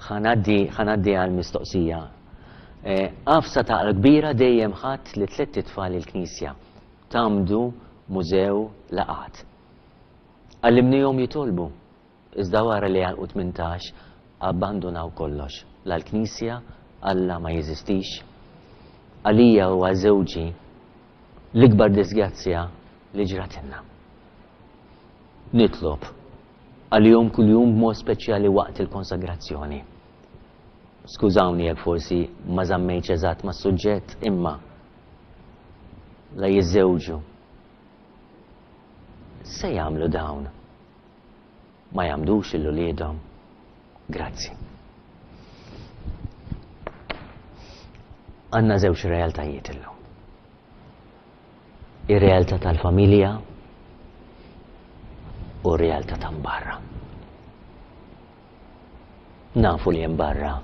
Ħa ngħaddi ħa ngħaddi għal mistoqsija. Għafsa ta' kbira dejjem ħadd li tlett itfal il-knisja. Tgħammdu, mużew, laqgħat. Għallimnihom jitolbu. Iżda wara li għalqu tmintax, abbandunaw kollox. La l-knisja, Alla ma jeżistix. Għalija u għal żewġi l-ikbar disgrazzja li ġratilna. Nitlob għalihom kuljum b'mod speċjali waqt il-konsagrazzjoni. Skużawni jekk forsi ma żammejtx eżatt mas-suġġett imma la jiżżewġu. Se jagħmlu dawn? Ma jgħammdux lil uliedhom? Grazzi. Għandna żewġ realtajiet illum. Ir-realtà tal-familja u r-realtà ta' barra. Nafu li hemm barra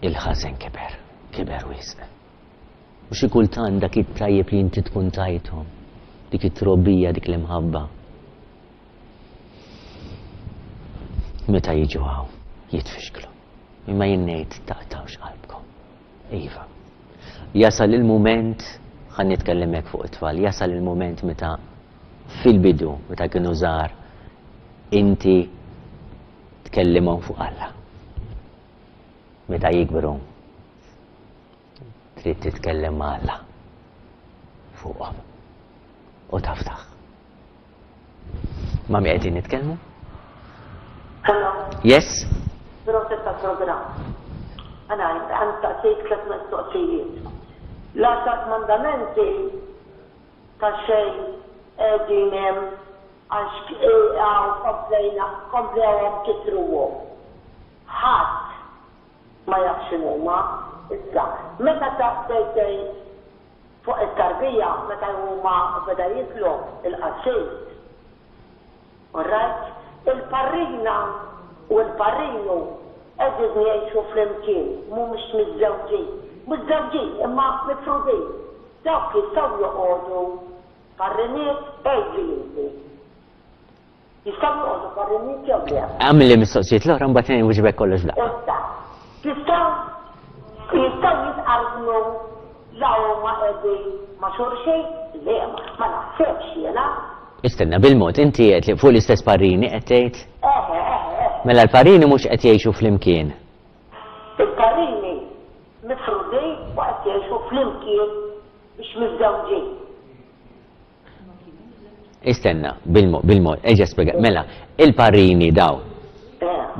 il-ħażen kiber, kiber wisq. U xi kultant dak it-tajjeb li inti tkun tajthom, dik it-trobbija, dik l-imħabba. Meta jiġu hawn, jitfixklu. Imma jien ngħid taqtgħux qalbkom. Iva. Jasal il-mument, ħa nitkellem hekk fuq it-tfal, jasal il-mument meta fil-bidu, meta kienu żgħar, inti tkellimhom fuq Alla. Meta jikbru, trid titkellem ma' Alla fuqhom. U taftaħ. Ma' min qegħdin nitkellmu? Hello. Yes? Proset tal-programm. Għana, għan taqsejt tliet mistoqsijiet. L-għaxar mandamenti ta' xejn qegħdin hemm għax hawn komplejna komplewhom kitruhom. Ħadd ma jaf x'inhuma. Issa, meta taqsejt fuq it-tarbija meta huma beda jitlob il-qassis. All right? Il-parrina u l-parrinu qegħdin jgħixu flimkien, mhumiex miżżewġin. Miżżewġin imma mifrudin. Dawk jistgħu joqogħdu parriniet għidli inti. Jistgħu joqogħdu parriniet jew le? Għamilli mistoqsijiet l-oħra mbagħad inwiġbek kollox f'daqqa. Issa, jistgħu jistgħu jitqarbnu la huma qegħdin ma' xulxin? Le, ma naħsebx jiena. Istenna, bil-mod, inti qed li fuq l-istess parrini qed tgħid? Eħe, eħe, eħe. Mela l-parrini mhux qed jgħixu flimkien. Il-parrini mifrudin u qed jgħixu flimkien biex miżżewġin. Istenna, bil-mod, bil-mod, eġa spjega. Mela, il-parrini daw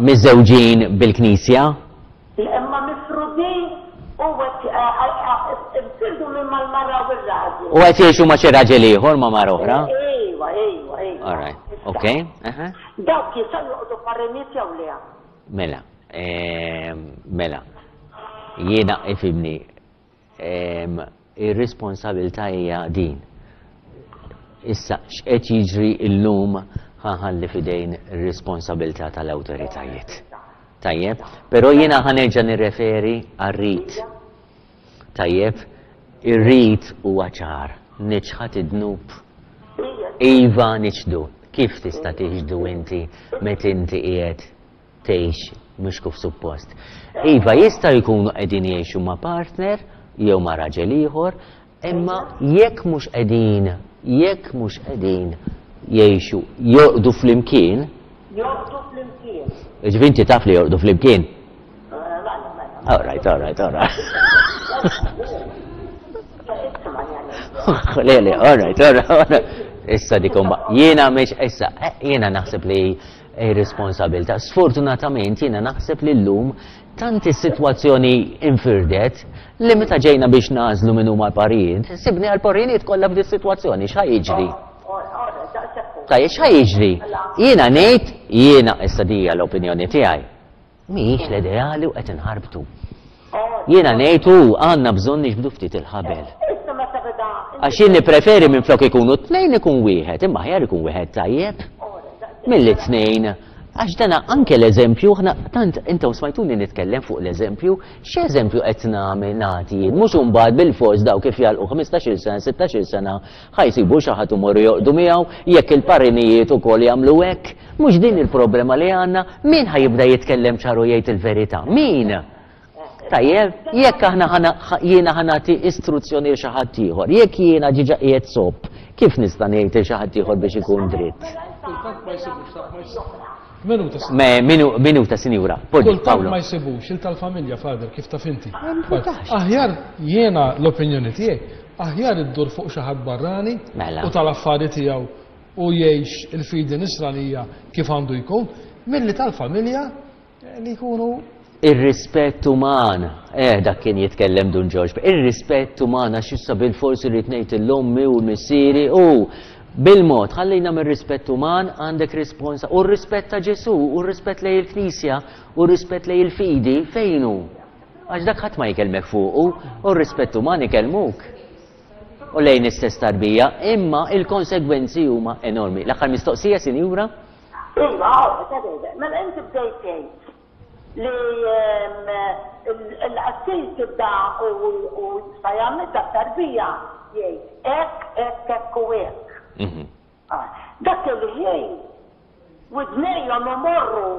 miżżewġin bil-knisja? Imma mifrudin u qed infirdu minn mal-mara u r-raġel. U qed jgħixu ma' xi raġel ieħor ma' mara oħra? Ejwa, ejwa, ejwa. All right, okay. Aha. Dawk jistgħu joqogħdu parriniet jew le? Mela, mela, jiena ifhimni, ir-responsabilità hija din. Issa, x'qed jiġri llum ħa nħalli f'idejn ir-responsabilità tal-awtoritajiet. Tajjeb, però jiena ħa nerġa' nirreferi għar-rit. Tajjeb, ir-rit huwa ċar, niċħad id-dnub. Iva niċdu. Kif tista' tiġdu inti meta inti qiegħed tgħix mhux kif suppost? Iva jista' jkunu qegħdin jgħixu ma' partner jew ma' raġel ieħor, imma jekk mhux qegħdin, jekk mhux qegħdin jgħixu jorqdu flimkien. Jorqdu flimkien. Ġifieri inti taf li jorqdu flimkien? Mela, mela. All right, all right, all right. Le, le, all right, all right, all right. Issa dik umba. Jiena mhix issa, jiena naħseb li irresponsabilta. Sfortunatament jiena naħseb li llum tant is-sitwazzjoni infirdet li meta ġejna biex nażlu min huma l-parijiet, sibni għall-parinijiet kollha f'di sitwazzjoni, x'ħa jiġri? Tajjeb, x'ħa jiġri? Jiena ngħid, jiena issa di hija l-opinjoni tiegħi. Mhijiex l-ideali u qed inħarbtu. Jiena ngħid u għandna bżonn niġbdu ftit il-ħabel. Issa meta beda Għax jien nippreferi minflok ikunu tnejn ikun wieħed, imma aħjar ikun wieħed tajjeb milli tnejn. Għax dana anke l-eżempju, aħna tant intom smajtuni nitkellem fuq l-eżempju, x'eżempju qed nagħmel nagħti jien, mhux imbagħad bilfors daw kif jagħlqu ħmistax-il sena, sittax-il sena, ħa jsibu xi ħadd imorru joqogħdu miegħu, jekk il-parinijiet ukoll jagħmlu hekk, mhux din il-problema li għandna, min ħa jibda jitkellem ċar u jgħid il-verità? Min? Tajjeb, jekk aħna ħana, jiena ħa nagħti istruzzjoni lil xi ħadd ieħor, jekk jiena ġiġa qiegħed zopp, kif nista' ngħid lil xi ħadd ieħor biex ikun dritt? Kultant ma jsibux, taf ma jsibux. Minuta, Me, minu, minuta, sinjura. Poġġi, Kultant Paolo. ma jsibux, il tal-familja, Father, kif taf inti. Importax. Aħjar jiena l-opinjoni tiegħi, aħjar iddur fuq xi ħadd barrani Mela. u tal-affari tiegħu u jgħix il-fidi nisranija kif għandu jkun, milli tal-familja eh, li jkunu Ir-rispett uman, eh, dak kien jitkellem Dun Ġorġ, ir-rispett uman għax issa bil-forsi rrid ngħid l-ommi u l-missieri u bil-mod, ħallina mir-rispett uman għandek risponsa u r-rispett ta' Ġesu, u r-rispett lejn il-Knisja, u r-rispett lejn il-fidi, fejn hu? Għax dak ħadd ma jkellmek fuqu, u r-rispett uman ikellmuk. U lejn istess tarbija, imma il-konsegwenzi huma enormi. L-aħħar mistoqsija, sinjura? Iva, mela inti bdejt tgħid li ehm, il-qassis tibda u jista' jagħmel dak tarbija jgħid hekk, hekk, hekk u hekk. Mhm. Ah, dak il-ħin widnejhom imorru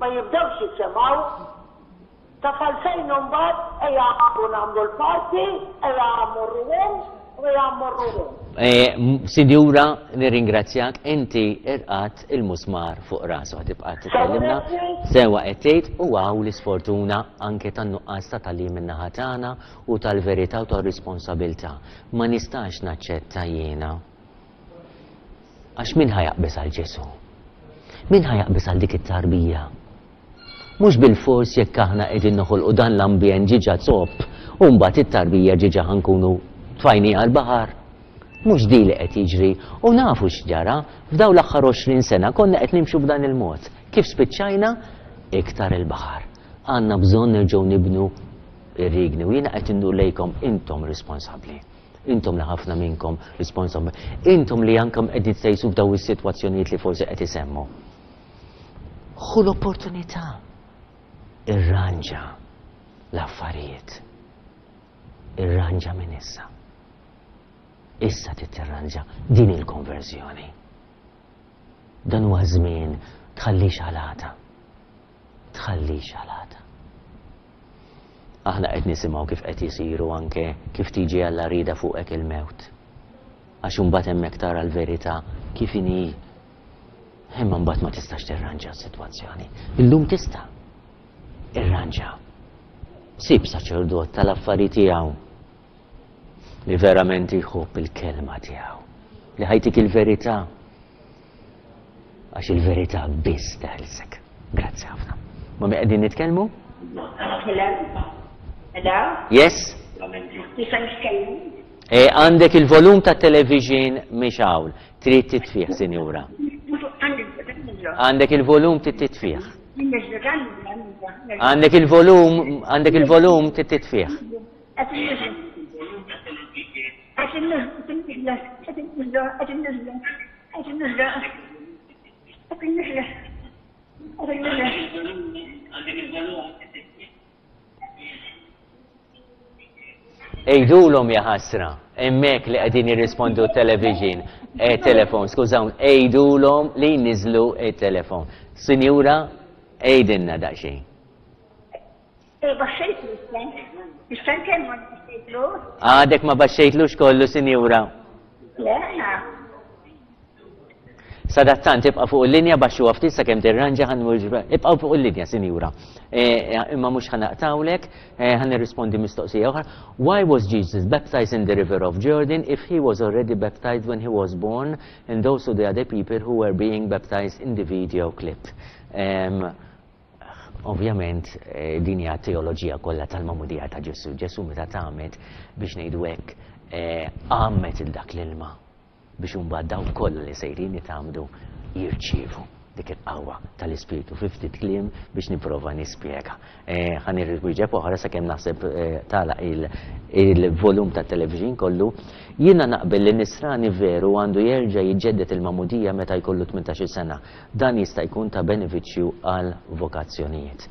ma jibdewx jisimgħu. Ta' għalfejn mbagħad ejja nagħmlu l-party, ejja mmorru hemm u ejja mmorru hemm. Eh, m- Sinjura, nirringrazzjak, inti irqat il-musmar fuq rasu, tibqa' tkellimna. Sewa qed tgħid u hawn l-isfortuna anke tan-nuqqas ta' tagħlim min-naħa tagħna u tal-verità u tar-responsabilità. Ma nistax naċċetta jiena. Għax min ħa jaqbeż għal Ġesu? Min ħa jaqbeż għal dik it-tarbija? Mhux bil-fors jekk aħna qegħdin noħolqu dan l-ambjent ġiġa zopp, u mbagħad it-tarbija ġiġa ħa nkunu tfajnieha l-baħar. Mhux di li qed jiġri u nafu x'ġara f'dawn l-aħħar għoxrin sena konna qed nimxu b'dan il-mod. Kif spiċċajna? Iktar il-baħar. Għandna bżonn nerġgħu nibnu ir-rigni u jiena qed indur lejkom intom responsabbli. Intom li ħafna minnkom responsabbli. Intom li anke qegħdin sejsu f'daw is-sitwazzjonijiet li forsi qed isemmu. Ħu l-opportunità. Irranġa l-affarijiet. Irranġa minn issa. Issa titirranġa din il-konverżjoni. Dan huwa żmien tħallix għal għada. Tħallix għal għada. Aħna qed nisimgħu kif qed isiru anke kif tiġi Alla rida fuqek il-mewt. Għax imbagħad hemmhekk tara l-verità kif inhi. Imma mbagħad ma tistax tirranġa s-sitwazzjoni. Illum tista' irranġa. Sib saċerdot tal-affari tiegħu li verament jħobb il-kelma tiegħu, li ħa jtik il-verità. Għax il-verità biss teħilsek. Grazzi ħafna. Ma mi qegħdin nitkellmu? Hello? Hello? Yes? Nista' nitkellem? E, għandek il-volum ta' television mixgħul. Trid titfih, sinjura. Għandek il-volum titfih. Għandek il-volum, għandek il-volum titfih. Għidulhom ja ħasra, hemmhekk li qegħdin jirrispondu television, eh, telefon, skużawn, għidulhom li jniżlu il-telefon. Sinjura, għidilna daqsxejn. Baxxejtlu, nista' nkellmu baxxejtlu? Għadek ma baxxejtlux kollu, sinjura. Le. Sadattant ibqa' fuq il-linja baxxu ftit sakemm tirranġa ħa ibqgħu fuq il-linja, sinjura. Imma mhux ħa naqtgħulek, ħa nirrispondi mistoqsija oħra. Why was Jesus baptized in the river of Jordan if he was already baptized when he was born and also the other people who were being baptized in the video clip? Um, Ovvjament, din hija teoloġija kollha tal-magħmudija ta' Ġesu. Ġesu meta tgħammed biex ngħidu hekk għammet il dak l-ilma biex imbagħad dawk kollha li sejrin jitgħammdu jirċievu dik Dik il-qawwa tal-Ispirtu fi ftit kliem biex nipprova nispjega. Ħa nirriwieġeb oħra sakemm naħseb tagħlaq il-volum tat-television kollu. Jiena naqbel li nisrani veru għandu jerġa' jiġġedded il-magħmudija meta jkollu tmintax-il sena. Dan jista' jkun ta' benefiċċju għal vokazzjonijiet.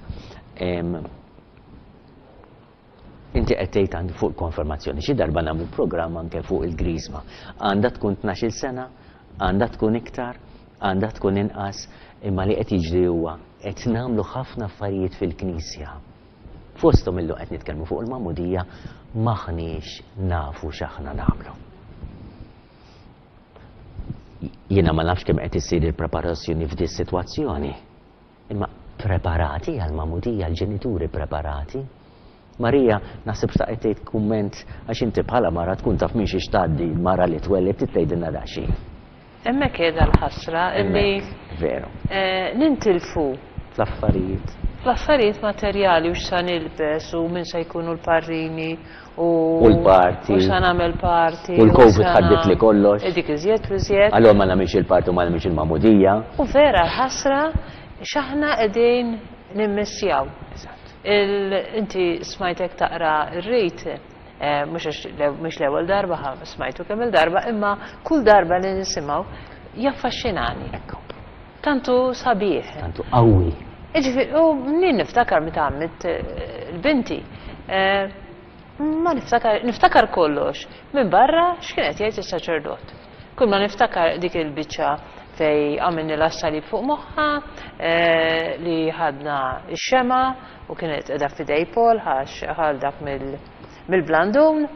Inti qed tgħid għandi fuq konfermazzjoni, xi darba nagħmlu programm anke fuq il-griżma. Għandha tkun tnax-il sena, għandha tkun iktar, għandha tkun inqas, imma li qed jiġri huwa qed nagħmlu ħafna affarijiet fil-Knisja. Fosthom illum qed nitkellmu fuq il-magħmudija, maħniex nafu x'aħna nagħmlu. Jiena ma nafx kemm qed issir il-preparazzjoni f'di s-sitwazzjoni. Imma preparati għall-magħmudija, l-ġenituri preparati. Marija, naħseb xtaqet tgħid kumment għax inti bħala mara tkun taf minn xiex tgħaddi l-mara li twelled tgħidilna daqsxejn. Hemmhekk qiegħda l-ħasra illi veru. Nintilfu fl-affarijiet. Fl-affarijiet materjali u x'sa nilbes u min se jkunu l-parrini u l-parti. U x'sa nagħmel parti. U l-Covid ħaddit li kollox. Dik iżjed u iżjed. Allura ma nagħmilx il-parti u ma nagħmilx il-magħmudija. U vera l-ħasra x'aħna qegħdin nimmissjaw. Inti smajtek taqra r-rit, mhux l-ewwel darba, smajtu kemm il-darba, imma kull darba li nisimgħu jaffaxxinani. Tantu sabiħ. Tantu qawwi. Jiġifieri, u min niftakar meta għamilt il-binti, ma niftakar, niftakar kollox minn barra x'kien qed jgħid is-saċerdot. Kull ma niftakar dik il-biċċa fej għamilni l-assalib fuq moħħa, li ħadna x-xema u kienet qiegħda f'idej Paul għax ħal dak mill-blandun.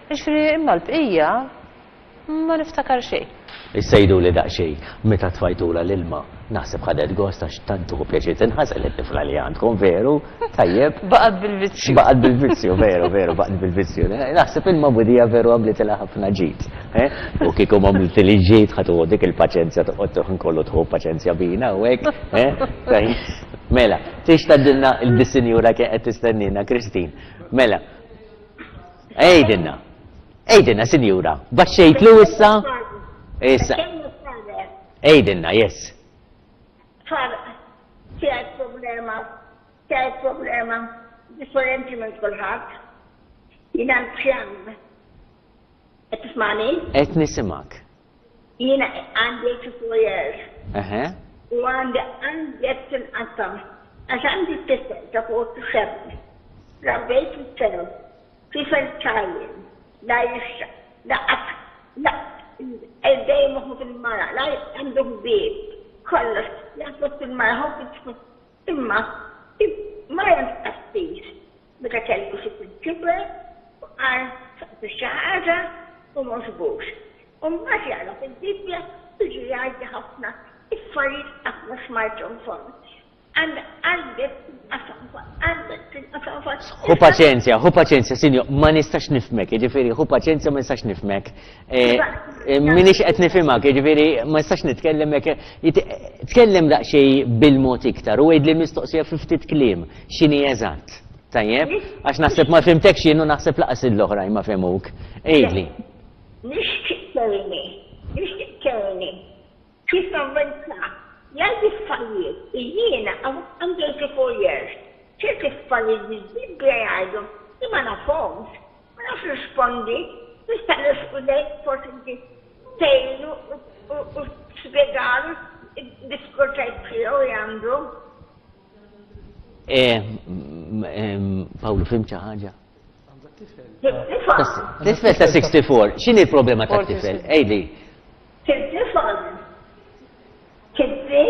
Jiġifieri imma l-bqija ma niftakar xejn. Issejdu li daqsxejn meta tfajtula l-ilma, naħseb ħadet gost għax tant tuħu pjaċir tinħasel it-tifla li għandkom, veru? Tajjeb. Baqgħet bil-vizzju. Baqgħet bil-vizzju, veru, veru, baqgħet bil-vizzju. Naħseb il-magħmudija veru għamlitilha ħafna ġid. U kieku m'għamlitilhi ġid ħa tuħu dik il-paċenzja toqgħod tuħ nkollu tħu paċenzja bina u hekk. Mela, tix tgħaddilna il-disinjura kien qed tistennina, Christine. Mela. Ejdilna. Ejdilna, sinjura. Baxxejtlu issa? Issa. Ejdilna, yes. Far, tiegħi problema, tiegħi problema differenti minn kulħadd. Jiena l-pjan. Qed tismani? Qed nisimgħek. Jiena għandi eighty-four years. Eħe. U għandi għandi qed tinqatta' għax għandi tifel ta' forty-seven. Rabbejt it-tifel. Tifel tajjeb. La jixxa, la qatt, la dejjem moħħu fil-mara, la għandu ħbieb, kollox, jaħseb fil-mara, hu fil-tifel. Imma mara tqassis meta kellu xi kiber u qal xi ħaġa u m'għoġbux. U mbagħad jaqra fil-Bibbja jiġi jgħidli ħafna affarijiet qatt ma smajthom fond. Ħu paċenzja, ħu paċenzja, sinjo, ma nistax nifhmek, jiġifieri, ħu paċenzja ma nistax nifhmek. Minix qed nifhimha, jiġifieri, ma nistax nitkellem hekk. Tkellem daqsxejn bil-mod iktar u għidli mistoqsija fi ftit kliem, x'inhi eżatt. Tajjeb? Għax naħseb ma fhimtekx jien u naħseb laqas l-oħrajn ma fehmuk. Għidli. Nixtieq tgħinni, nixtieq tgħinni. Kif avvenza? Jgħid affarijiet, jiena għandi eighty-four years, ċerti affarijiet li l-Bibbja jgħidu li ma nafhomx, ma nafx rispondi, nista' nirrispondek forsi inti tgħinu u spjegalu id-diffikultajiet tiegħu li għandu. Pawlu, fhimt xi ħaġa? Tifel ta' sixty-four, x'inhi l-problema tat-tifel? Ejli. Tifel. Kibbi?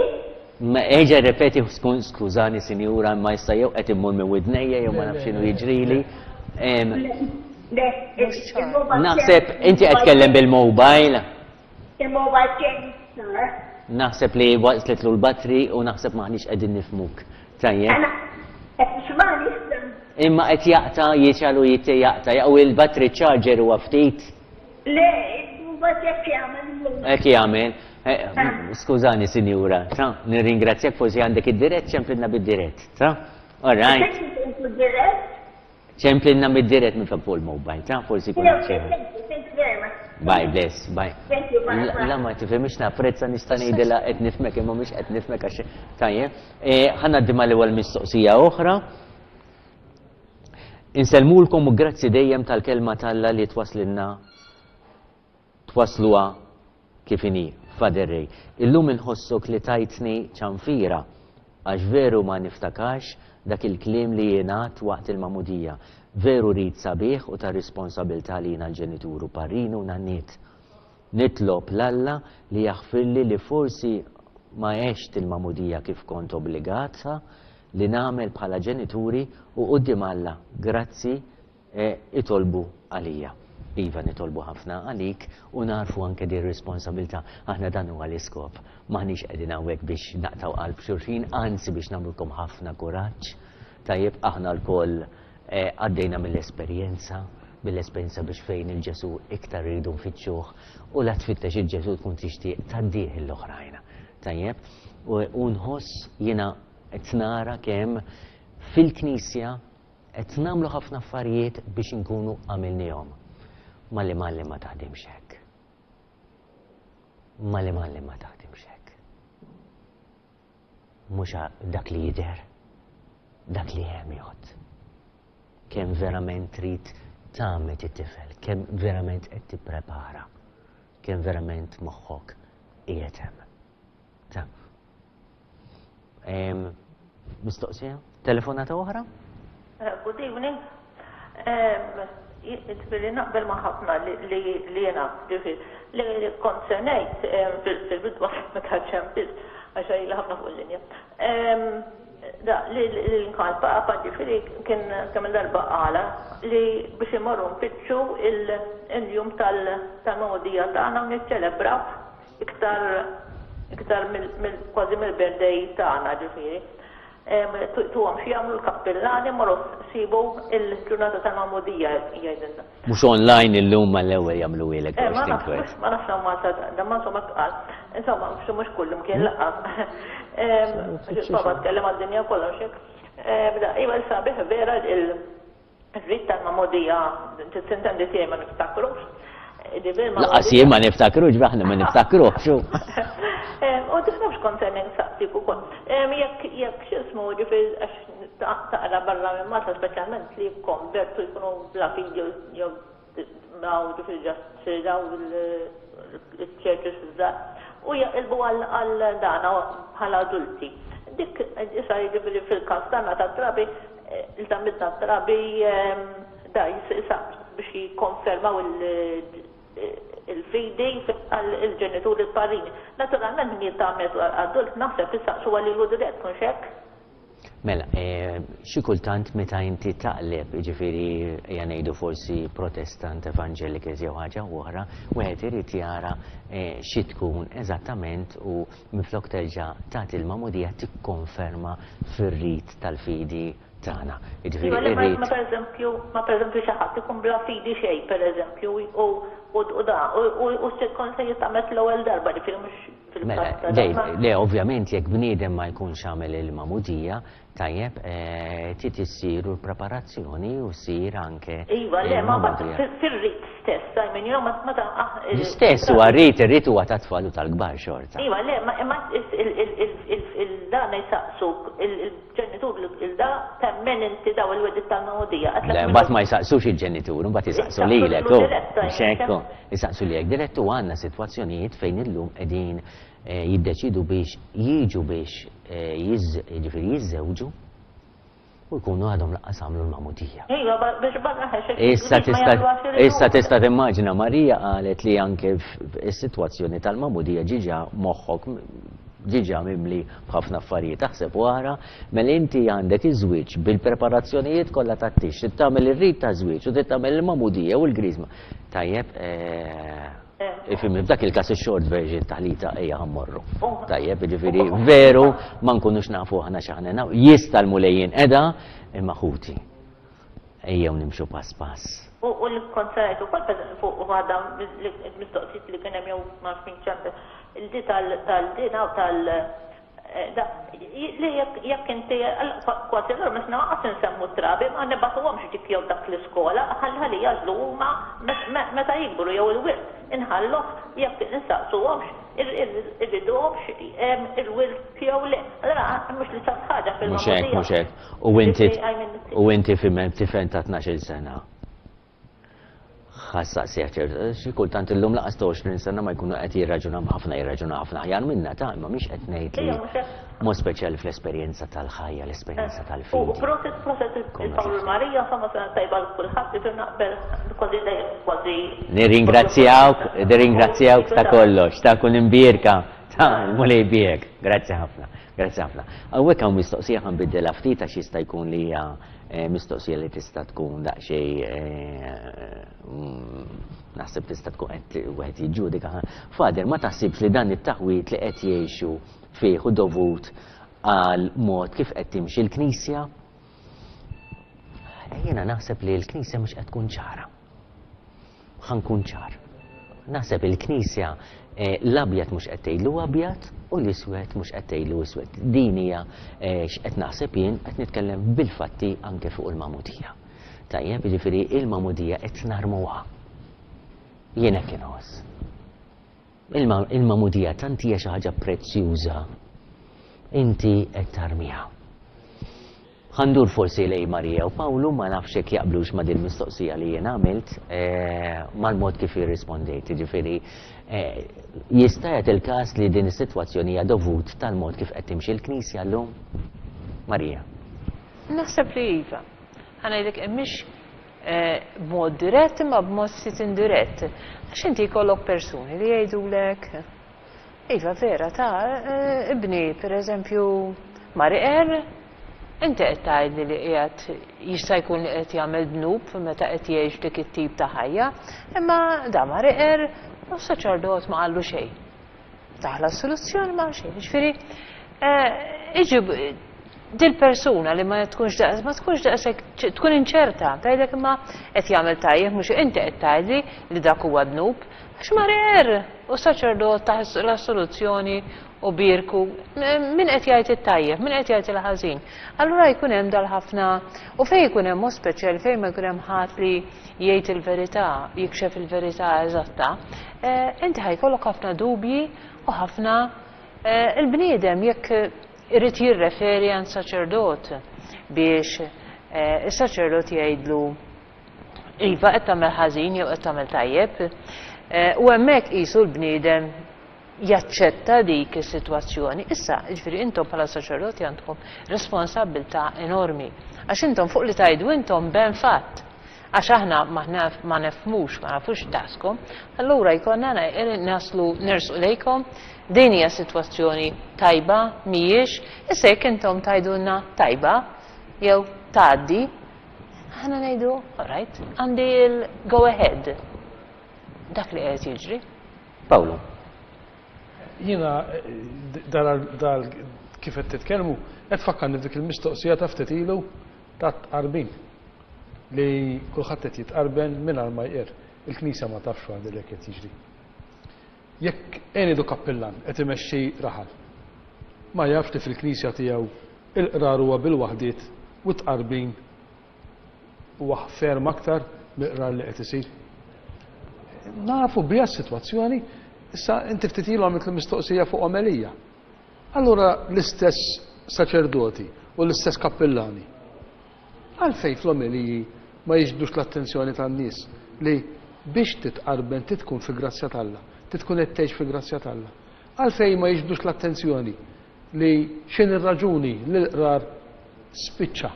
Ma eġa repeti, skużani sinjura, ma jista' jew qed immur minn widnejja jew ma nafx x'inhu jiġrili. Naħseb inti qed tkellem bil-mobile. Il-mobile kien sar. Naħseb li waqtlitlu l-batri u naħseb maħniex qegħdin nifhmuk. Tajjeb. Qed tismani issa. Imma qed jaqta' jiċalu jitti jaqta' jew il-batri charger huwa ftit. Le, il-mobile hekk jagħmel. Hekk jagħmel. Skużani, sinjura, ta' nirringrazzjak forsi għandek id-dirett, ċemplilna bid-dirett, ta'? All right. Ċemplilna bid-dirett minn fuq il-mobile, ta' forsi kun ċemplilna. Bye, bless, bye. Thank you, bye. bye. La ma tifhimx napprezza nista' ngħidilha qed nifhmek imma mhux qed nifhmek għax tajjeb. Eh, ħa ngħaddi mal-ewwel mistoqsija oħra. Insellmulkom u grazzi dejjem tal-kelma t'Alla li twasslilna twasluha kif inhi, Father Ray. Illum inħossok li tajtni ċanfira għax veru ma niftakarx dak il-kliem li jingħad waqt il-magħmudija. Veru rit sabiħ u ta' responsabilità li jiena l-ġenituru, parrinu u nanniet. Nitlob 'l Alla li jaħfirli li forsi ma għext il-magħmudija kif kont obbligata li nagħmel bħala ġenituri u quddiem Alla. Grazzi, eh, itolbu għalija. Iva, nitolbu ħafna għalik u narfu anke di responsabilità. Aħna dan huwa l-iskop. Maħniex qegħdin hawnhekk biex naqtgħu qalb xulxin, anzi biex nagħmlulkom ħafna kuraġġ. Tajjeb, aħna lkoll eh, għaddejna mill-esperjenza, mill-esperjenza biex fejn il-Ġesu iktar rridu nfittxuh u la tfittex il-Ġesu tkun tixtieq tgħaddih l-oħrajn. Tajjeb, u nħoss jiena qed nara kemm fil-Knisja qed nagħmlu ħafna affarijiet biex inkunu għamilnihom. Malli malli ma taħdimx hekk. Malli malli ma taħdimx hekk. Mhux dak li jidher, dak li hemm jgħodd. Kemm verament trid tgħammed it-tifel, kemm verament qed tipprepara, kemm verament moħħok qiegħed hemm. Ta' Mistoqsija? Telefonata oħra? Eh, good evening. Ġifieri naqbel ma' ħafna li jena, ġifieri, li kont se ngħid fil-bidu meta ċempilt, għax ili ħafna fuq il-linja. Da, li l-inkal papa ġifieri kien kemm darba qala li biex imorru nfittxu il-jum tal-magħmudija tagħna u niċċelebraw iktar iktar kważi mill-birthday tagħna ġifieri. Tuhom xi jagħmlu l-kappillani morru sibu il-ġurnata tal-magħmudija jgħidilna. Mhux online illum mal-ewwel jagħmlu ilek. Eh, ma nafx ma nafx Malta da ma insomma qal. Insomma mhux kullum kien laqas. Papa tkellem għad-dinja kollha xek. Bda, iva sabiħ vera il-rit tal-magħmudija, tintendi tiegħi ma niftakrux. Lanqas jien ma niftakrux, aħna ma niftakrux. U tifnafx kont se nsaqsik ukoll. Jekk jekk x'ismu ġifieri għax taqra barra minn Malta speċjalment li jikkonvertu jkunu bla fidi jew daw ġifieri just daw il-churches żgħar u jaqilbu għal dana bħala adulti. Dik issa jiġifieri fil-każ tagħna tat-trabi il-tamidna trabi da jisa biex jikkonfermaw il-fidi għal-ġenituri il-parrini. Naturalment min jitgħammed adult naħseb issaqsu għalilu dirett, mhux hekk? Mela, eh, xi kultant meta inti taqleb, jiġifieri ejja ngħidu forsi Protestant, Evangelicals jew ħaġa oħra, wieħed irid jara eh, xi tkun eżattament u minflok terġa' tagħti l-magħmudija tikkonferma fir-rit tal-fidi tagħna. Jiġifieri Iva, ma ma pereżempju, ma pereżempju xi ħadd ikun bla fidi xejn pereżempju u u da u u se se jitgħammed l-ewwel darba ġifieri mhux Mela, fil-każ le, ovvjament jekk bniedem ma jkunx għamel il-magħmudija, tajjeb, eh, trid issir l-preparazzjoni u ssir anke Iva, le, ma il-magħmudija. fir-rit stess, I mean, you know, ma ta' ah, L-istess huwa rrit, ir-rit huwa ta' tfal u tal-kbar xorta. Iva, le, ma imma il-dan jisaqsuk, il-ġenitur il-da temmen inti daw il-wedit tal-magħmudija. Le, mbagħad ma jisaqsux il-ġenitur, mbagħad jisaqsu lilek, Jisaqsu oh, dirett, mhux hekk, oh. Jisaqsu lilek dirett u għandna sitwazzjonijiet fejn illum qegħdin eh, jiddeċidu biex jiġu biex eh, jiż- jiġifieri jiżżewġu u jkunu għadhom lanqas għamlu l-magħmudija. Iva, biex barra Issa tista' issa tista' timmaġina Marija qalet li anke is-sitwazzjoni tal-magħmudija ġiġa moħħok ġiġa mimli b'ħafna affarijiet taħseb wara, mela inti għandek iż-żwieġ bil-preparazzjonijiet kollha tat-tix, trid tagħmel ir-rit ta' żwieġ u trid tagħmel il-magħmudija u l-griżma. Tajjeb, eh, ifhimni, f'dak il-każ ix-short version taħlita ejja ħa mmorru. Tajjeb, jiġifieri veru ma nkunux nafu aħna x'aħna nafu. Jista' l-Mulej jinqeda imma ħuti. Ejjew nimxu pass pass. U u l-konsert ukoll fuq waħda mistoqsijiet li kien hemm jew ma nafx min ċempel, il-di tal-dina u tal Li jekk inti kważi allura meta naqas insemmu trabi ma nibagħtuhomx dik jew dak l-iskola, ħalli jagħżlu huma meta jikbru jew il-wirt inħalluh jekk insaqsuhomx irriduhomx il-wirt jew le. Allura mhux l-istess ħaġa fil Mhux hekk, mhux hekk. U inti u inti tifhem ta' tnax-il sena. Ħassaqsija ċertu, xi kultant illum laqas ta' għoxrin sena ma jkunu qed jirraġunaw ħafna jirraġunaw ħafna aħjar minna ta' imma mhix qed ngħid li mod speċjali fl-esperjenza tal-ħajja, l-esperjenza tal-fidi. U proset, proset il-Pawlu Marija, insomma sena tajba l kulħadd, jiġu naqbel kważi dejjem kważi. Nirringrazzjawk, nirringrazzjawk ta' kollox, ta' kun imbierka, ta' l-Mulej biek. Grazzi ħafna, grazzi ħafna. Hawnhekk hawn mistoqsija ħa nbiddilha ftit għax jista' jkun li hija mistoqsija li tista' tkun daqsxejn naħseb tista' tkun qed wieħed jiġġudika. Fader, ma taħsibx li dan it-taħwit li qed jgħixu fih u dovut għal mod kif qed timxi l-Knisja? Jiena naħseb li l-Knisja mhux qed tkun ċara. Ħa nkun ċar. Naħseb il-Knisja l-abjad mhux qed tgħidlu abjad u l-iswed mhux qed tgħidlu iswed. Din hija x'qed naħseb jien, qed nitkellem bil-fatti anke fuq il-magħmudija. Tajjeb, jiġifieri il-magħmudija qed narmuha. Jien hekk inħoss. Il-magħmudija tant hija xi ħaġa prezzjuża, inti qed tarmiha. Ħandur forsi lej Marija u Pawlu, ma nafx hekk jaqblux ma' din mistoqsija li jien għamilt, mal-mod kif jirrispondejt. Jiġifieri jista' jagħti il-każ li din is-sitwazzjoni hija dovut tal-mod kif qed timxi l-Knisja llum? Marija. Naħseb li iva. Ħa ngħidlek mhix b'mod dirett imma b'mod ftit indirett. Għax inti jkollok persuni li jgħidulek iva vera ta' ibni pereżempju mar iqer, inti qed tgħidli li qiegħed jista' jkun li qed jagħmel dnub meta qed jgħix dik it-tip ta' ħajja, imma da mar iqer u s-saċerdot ma qallu xejn. Taħla soluzzjoni ma xejn. Jiġifieri iġib dil-persuna li ma tkunx daqs, ma tkunx daqshekk tkun inċerta, tgħidlek imma qed jagħmel tajjeb mhux inti qed tgħidli li dak huwa dnub, għax mar iqer u s-saċerdot taħ la soluzzjoni u birku, min qed jgħid it-tajjeb, min qed jgħid il-ħażin. Allura jkun hemm dal-ħafna, u fejn jkun hemm mod speċjali fejn ma jkun hemm ħadd li jgħid il-verità, jikxef il-verità eżatta, inti ħajkollok ħafna dubji u ħafna il-bniedem jekk irid jirreferi għand saċerdot biex is-saċerdot jgħidlu iva qed tagħmel ħażin jew qed tagħmel tajjeb. U hemmhekk qisu l-bniedem jaċċetta dik is-sitwazzjoni. Issa, jiġifieri intom bħala saċerdoti għandkom responsabbiltà enormi. Għax intom fuq li tgħidu intom ben fatt. Għax aħna ma nefhmux, ma nafux taskom, allura jkollna naslu nersqu lejkom, din hija sitwazzjoni tajba, mhijiex, issa jekk intom tgħidulna tajba jew tgħaddi, aħna ngħidu, all right, għandi il-go ahead. Dak li qed jiġri. Pawlu. Jiena dal kif qed titkellmu, qed tfakkarni f'dik il-mistoqsija ta' ftit ilu ta' tqarbin li kulħadd qed jitqarben mingħajr ma jqir. Il-Knisja ma tafx għandi li qed jiġri. Jekk għenidu kappillan qed imexxi raħal, ma jafx li fil-Knisja tiegħu il-qrar huwa bil-waħdiet u tqarbin huwa ferm aktar mill-qrar li qed isir. Nafu biha s-sitwazzjoni. Issa inti ftit ilu għamilt l-mistoqsija fuq omelija. Allura l-istess saċerdoti u l-istess kappillani għalfejn fl-omeliji ma jiġbdux l-attenzjoni tan-nies li biex titqarben titkun fi grazzja t'Alla, titkun qed tgħix fi grazzja t'Alla. Għalfejn ma jiġbdux l-attenzjoni li x'in ir-raġuni li l-qrar spiċċa.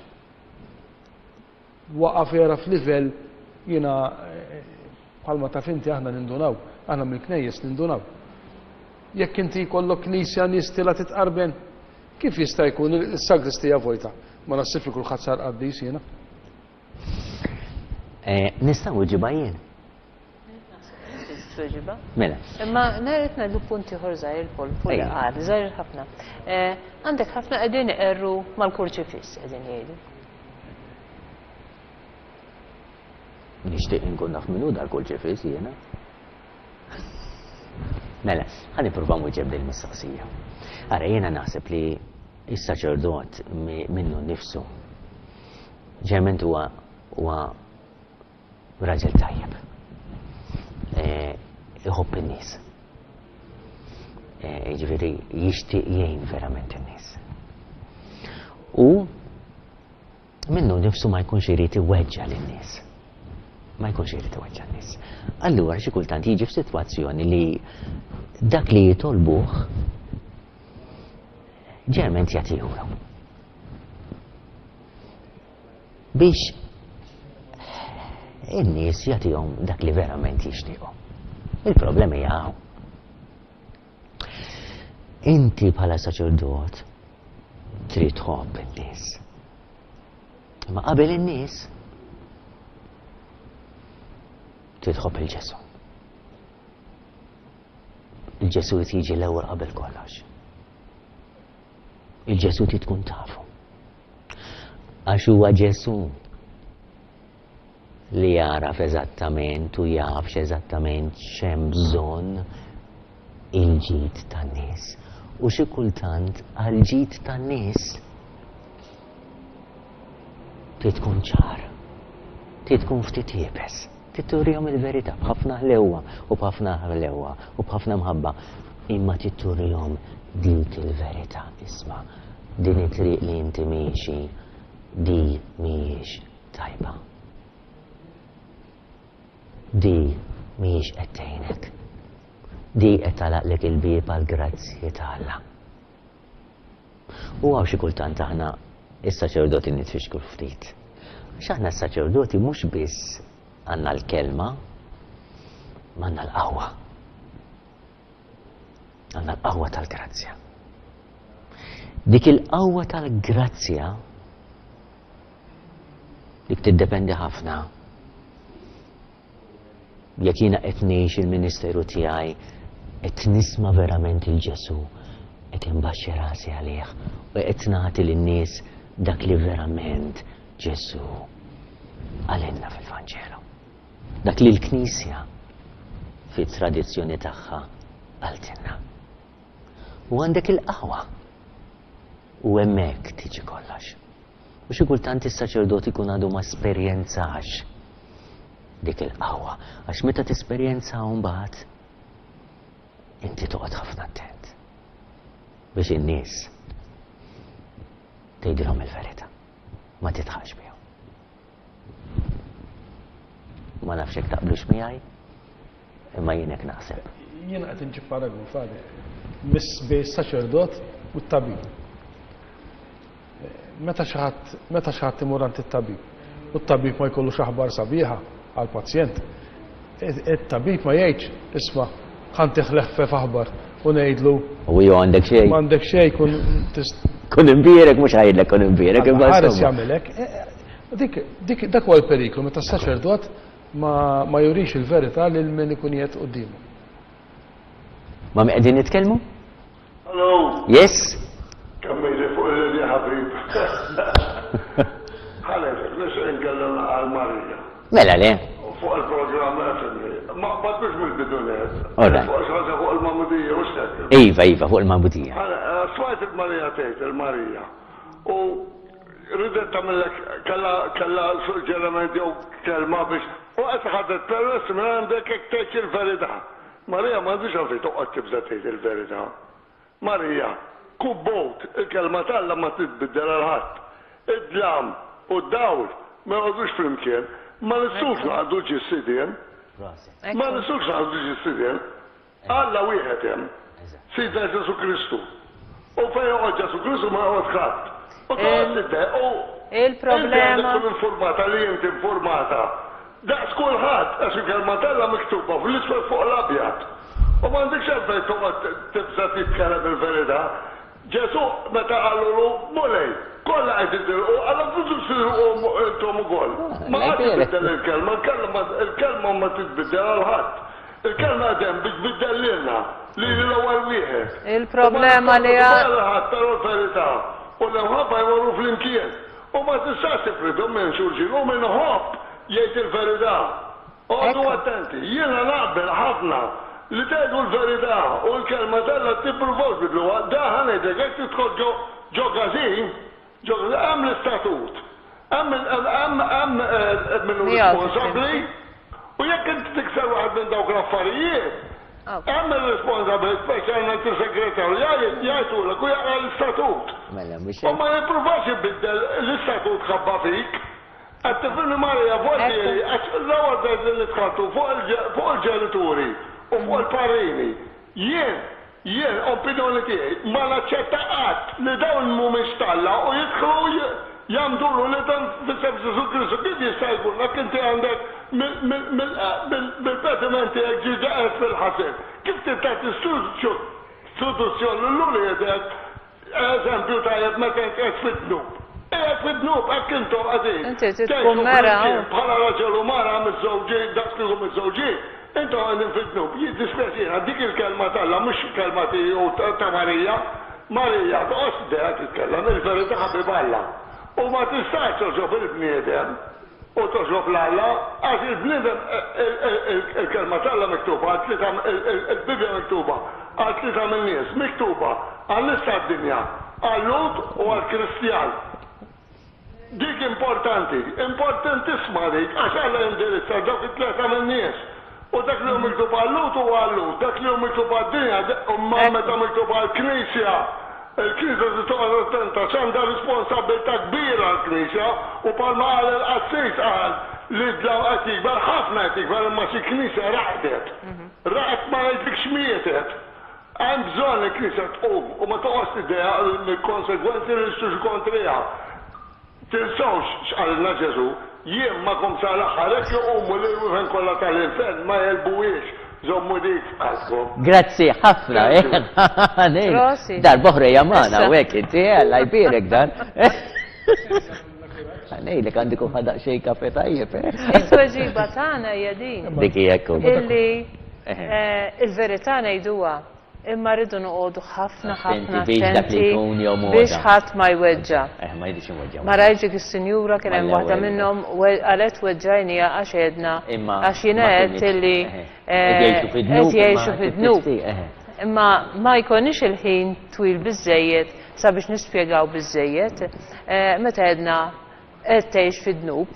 Waqa' vera f'livell jiena bħalma taf inti aħna nindunaw, aħna mill-knejjes nindunaw. Jekk inti jkollok knisja nies tilha titqarben, kif jista' jkun is-sagristija vojta? Ma naħsibx li kulħadd sar qaddis jiena. Nistgħu nġibha jien. Mela. Imma ngħid ngħidu punt ieħor żgħir Paul, fuq li qal, żgħir ħafna. Għandek ħafna qegħdin iqerru mal-kurċifiss qegħdin jgħidu. Nixtieq inkun naf min hu dal-kurċifiss jiena. Mela, ħa nipprova nwieġeb din mistoqsija. Ara, jiena naħseb li is-saċerdot minnu nnifsu ġeneralment huwa huwa raġel tajjeb. Iħobb in-nies. Jiġifieri jixtieq jgħin verament in-nies. U minnu nnifsu ma jkunx irid iweġġa' lin-nies. Ma jkunx irid iweġġa' n-nies. Allura xi kultant jiġi f'sitwazzjoni li dak li jitolbuh ġeneralment jagħtihulu. Biex in-nies jagħtihom dak li verament jixtiequ. Il-problema hija hawn. Inti bħala saċerdot trid tħobb in-nies. Imma qabel in-nies trid tħobb il-Ġesù. Il-Ġesù jiġi l-ewwel qabel kollox. Il-Ġesù trid tkun tafu. Għax huwa Ġesù li jaraf eżattament u jaf eżattament x'hemm bżonn il-ġid tan-nies. U xi kultant għal-ġid tan-nies trid tkun ċar, trid tkun ftit iebes, trid turihom il-verità b'ħafna ħlewwa u b'ħafna ħlewwa u b'ħafna mħabba, imma trid turihom dik il-verità. Isma', din it-triq li inti miexi di mhijiex tajba. Di mhijiex qed tgħinek. Di qed tagħlaqlek il-bieb għall-grazzji ta' Alla. U hawn xi kultant aħna is-saċerdoti nitfixklu ftit. Għax aħna s-saċerdoti mhux biss għandna l-kelma, ma għandna l-qawwa. Għandna l-qawwa tal-grazzja. Dik il-qawwa tal-grazzja dik tiddependi ħafna jekk jiena qed ngħix il-ministeru tiegħi qed nisma' verament il-Ġesù, qed inbaxxi rasi għalih u qed nagħti lin-nies dak li verament Ġesù qalilna fil-Vanġelu. Dak li l-Knisja fit-tradizzjoni tagħha qaltilna. U għandek il-qawwa u hemmhekk tiġi kollox. U xi kultant is-saċerdot ikun għadu ma esperjenzax dik il-qawwa, għax meta tesperjenza mbagħad inti toqgħod ħafna attent biex in-nies tgħidilhom il-verità, ma titħax bihom. Ma nafx hekk taqblux miegħi, imma jien hekk naħseb. Jiena qed inġib paragun Father, miss bejn saċerdot u t-tabib. Meta xi ħadd meta xi ħadd imur għand it-tabib u t-tabib ma jkollux aħbar sabiħa għall-pazjent, it-tabib ma jgħidx isma' ħa ntih leħfef aħbar u ngħidlu U jew għandek xejn. M'għandek xejn kun tist Kun imbierek mhux ħajdlek kun imbierek imma ħares insomma. jagħmelek. Dik dik dak huwa l-periklu meta s-saċerdot ma ma jurix il-verità lil min ikun qiegħed quddiemu. Ma' min qegħdin nitkellmu? Hello. Yes? Kemm ili fuq il-linja ħabib. Ħalek, nixtieq nkellem għal Marija. Mela le. Fuq il-programm fimni. Ma batux mill-bidu net. All right. Fuq xi ħaġa fuq il-Magħmudija u x'hekk. Iva, iva, fuq il-Magħmudija. Smajt il-Marija tgħid il-Marija. U ridet tagħmellek kellha kellha suġġeriment jew kelma biex u qed ħadet permess minn għandek jekk tgħid il-verità. Marija m'għandix għalfejn toqgħod tibża' tgħid il-verità. Marija, kubbot, il-kelma t'Alla ma titbiddel għal ħadd. Id-dlam u d-dawl ma joqogħdux flimkien. Ma nistgħux naqdu żewġ sidien. Ma nistgħux naqdu żewġ sidien. Alla wieħed hemm. Sidna Ġesù Kristu. U fejn joqgħod Ġesù Kristu ma joqgħod ħadd. U toqgħod tidde- u Il-problema. Inti għandek tkun informata li inti informata. Daqs kulħadd għax il-kelma t'Alla miktuba fl-iswed fuq l-abjad. U m'għandekx għalfejn toqgħod tibża' titkellem il-verità. Ġesù meta qalulu Mulej, kollha qed itilqu, għalhekk tridux titilqu intom ukoll. Ma qatt tbiddel il-kelma, il-kelma il-kelma ma titbiddel għal ħadd. Il-kelma qed hemm biex tbiddel lilna, lili l-ewwel wieħed. Il-problema li għal ħadd però l-verità u l-imħabba jmorru flimkien. U ma tistax tifridhom minn xulxin u min iħobb jgħid il-verità. Oqogħdu attenti, jiena naqbel ħafna Li tgħidu l-verità u l-kelma t'Alla tippruvawx tbiddluha. Da ħa ngħidlek, jekk tidħol ġo ġo każin, ġo hemm l-istatut. Hemm hemm hemm min hu responsabbli u jekk inti tikser waħed minn dawk l-affarijiet, hemm ir-responsabbli, speċjalment is-segretarju, jgħidulek u jaqra l-istatut. U ma jippruvax ibiddel l-istatut ħabba fik. Qed tifhimni Maria, voltieri, għax l-ewwel bdejt li dħaltu fuq il-ġenituri u fuq il-parrini. Jien, jien, opinjoni tiegħi, ma naċċetta qatt li dawn mhumiex t'Alla u jidħlu jgħammdu l-uliedhom f'isem Ġesù Kristu. Kif jista' jkun jekk inti għandek mill-pediment tiegħek ġiġa qiegħed fil-ħażin? Kif trid tagħti istituzzjoni lil uliedek Eżempju tajjeb meta int qiegħed fid-dnub. Qiegħed fid-dnub, hekk intom qegħdin. Inti trid Tgħixu tkun mera. flimkien bħala raġel u mara miżżewġin, daqs kieku miżżewġin, intom qegħdin fid-dnub. Jiddispjaċina, dik il-kelma t'Alla mhux kelma tiegħi u ta' Marija. Marija, toqgħodx tiddejjaq titkellem, il-verità ħabib Alla. U ma tistax togħġob il-bniedem. U togħġob 'l Alla, għax il-bniedem, il-Kelma t'Alla miktuba għal tlieta, il-Bibbja miktuba għal tlieta min-nies, miktuba għan-nies tad-dinja, għal-Lhud u għall-Kristjan. Dik importanti, importantissima dik, għax Alla jindirizza dawk it-tlieta min-nies. U dak li hu miktub għal-Lhud huwa għal-Lhud, dak li hu miktub għad-dinja, imma meta miktub għall-Knisja, il-Knisja trid toqgħod attenta għax għandha responsabbiltà kbira l-Knisja u bħalma qal il-qassis qal li d-dlam qed jikber, ħafna qed jikber imma xi Knisja raqdet. Raqdet ma ngħidlikx mietet. Hemm bżonn li l-Knisja tqum u ma toqgħodx tiddejjaq mill-konsegwenzi li jistgħu jiġu kontriha. Tinsewx x'qalilna Ġesù, Jien magħkom sa l-aħħar, hekk iqumu l-irwiefen kollha tal-infern ma jegħlbuhiex. Żommu dik f'qalbkom. Grazzi ħafna. Prosit. Darb'oħra hija magħna hawnhekk inti, Alla jbierek dan. Ngħidlek għandi kun ħadaq xejn kafe tajjeb. It-tweġiba tagħna hija din. Dik hija hekk. Illi il-verità ngħiduha. Imma rridu noqogħdu ħafna ħafna attenti biex ħadd ma jweġġa'. Eh, ma jridx iweġġa'. Ma rajtx dik is-sinjura kien hemm waħda minnhom qalet weġġajniha għax għedna għax jiena għedt illi qed jgħixu fid-dnub. Imma ma jkollniex il-ħin twil biżżejjed sabiex nispjegaw biżżejjed. Meta għedna qed tgħix fid-dnub,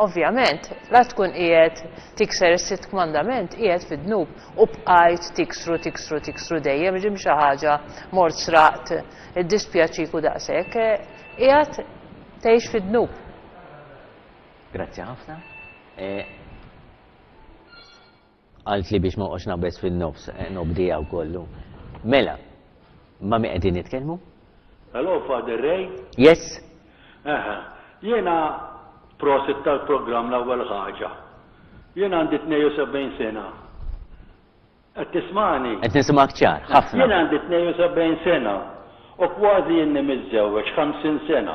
ovvjament, la tkun qiegħed tikser is-sitt kmandament, qiegħed fid-dnub u bqajt tiksru, tiksru, tiksru dejjem, ġim xi ħaġa, mort sraqt, iddispjaċik u daqshekk, qiegħed tgħix fid-dnub. Grazzi ħafna. Qaltli biex ma noqgħodx naqbeż fin-nofs, nobdiha wkollu. Mela, ma' min qegħdin nitkellmu? Hello, Father Ray? Yes. Eħe, jiena prosit tal-programm l-ewwel ħaġa. Jien għandi tnejn u sebgħin sena. Qed tismagħni? Qed nisimgħek ċar, ħafna. Jien għandi tnejn u sebgħin sena u kważi inni miżżewweġ ħamsin sena.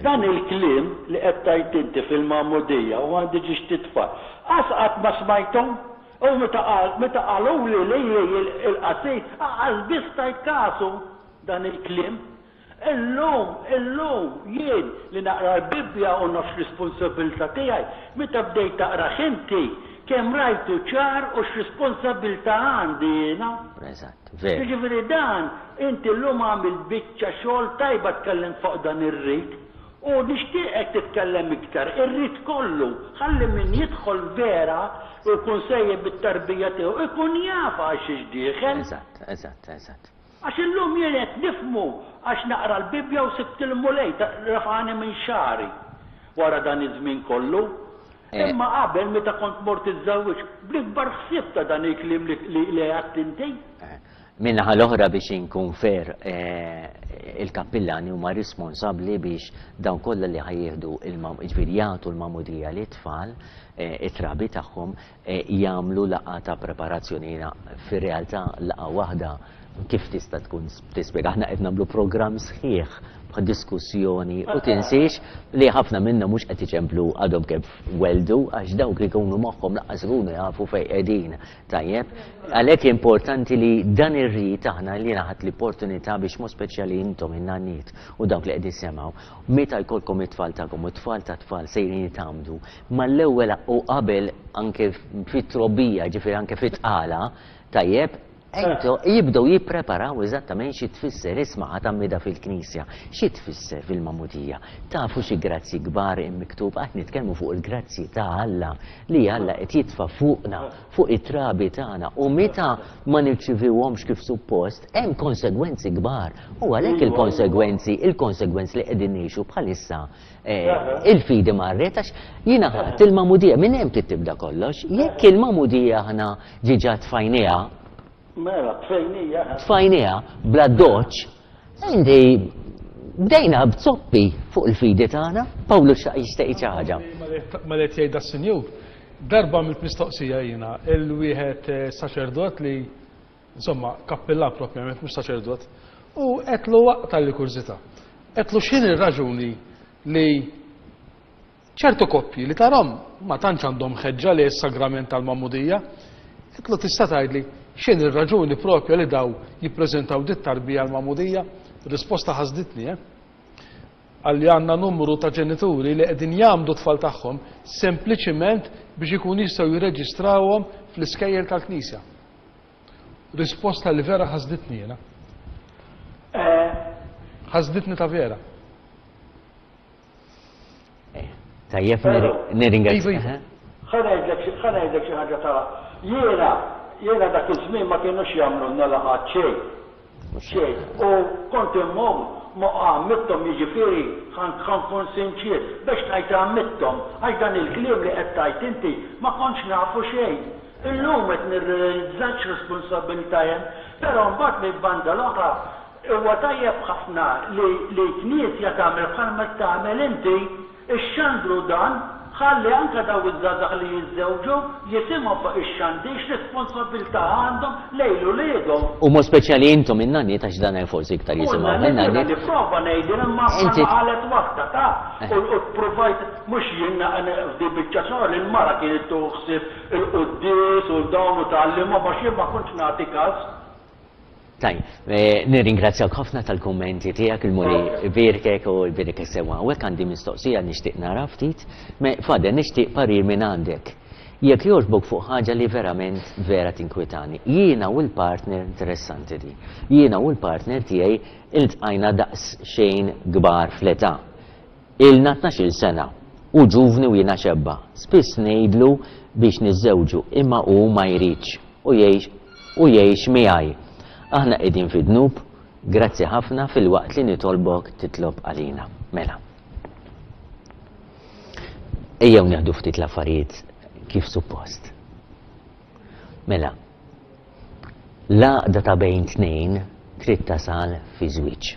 Dan il-kliem li qed tgħid inti fil-magħmudija u għandi ġiex titfal, qas qatt ma smajthom. U meta qal, meta qaluli lili il-qassis, qas biss tajt kasu dan il-kliem. Illum, illum, jien li naqra l-Bibbja u naf x'responsabilità tiegħi, meta bdejt taqrah inti, kemm rajtu ċar u x'responsabilità għandi jiena. Eżatt, veru. Jiġifieri dan, inti llum għamilt biċċa xogħol tajba tkellimt fuq dan ir-rit. U nixtieqek titkellem iktar, ir-rit kollu, ħalli min jidħol vera u jkun sejjer bit-tarbija tiegħu jkun jaf għal xiex dieħel. Eżatt, eżatt, eżatt. Għax illum jien qed nifhmu għax naqra l-Bibbja u sibt il-Mulej refagħni minn xagħri wara dan iż-żmien kollu. Imma qabel meta kont mort iżżewwiġt bl-ikbar ħsieb ta' dan il-kliem li għedt inti. Min-naħa l-oħra biex inkun fair, il-kappillani huma responsabbli biex dawn kollha li ħa jieħdu jiġifieri jagħtu l-magħmudija lit-tfal, it-trabi tagħhom, jagħmlu laqgħa ta' preparazzjoni. Jiena fir-realtà laqgħa waħda Kif tista' tkun tispjega? Aħna qed nagħmlu programm sħiħ bħal diskussjoni u tinsiex li ħafna minna mhux qed iċemplu għadhom kif weldu għax dawk li jkunu moħħhom lanqas ikunu jafu fejn qegħdin. Tajjeb, għalhekk importanti li dan ir-rit aħna li ħadt l-opportunità biex mod speċjali intom in-nanniet u dawk li qed jisimgħu, meta jkollkom it-tfal tagħkom u t-tfal ta' tfal sejrin jitgħammdu, mal-ewwel u qabel anke fit-trobbija, ġifieri anke fit-tqala, tajjeb, Ento jibdew jippreparaw eżattament xi tfisser isma' tgħammida fil-Knisja, xi tfisser fil-Magħmudija. Tafu xi grazzji kbar miktub, qed nitkellmu fuq il-grazzji ta' Alla li Alla qed jitfa' fuqna, fuq it-trabi tagħna, u meta ma nirċivuhomx kif suppost, hemm konsegwenzi kbar. U għalhekk il-konsegwenzi, il-konsegwenzi li qegħdin ngħixu bħalissa, il-fidi marret, għax jiena ħadd il-Magħmudija minn hemm trid tibda kollox, jekk il-Magħmudija aħna ġiġa tfajniha, Mela, tfejnija. Tfajnija, bla doċ, inti bdejna b'zoppi fuq il-fidi tagħna. Pawlu xaq jixtieq xi ħaġa. Ma li jgħid das-sinjur, darba għamilt mistoqsija jiena, il-wieħed saċerdot li, insomma, kappillan propjament, mhux saċerdot, u għedtlu waqt li kurżità. Għedtlu x'inhi r-raġuni li ċertu koppji li tarhom ma tantx għandhom ħeġġa li s-sagrament tal-Magħmudija, għedtlu tista' tgħidli x'inhi r-raġuni propja li daw jippreżentaw dit tarbija l-Magħmudija? Risposta ħasditni, eh? Għalli għandna numru ta' ġenituri li qegħdin jgħammdu tfal tagħhom sempliċiment biex ikun jistgħu jirreġistrawhom fl-iskejjel tal-Knisja. Risposta li vera ħasditni jiena. Ħasditni ta' vera. Tajjeb, nirringrazzja. Ħa ngħidlek xi ħaġa ta' jiena jiena dak iż-żmien ma kienux jagħmlulna laqgħat xejn. Xejn. U kont immur ma għammitthom, jiġifieri ħa nkun sinċier, biex ngħid għammitthom, għax dan il-kliem li qed tgħid inti ma kontx nafu xejn. Illum qed nirrealizza x'responsabilità hemm, però mbagħad minn banda l-oħra huwa tajjeb ħafna li li knisja tagħmel bħalma tagħmel inti, ixxandru dan, ħalli anke daw iż-żgħażagħ li jiżżewġu jisimgħu fuq ix-xandir x'responsabilità għandhom lejn uliedhom. U mod speċjali intom in-nanniet għax dan forsi iktar jisimgħu min-nanniet. Nipprova ngħidil imma bħalma qalet waħda ta' u provajt mhux jien f'di biċċa xogħol il-mara kienet tuħsib il-quddies u dawn u tgħallimhom għax jien ma kontx nagħti każ. Tajjeb, nirringrazzjak ħafna tal-kummenti tiegħek, il-Mulej ibierkek u jbierkek sewwa. U hekk għandi mistoqsija nixtieq nara ftit. Fader, nixtieq parir minn għandek. Jekk jogħġbok fuq ħaġa li verament vera tinkwitani. Jiena u l-partner interessanti di. Jiena u l-partner tiegħi iltqajna daqs xejn kbar fl-età. Ilna tnax-il sena u ġuvni u jiena xebba. Spiss ngħidlu biex niżżewġu imma hu ma jridx u jgħix u jgħix miegħi. Aħna qegħdin fid-dnub, grazzi ħafna fil-waqt li nitolbok titlob għalina. Mela. Ejjew nieħdu ftit l-affarijiet kif suppost. Mela. L-għaqda ta' bejn tnejn trid tasal fi żwieġ.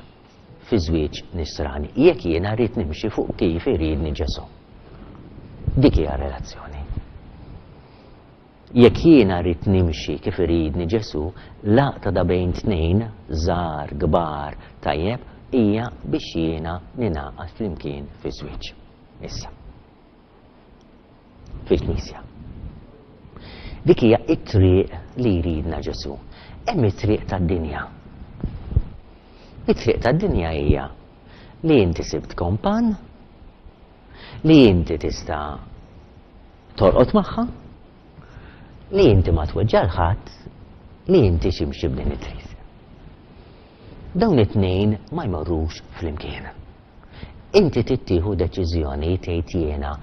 Fi żwieġ nisrani. Jekk jiena rrid nimxi fuq kif iridni Ġesù. Dik hija relazzjoni. Jekk jiena rrid nimxi kif iridni Ġesù, l-għaqda ta' bejn tnejn, żgħar, kbar, tajjeb, hija biex jiena ningħaqad flimkien fi żwieġ. Issa. Fil-Knisja. Dik hija t-triq li jridna Ġesù. Hemm it-triq tad-dinja. It-triq tad-dinja hija li inti sibt kompan, li inti tista' torqod magħha, li inti ma tweġġa' l-ħadd, li inti ximxi b'din it-triq. Dawn it-tnejn ma jmorrux flimkien. Inti tittieħu deċiżjoni tgħid jiena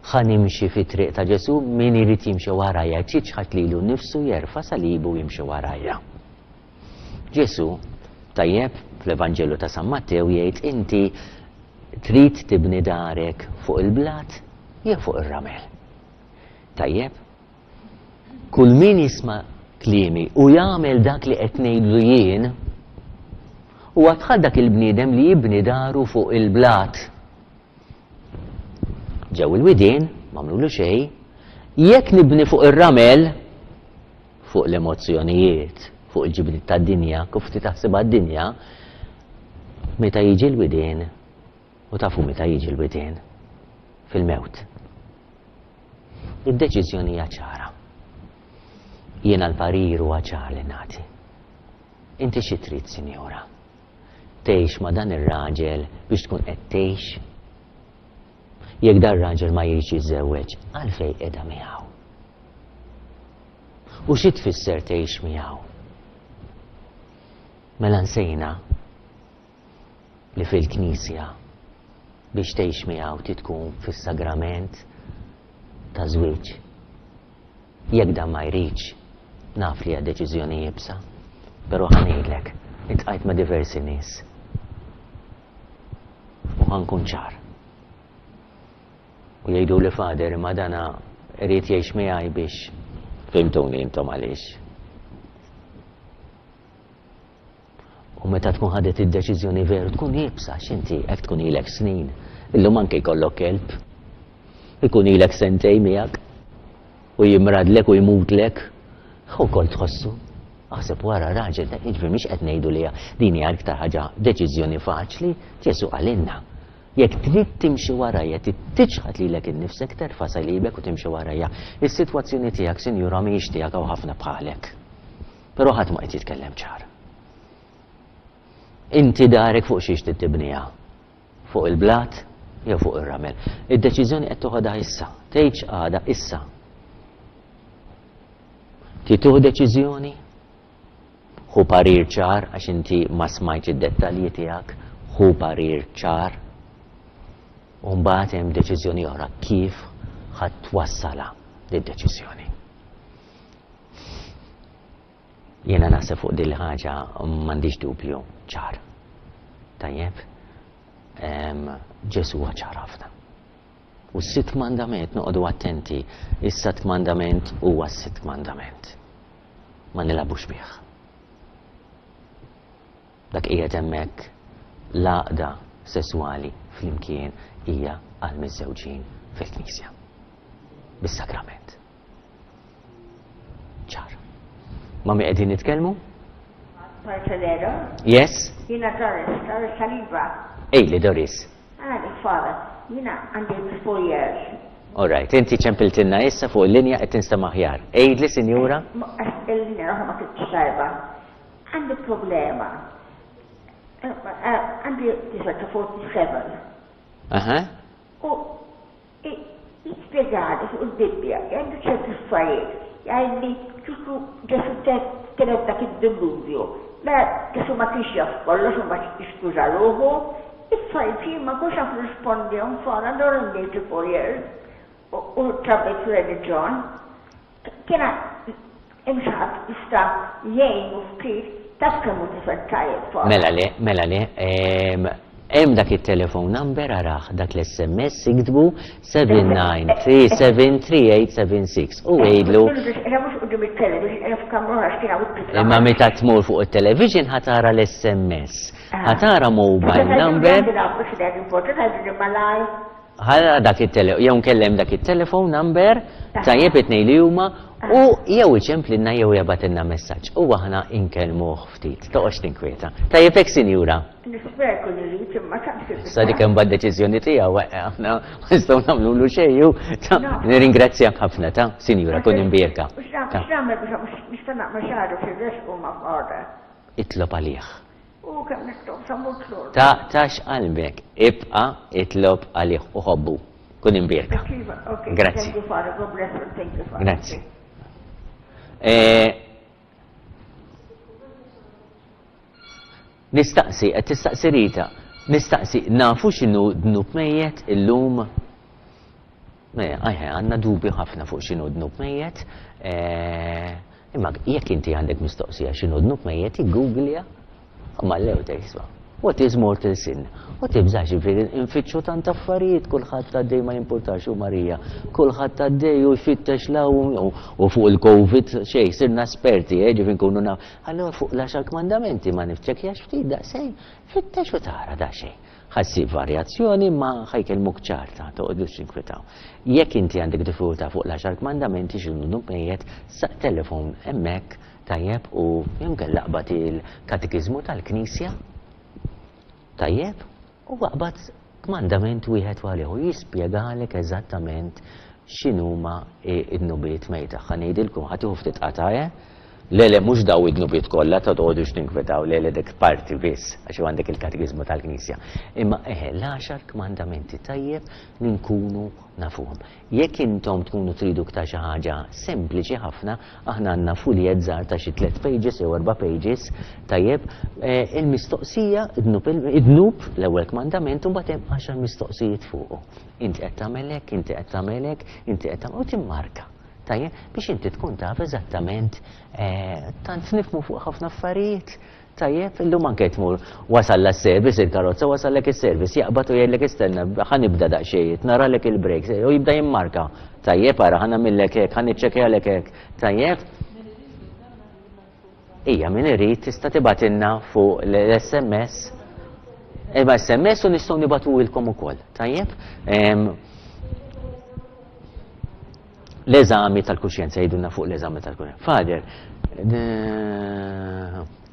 ħa nimxi fit-triq ta' Ġesù, min irid jimxi warajja, jiċħad lilu nnifsu, jerfa' salibu u jimxi warajja. Ġesù, tajjeb, fl-Evanġelju ta' San Mattew jgħid inti trid tibni darek fuq il-blat jew fuq ir-ramel. Tajjeb? Kull min jisma' kliemi u jagħmel dak li qed ngħidlu jien, huwa bħal dak il-bniedem li jibni daru fuq il-blat. Ġew il-widien, m'għamlulu xejn, jekk nibni fuq ir-ramel, fuq l-emozzjonijiet, fuq il-ġibdiet tad-dinja, kif taħsibha d-dinja, meta jiġi l-widien, u tafu meta jiġi l-widien, fil-mewt. Id-deċiżjoni hija ċara. Jiena l-parir huwa ċar li nagħti. Inti xi trid, sinjura? Tgħix ma' dan ir-raġel biex tkun qed tgħix? Jekk dan raġel ma jridx jiżżewweġ, għalfejn qiegħda miegħu? U xi tfisser tgħix miegħu? Mela nsejna li fil-Knisja biex tgħix miegħu trid tkun fis-sagrament ta' żwieġ. Jekk dan ma jridx, naf li hija deċiżjoni iebsa, però ħa ngħidlek, iltqajt ma' diversi nies. U ħa nkun ċar. U jgħidu li Father, imma dana irid jgħix miegħi biex fhimtuni intom għaliex. U meta tkun ħadet id-deċiżjoni veru tkun iebsa, x'inti hekk tkun ilek snin. Illum anke jkollok kelb. Ikun ilek sentej miegħek u jimradlek u jmutlek. Ukoll tħossu. Aħseb wara raġel, jiġifieri mhix qed ngħidu li din hija iktar ħaġa deċiżjoni faċli, Ġesu qalilna. Jekk trid timxi warajja, trid tiċħad lilek innifsek, terfa' salibek u timxi warajja. Is-sitwazzjoni tiegħek, sinjura, mhijiex tiegħek hawn ħafna bħalek. Però ħadd ma qed jitkellem ċar. Inti darek fuq xiex trid tibniha? Fuq il-blat jew fuq ir-ramel? Id-deċiżjoni qed toħodha issa, tgħidx għada issa. Trid tieħu deċiżjoni? Ħu parir ċar għax inti ma smajtx id-dettalji tiegħek, ħu parir ċar. U mbagħad hemm deċiżjoni oħra kif ħadd twassalha d-deċiżjoni. Jiena naħseb fuq din il-ħaġa m'għandix dubju ċar. Tajjeb? Ġesu huwa ċar ħafna. U s-sitt kmandament noqogħdu attenti, is-sitt kmandament huwa s-sitt kmandament. Ma nilagħbux bih. Dak qiegħed hemmhekk l-għaqda sesswali flimkien hija għal miżżewġin fil-Knisja. Bis-sagrament. Ċar. Ma mi qegħdin nitkellmu? Marcellero? Yes? Jiena Doris, Doris Saliba. Ejli Doris. Għadi, father, jiena għandi four years. All right, inti ċempiltilna issa fuq il-linja qed tinstema' aħjar. Għidli, sinjura? Il-linja oħra ma kienx tajba. Għandi problema. Għandi tifel ta' forty-seven. Aha. U jispjegali fuq il-Bibbja, għandu ċerti affarijiet, jgħidli kieku Ġesu tilef dak id-dilluvju. Mela Ġesu ma kienx jaf kollox u ma jiskuża ruħu, affarijiet jien ma kontx naf nirrispondihom fara allura għandi eighty-four years u trabbejt fir-reliġjon. Kien hemm xi ħadd jista' jgħinu ftit, taf kemm hu tifel tajjeb fara. Mela le, mela le, hemm dak it-telephone number araħ, dak l-S M S iktbu seven nine three seven three eight seven six u għidlu. Imma meta tmur fuq it-television ħatara l-S M S, ħatara mobile number. Ħara dak it-tele-, jew nkellem dak it-telephone number, tajjeb it-tnejn li huma, u jew iċemplinna jew jabgħatilna messaġġ u aħna inkellmuh ftit. Toqgħodx tinkwieta. Tajjeb hekk, sinjura. Nispera jkun irid imma taqsib. Sa dik hemm bad deċiżjoni tiegħu, eh, aħna ma nistgħu nagħmlulu xejn, u ta' nirringrazzjak ħafna ta' sinjura, kun imbierka. X'nagħmel biex nista' naqma' xagħru fir-resq u ma' f'għoda. Itlob għalih. U kemm nitlob sa mut lura. Taqtax qalbek, ibqa' itlob għalih u ħobbu. Kun imbierka. Grazzi. Thank you, Father. God bless you. Thank you, Father. Grazzi. Eh, nistaqsi, qed tistaqsi Rita, nistaqsi, nafu x'inhu dnub mejjet illum? Ajħe, għandna dubju ħafna fuq x'inhu dnub mejjet. Eh, imma jekk inti għandek mistoqsija x'inhu dnub mejjet, iggooglja, ma lew tgħid, what is mortal sin? U tibżax, jiġifieri nfittxu tant affarijiet, kulħadd għaddej ma jimpurtax u Marija, kulħadd għaddej u jfittex law u fuq il-Covid xejn, sirna esperti, eh, ġifieri nkunu naf. Allura fuq l-għaxar kmandamenti ma nifċekjax ftit daqsxejn, fittex u tara daqsxejn. Ħassib varjazzjoni ma ħajkellmuk ċarta, toqgħodux tinkwetaw. Jekk inti għandek diffikultà fuq l-għaxar kmandamenti x'inhu mejjet, sa telefon hemmhekk Tajjeb, u jew inkella aqbad il-Katekiżmu tal-Knisja. Tajjeb, u aqbad kmandament wieħed għalih u jispjegalek eżattament x'inhuma id-dnubiet mejta. Ħa ngħidilkom, ħa tieħu ftit qata', eh? Le, le, mhux daw id-dnubiet kollha, ta' toqgħodux tinkwetaw, le, le, dik parti biss, għax għandek il-Katekiżmu tal-Knisja. Imma eħe, l-għaxar kmandamenti tajjeb li nkunu nafuhom. Jekk intom tkunu tridu ktar xi ħaġa sempliċi ħafna, aħna għandna fuljet żgħar ta' xi tliet pages jew erba' pages, tajjeb, il-mistoqsija, id-dnub, l-ewwel kmandament, u mbagħad hemm għaxar mistoqsijiet fuqu. Inti qed tagħmel hekk, inti qed tagħmel hekk, inti qed tagħmel, u timmarka. Tajjeb, biex inti tkun taf eżattament, tant nifmu fuq ħafna affarijiet. Tajjeb, illum anke tmur wasal la service il-karozza, wasallek is-service, jaqbad u jgħidlek istenna, ħa nibda daqsxejn, naralek il-brakes, u jibda jimmarka. Tajjeb, ara, ħa nagħmillek hekk, ħa niċċekkjalek hekk. Tajjeb? Ija, min irid tista' tibgħatilna fuq l-S M S. Imma S M S u nistgħu nibgħatuhilkom ukoll. Tajjeb? L-eżami tal-kuxjenza, jgħidulna fuq l-eżami tal-kuxjenza. Father,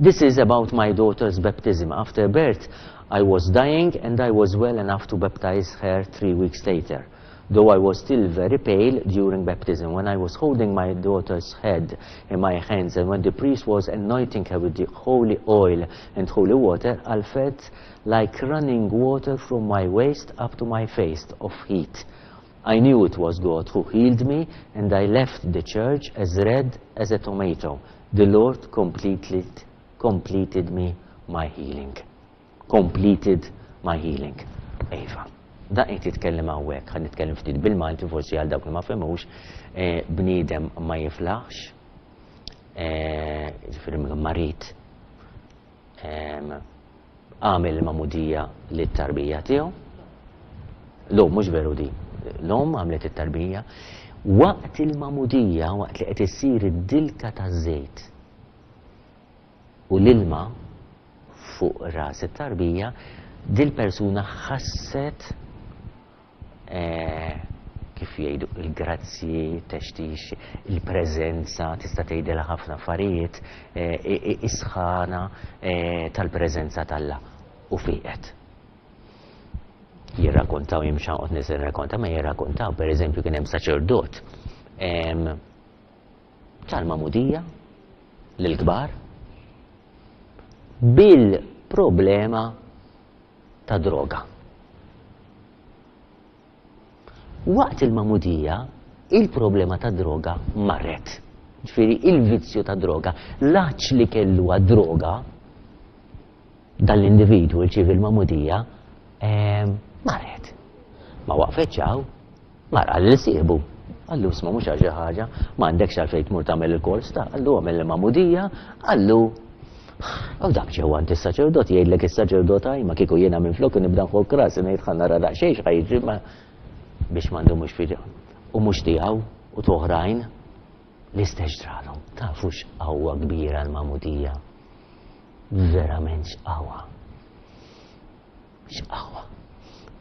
this is about my daughter's baptism. After birth, I was dying and I was well enough to baptize her three weeks later. Though I was still very pale during baptism, when I was holding my daughter's head in my hands and when the priest was anointing her with the holy oil and holy water, I felt like running water from my waist up to my face of heat. I knew it was God who healed me, and I left the church as red as a tomato. The Lord completely completed me my healing. Completed my healing. Eva, da qed jitkellem hawnhekk, ħa nitkellem ftit bil-Malti forsi għal dawk li ma fehmux, bniedem ma jiflaħx, ġifieri marid, għamel il-magħmudija lit-tarbija tiegħu. L-omm mhux veru di. L-omm għamlet it-tarbija. Waqt il-magħmudija, waqt li qed issir id-dilka taż-żejt u l-ilma fuq ras it-tarbija, dil-persuna ħasset, kif jgħidu, il-grazzji, textix, il-preżenza, tista' tgħidilha ħafna affarijiet, is-sħana tal-preżenza t'Alla u fieqet. Jirrakkontaw, jien mhux ħanqod nirrakkonta, ma jirrakkontaw, per eżempju, kien hemm saċerdot tal-magħmudija lill-kbar bil-problema ta' droga. Waqt il-magħmudija, il-problema ta' droga marret. Ġifieri il-vizzju ta' droga, l-għatx li kellu għad-droga, dan l-individwu rċievi l-magħmudija, marret. Ma waqfetx hawn, mar qal lil sieħbu. Qallu isma' mhux għal xi ħaġa, ma għandekx għalfejn tmur tagħmel il-kors ta' qallu għamel il-magħmudija, qallu u dak ġewwa għand is-saċerdot jgħidlek is-saċerdot għaj, ma kieku jiena minflok nibda nħokk rasi ngħid ħa nara daqsxejn x'ħa jiġri, ma biex m'għandhom mhux fidi u mhux tiegħu u toħrajn l-istess ġralhom. Tafu x'qawwa kbira l-magħmudija. Verament x'qawwa. X'qawwa.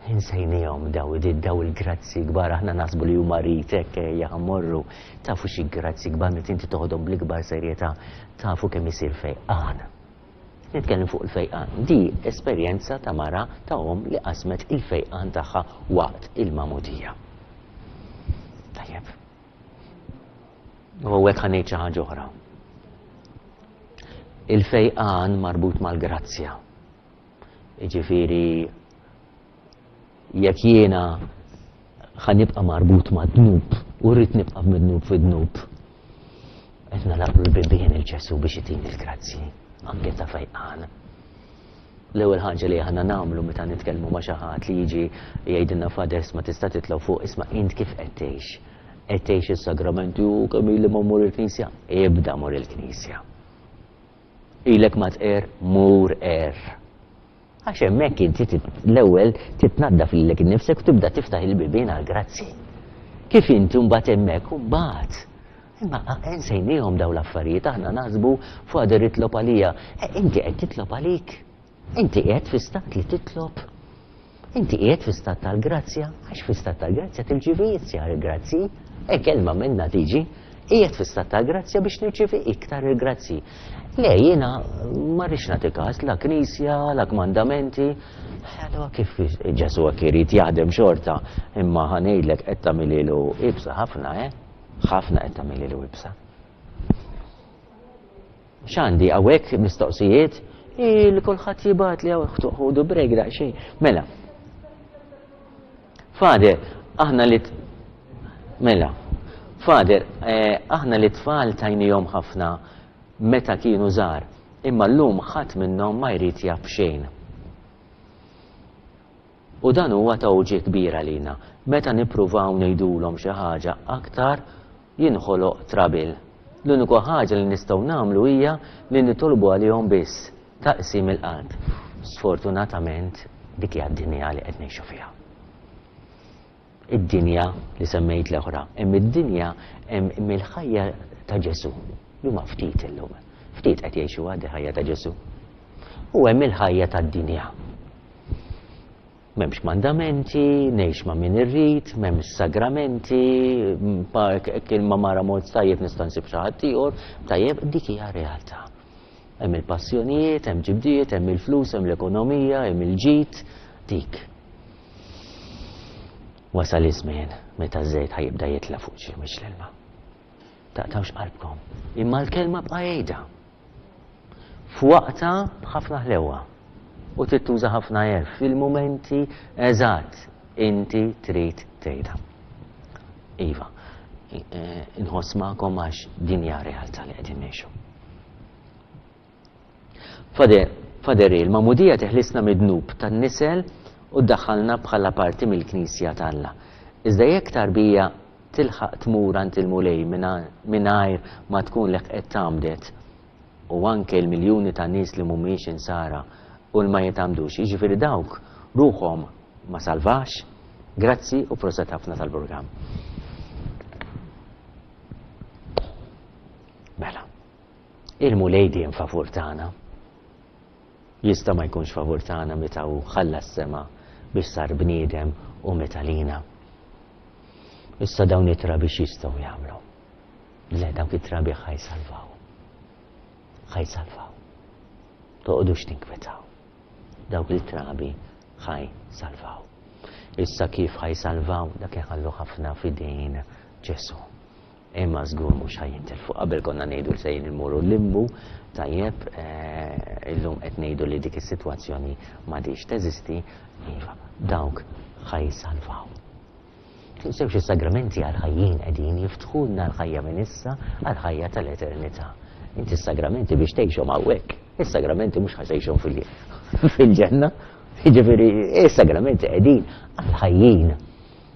Insejnihom daw daw il-grazzi kbar, aħna naħsbu li huma rit hekk ejja ħammorru. Tafu xi grazzi kbar meta inti toħodhom bl-ikbar serjetà, tafu kemm isir fejqan. Nitkellem fuq il-fejqan. Di esperjenza ta' mara ta' omm li qasmet il-fejqan tagħha waqt il-magħmudija. Tajjeb. U hekk ħa ngħid xi ħaġa oħra. Il-fejqan marbut mal-grazzja. Jiġifieri jekk jiena ħa nibqa' marbut ma' dnub u rrid nibqa' mid-dnub fi dnub, qed nagħlaq l-bibien il-Ġesu biex itini l-grazzji, anke ta' fejqan. L-ewwel ħaġa li aħna nagħmlu meta nitkellmu ma' xi ħadd li jiġi jgħidilna Father ma tista' titlaw fuq, isma' int kif qed tgħix? Qed tgħix is-sagramenti u kemm ili ma mmur il-Knisja? Ibda mur il-Knisja. Ilek ma tqer, mur qer. Għax hemmhekk inti tit-, l-ewwel titnaddaf lilek innifsek u tibda tiftaħ il-bibien għall-grazzi. Kif inti mbagħad hemmhekk u mbagħad. Imma nsejniehom dawn l-affarijiet, aħna naħsbu Father itlob għalija. E, inti qed titlob għalik. Inti qiegħed fi stat li titlob. Inti qiegħed fi stat tal-grazzja, għax fi stat tal-grazzja tirċievi iżjed grazzi. E kelma minna tiġi, Qiegħed fi stat ta' grazzja biex nirċievi iktar il-grazzi. Le, jiena ma rridx nagħti każ la knisja, la kmandamenti. Allura kif Ġesù hekk irid jaħdem xorta, imma ħa ngħidlek qed tagħmililu ibsa ħafna, eh? Ħafna qed tagħmililu ibsa. X'għandi hawnhekk mistoqsijiet? Li kulħadd jibgħat li hawn ħudu break daqsxejn. Mela. Father, aħna li Mela. Father, eh, aħna li tfal tajnihom ħafna meta kienu żgħar, imma llum ħadd minnhom ma jrid jaf xejn. U dan huwa ta' uġigħ kbir għalina. Meta nippruvaw ngħidulhom xi ħaġa aktar jinħoloq trouble. L-uniku ħaġa li nistgħu nagħmlu hija li nitolbu għalihom biss taqsim il-qalb. Sfortunatament dik hija d-dinja li qed ngħixu fiha. Id-dinja li semmejt l-oħra, hemm id-dinja hemm il-ħajja ta' Ġesù. Li huma ftit illum. Ftit qed jgħixu għad ħajja ta' Ġesù. U hemm il-ħajja tad-dinja. M'hemmx mandamenti, ngħix ma' min irrid, m'hemmx sagramenti, kien ma mara mod tajjeb nista' nsib xi ħadd ieħor, tajjeb dik hija realtà. Hemm il-passjonijiet, hemm ġibdiet, hemm il-flus, hemm l-ekonomija, hemm il-ġid, dik. Wasal iż-żmien meta ż-żejt ħa jibda jitla' fuq xi mhux l-ilma. Taqtawx qalbkom. Imma l-kelma bqa' jgħidha. F'waqta b'ħafna ħlewwa. U trid tuża ħafna għerf fil-mumenti eżatt inti trid tgħidha. Iva, inħoss magħkom għax din hija realtà li qegħdin ngħixu. Father, Father, il-magħmudija teħlisna mid-dnub tan-nisel u ddaħħalna bħala parti mill-Knisja t'Alla. Iżda jekk tarbija tilħaq tmur għand il-Mulej mingħajr ma tkun leħqet tgħammdet, u anke l-miljuni ta' nies li mhumiex insara u li ma jitgħammdux, jiġifieri dawk ruħhom ma salvax? Grazzi u proset ħafna tal-programm. Mela, il-Mulej dejjem favur tagħna. Jista' ma jkunx favur tagħna meta hu ħalla s-sema biex sar bniedem u meta lina. Issa dawn it-trabi x'jistgħu jagħmlu? Le, dawk it-trabi ħa jsalvaw. Ħa jsalvaw. Toqgħodux tinkwetaw. Dawk it-trabi ħa jsalvaw. Issa kif ħa jsalvaw, dak iħallu ħafna f'idejn Ġesù. Imma żgur mhux ħa jintilfu. Qabel konna ngħidu li sejrin immorru l-limbu, tajjeb, illum qed ngħidu li dik is-sitwazzjoni m'għadhiex teżisti, iva, dawk ħa jsalvaw. Tinsewx is-sagramenti għall-ħajjin qegħdin jiftħulna l-ħajja minn issa għall-ħajja tal-eternità. Inti s-sagramenti biex tgħixhom hawnhekk, is-sagramenti mhux ħa tgħixhom fil-ġenna. Jiġifieri is-sagramenti qegħdin għall-ħajjin.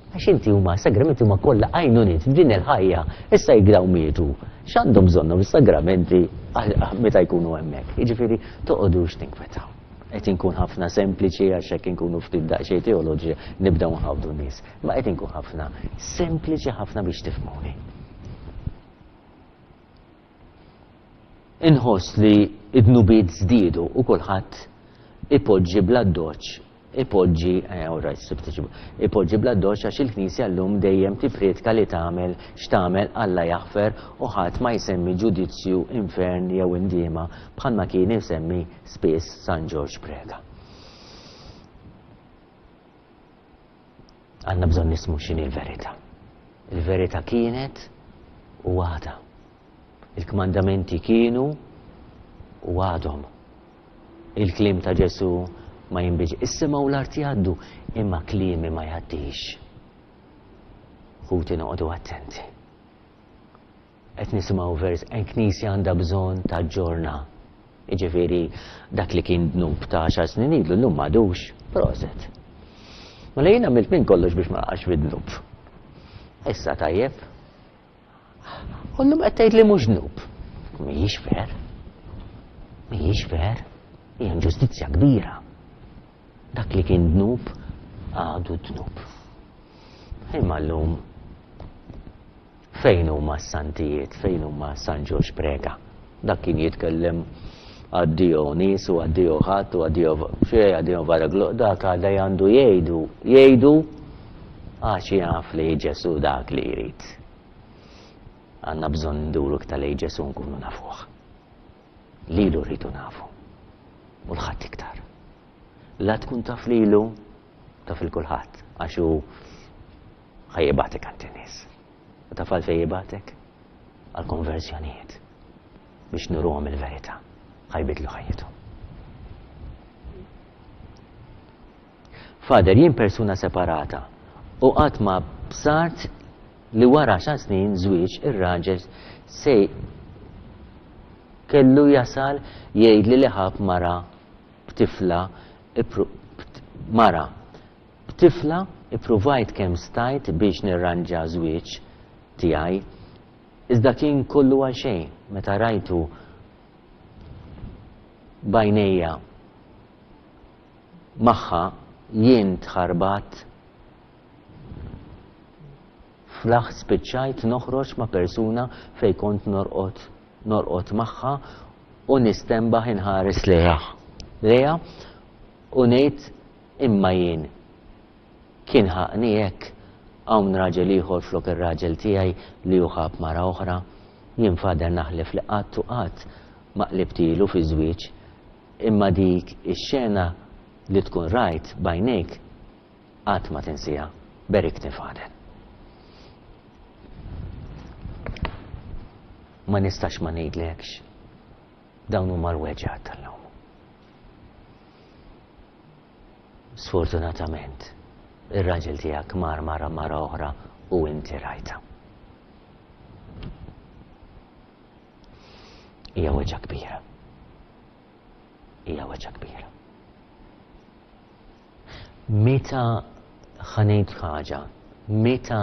Għax inti huma sagramenti huma kollha għajnuniet f'din il-ħajja, issa jekk dawn mietu, x'għandhom bżonnhom is-sagramenti meta jkunu hemmhekk. Jiġifieri toqgħodux tinkwetaw. Qed inkun ħafna sempliċi għax hekk inkunu ftit daqsxejn teoloġija nibdew nħawdu n-nies. Ma qed inkun ħafna sempliċi ħafna biex tifhmuni. Inħoss li d-dnubiet żdiedu u kulħadd ipoġġi bl-addoċċ, ipoġġi, eh, all right, sibt iġibu, ipoġġi bl-addoċċ għax il-Knisja llum dejjem tipprietka li tagħmel x'tagħmel Alla jaħfer u ħadd ma jsemmi ġudizzju, infern jew indiema bħalma kien isemmi spiss San Ġorġ Preca. Għandna bżonn nismu x'inhi l-verità. Il-verità kienet u għadha. Il-kmandamenti kienu u għadhom. Il-kliem ta' Ġesù ma jinbidx. Is-sema u l-art jgħaddu, imma kliemi ma jgħaddix. Ħuti noqogħdu attenti. Qed nisimgħu vers, il-Knisja għandha bżonn taġġorna. Jiġifieri dak li kien dnub ta' għaxar snin ilu llum m'għadux. Proset. Mela jien għamilt minn kollox biex ma naqax fid-dnub. Issa tajjeb. U llum qed tgħid li mhux dnub. Mhijiex ver. Mhijiex ver. Hija inġustizzja kbira. Dak li kien dnub għadu dnub. Imma llum fejn huma s-santijiet, fejn huma San Ġorġ Preca? Dak kien jitkellem addio nies u addio ħadd u addio xejn, addio varaglo, dak għadha għandu jgħidu, jgħidu għax jaf li Ġesù dak li jrid. Għandna bżonn nduru iktar lejn Ġesù nkunu nafuh. Lilu rridu nafu. U l-ħadd iktar. La tkun taf lilu, taf il kulħadd, għax hu ħa jibagħtek għand in-nies. U taf għalfejn jibagħtek? Għal-konverżjonijiet. Biex nuruhom il-verità. Ħa jbiddlu ħajjithom. Father, jien persuna separata u qatt ma bsart li wara għaxar snin żwieġ ir-raġel se kellu jasal jgħidli li ħab mara b'tifla mara b'tifla ippruvajt kemm stajt biex nirranġa żwieġ tiegħi iżda kien kollu għal xejn meta rajtu b'għajnejja magħha jien tħarbat fl-aħħ spiċċajt noħroġ ma' persuna fejn kont norqod norqod magħha u nistenbaħ inħares lejha lejha u ngħid imma jien kien ħaqni hekk hawn raġel ieħor flok ir-raġel tiegħi li hu ħab mara oħra jien Father naħlef li qatt u qatt ma qlibtilu fi żwieġ imma dik ix-xena li tkun rajt b'għajnejk qatt ma tinsiha. Berikni Father. Ma nistax ma ngħidlekx dawn huma l-weġgħat tal-lum. Sfortunatament, ir-raġel tiegħek mar mara mara oħra u inti rajta. Hija weġgħa kbira. Hija weġgħa kbira. Meta ħa ngħid ħaġa, meta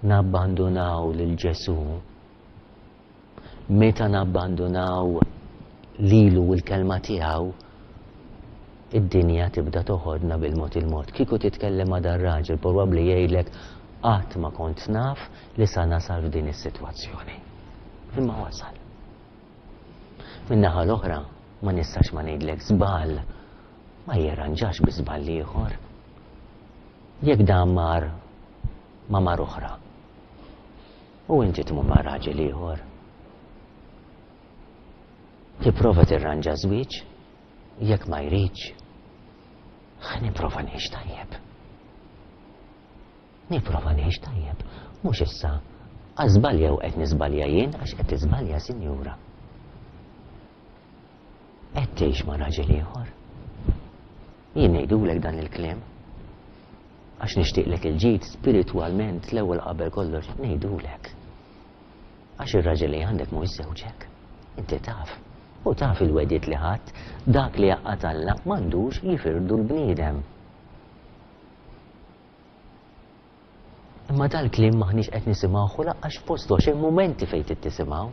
nabbandunaw lil Ġesù, meta nabbandunaw lilu u l-kelma tiegħu, id-dinja tibda toħodna bil-mod il-mod. Kieku titkellem ma' dar-raġel, probabbli jgħidlek qatt ma kont naf li sa nasal f'din is-sitwazzjoni. Imma wasal. Min-naħa l-oħra, ma nistax ma ngħidlek żball ma jirranġax bi żball ieħor. Jekk dan mar ma' mar oħra u inti tmur ma' raġel ieħor, tipprova tirranġa żwieġ, jekk ma jridx, ħa nipprova ngħix tajjeb. Nipprova ngħix tajjeb, mhux issa għażbalja u qed niżbalja jien għax qed tiżbalja, sinjura. Qed tgħix ma' raġel ieħor. Jien ngħidulek dan il-kliem għax nixtieqlek il-ġid spiritwalment l-ewwel qabel kollox ngħidulek. Għax ir-raġel li għandek mhuwiex żewġek. Inti taf. U taf il-wediet li ħadd, dak li jaqgħad Alla m'għandux jifirdu l-bniedem. Imma dal-kliem maħniex qed nisimgħu u laqqax f'postu għax hemm mumenti fejn trid tisimgħu.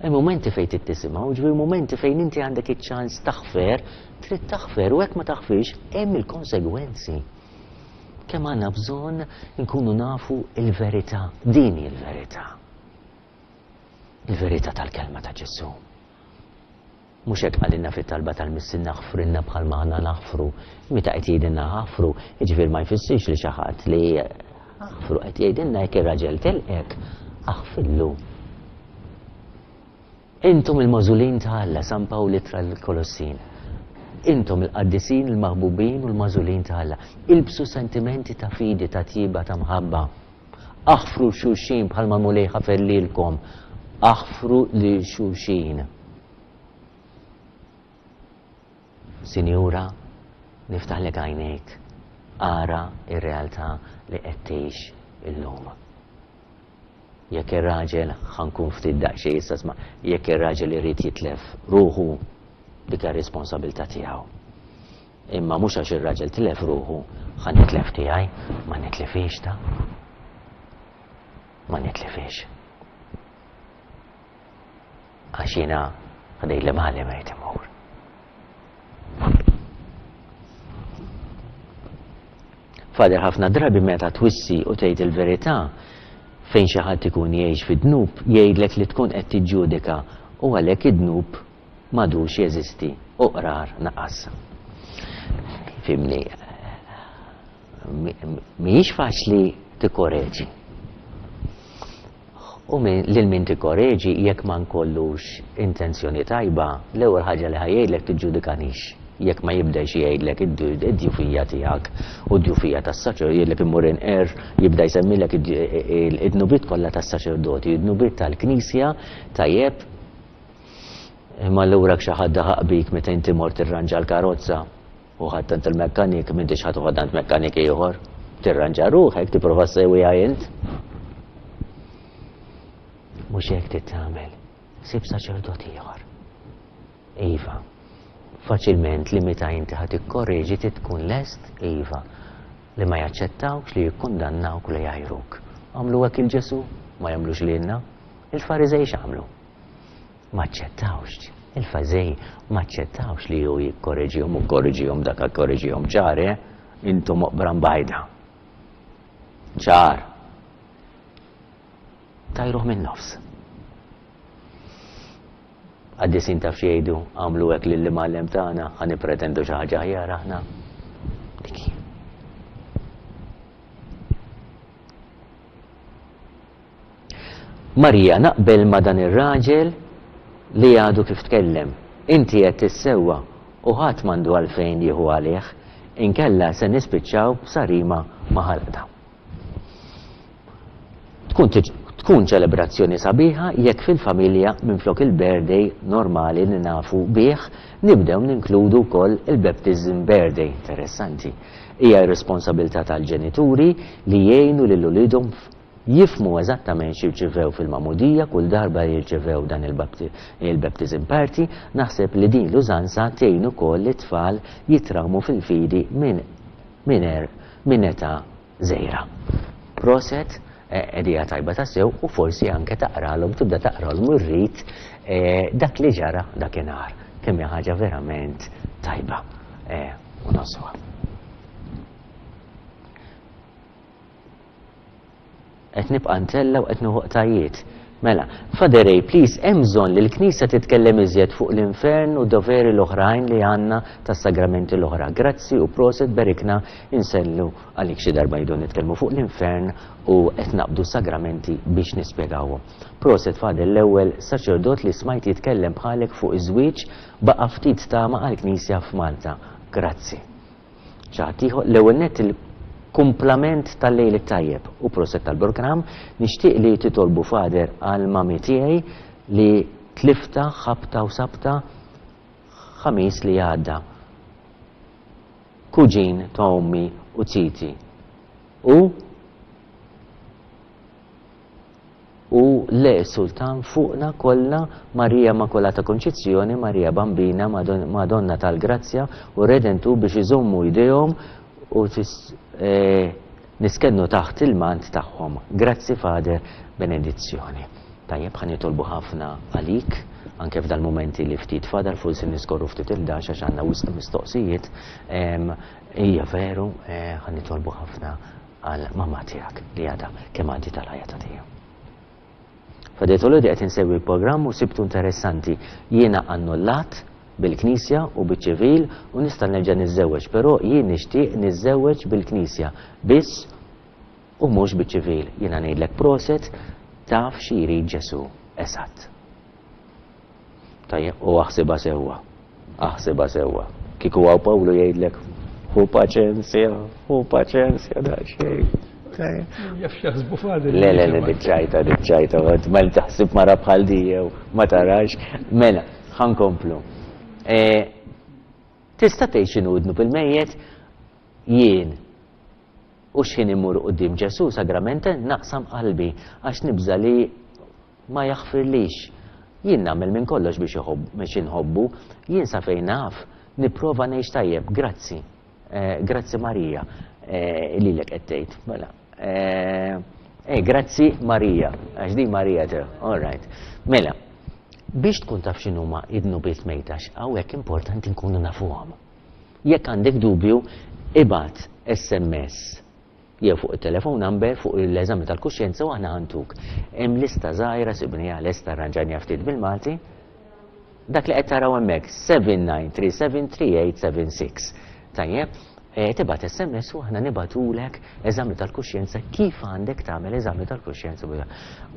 Hemm mumenti fejn trid tisimgħu, ġifieri mumenti fejn inti għandek iċ-ċans taħfer, trid taħfer u hekk ma taħfirx hemm il-konsegwenzi. Kemm għandna bżonn nkunu nafu il-verità, din hi l-verità. Il-verità tal-kelma ta' Ġesù. Mhux hekk qalilna fit-talba tal-Missier naħfrilna bħalma aħna naħfru. Meta qed jgħidilna ħafru, jiġifieri ma jfissirx li xi ħadd li ħafru, qed jgħidilna jekk ir-raġel telqek, aħfillu. Intom il-magħżulin ta' Alla, San Pawl ittra l-Kolossin. Intom il-qaddisin, il-maħbubin u l-magħżulin ta' Alla. Ilbsu sentimenti ta' fidi, ta' tjieba, ta' mħabba. Aħfru xulxin bħalma Mulej ħafer lilkom. Aħfru lil xulxin. Sinjura, niftaħlek għajnejk, ara ir-realtà li qed tgħix illum. Jekk ir-raġel, ħa nkun ftit daqsxejn issa sma', jekk ir-raġel irid jitlef ruħu, dik hija responsabilità tiegħu. Imma mhux għax ir-raġel tilef ruħu, ħa nitlef tiegħi, ma nitlifix ta'. Ma nitlifix. Għax jiena ħdej li maħalli ma jrid imur. Father, ħafna drabi meta twissi u tgħid il-verità fejn xi ħadd ikun jgħix fid-dnub, jgħidlek li tkun qed tiġġudika u għalhekk id-dnub m'għadux jeżisti u qrar naqas. Fimni, mhijiex faċli tikkoreġi. U lil min tikkoreġi jekk ma nkollux intenzjoni tajba, l-ewwel ħaġa li ħa jgħidlek tiġġudikanix. Jekk ma jibdax jgħidlek id-djufija tiegħek u d-djufija tas-saċer, jgħidlek immur inqer, jibda jsemmilek id-dnubiet kollha tas-saċerdoti, id-dnubiet tal-Knisja, tajjeb. Imma allura xi ħadd daħaq bik meta inti mort tirranġa l-karozza u ħadd għand il-mekkanik, m'intix ħadd uħad għand mekkanik ieħor. Tirranġa ruħek, tipprova ssewwiha int. Mhux hekk trid tagħmel. Sib saċerdot ieħor. Iva. Faċilment li meta inti ħa tikkorreġi trid tkun lest, iva, li ma jaċċettawx, li jikkundannawk u li jgħajruk. Għamlu hekk il Ġesù, ma jagħmlux lilna. Il-Fariżej x'għamlu? Ma aċċettawx. Il-Fariżej ma aċċettawx li hu jikkorreġihom u korreġihom dak korreġihom ċar, eh? Intom oqbra mbajda. Ċar. Tajruh minn nofs. Qaddisin taf x'jgħidu, għamlu hekk lill-imgħallem tagħna, ħa nippretendu xi ħaġa aħjar aħna. Dik hi. Marija, naqbel ma' dan ir-raġel li għadu kif tkellem. Inti qed tissewwa u ħadd m'għandu għalfejn jieħu għalih, inkella se nispiċċaw b'sarima ma' ħalqna. Tkun tkun ċelebrazzjoni sabiħa jekk fil-familja minflok il-birthday normali li nafu bih nibdew ninkludu wkoll il-baptism birthday. Interessanti. Hija r-responsabilità tal-ġenituri li jgħinu lil uliedhom jifhmu eżattament x'irċivew fil-magħmudija kull darba li jirċevew dan il-baptism party. Naħseb li din l-użanza tgħin ukoll lit-tfal jitrawmu fil-fidi minn minn minn età żgħira. Proset, idea tajba tassew, u forsi anke taqralhom, tibda taqralhom ir-rit dak li ġara dakinhar. Kemm hija ħaġa verament tajba u noswa. Qed nibqa' ntella u qed nieħu qtajiet. Mela, Father Ray, please, hemm bżonn li l-Knisja titkellem iżjed fuq l-infern u doveri l-oħrajn li għandna tas-sagramenti l-oħra. Grazzi u proset, berikna insellu għalik xi darba jdu nitkellmu fuq l-infern u qed naqbdu sagramenti biex nispjegawhom. Proset, Father, l-ewwel saċerdot li smajt jitkellem bħalek fuq iż-żwieġ baqa' ftit tama għall-Knisja f'Malta. Grazzi. Ċaħtiħu, l-ewwel nett il kumplament tal-lejl it-tajjeb u proset tal-programm, nixtieq li titolbu Father għal mami tiegħi li tlifta ħabta u sabta ħamis li għadda. Kuġin ta' ommi u titi. U u le sultan fuqna kollha Marija Immakulata Konċizzjoni, Marija Bambina, Madonna tal-Grazzja u Redentu biex iżommu jdejhom u niskennu taħt il-mant tagħhom. Grazzi Father, benedizzjoni. Tajjeb, ħa nitolbu ħafna għalik, anke f'dal-momenti li ftit fadal, forsi niskorru ftit il-dax għax għandna wisq mistoqsijiet. Hija veru, ħa nitolbu ħafna għal mamma tiegħek li għadha kemm għaddi tal-ħajja ta' tiegħu. Father Toledo qed insegwi l-programm u sibtu interessanti. Jiena annullat bil-Knisja u biċ-ċivil u nista' nerġa' niżżewweġ, però jien nixtieq niżżewweġ bil-Knisja biss u mhux biċ-ċivil. Jiena ngħidlek proset, taf xi jrid Ġesù eżatt. Tajjeb, u aħsibha sewwa. Aħsibha sewwa. Kieku hawn Pawlu jgħidlek hu paċenzja, hu paċenzja daqsxejn. Jaf x'jaħsbu Father. Le, le, le, diċċajta, diċċajta, ma taħsib mara bħal di jew ma tarax. Mela, ħankomplu. Tista' tgħid x'inhu dnub il-mejjet? Jien u x'ħin immur quddiem Ġesù sagrament naqsam qalbi għax nibża' li ma jaħfirlix. Jien nagħmel minn kollox biex biex inħobbu, jien sa fejn naf nipprova ngħix tajjeb. Grazzi. Grazzi Marija. Lilek qed tgħid. Mela. Eh, grazzi Marija, għax di Marija te. All right. Mela, biex tkun taf x'inhuma id-dnubiet mejtax, hawnhekk importanti nkunu nafuhom. Jekk għandek dubju, ibgħat S M S jew fuq it-telefon number fuq l-eżami tal-kuxjenza u aħna ħantuk. Hemm lista żgħira sibniha lesta arranġajniha ftit bil-Malti. Dak li qed taraw hemmhekk seven nine three seven three eight seven six. Tajjeb, Tibgħat S M S u aħna nibagħtulek eżami tal-kuxjenza, kif għandek tagħmel eżami tal-kuxjenza.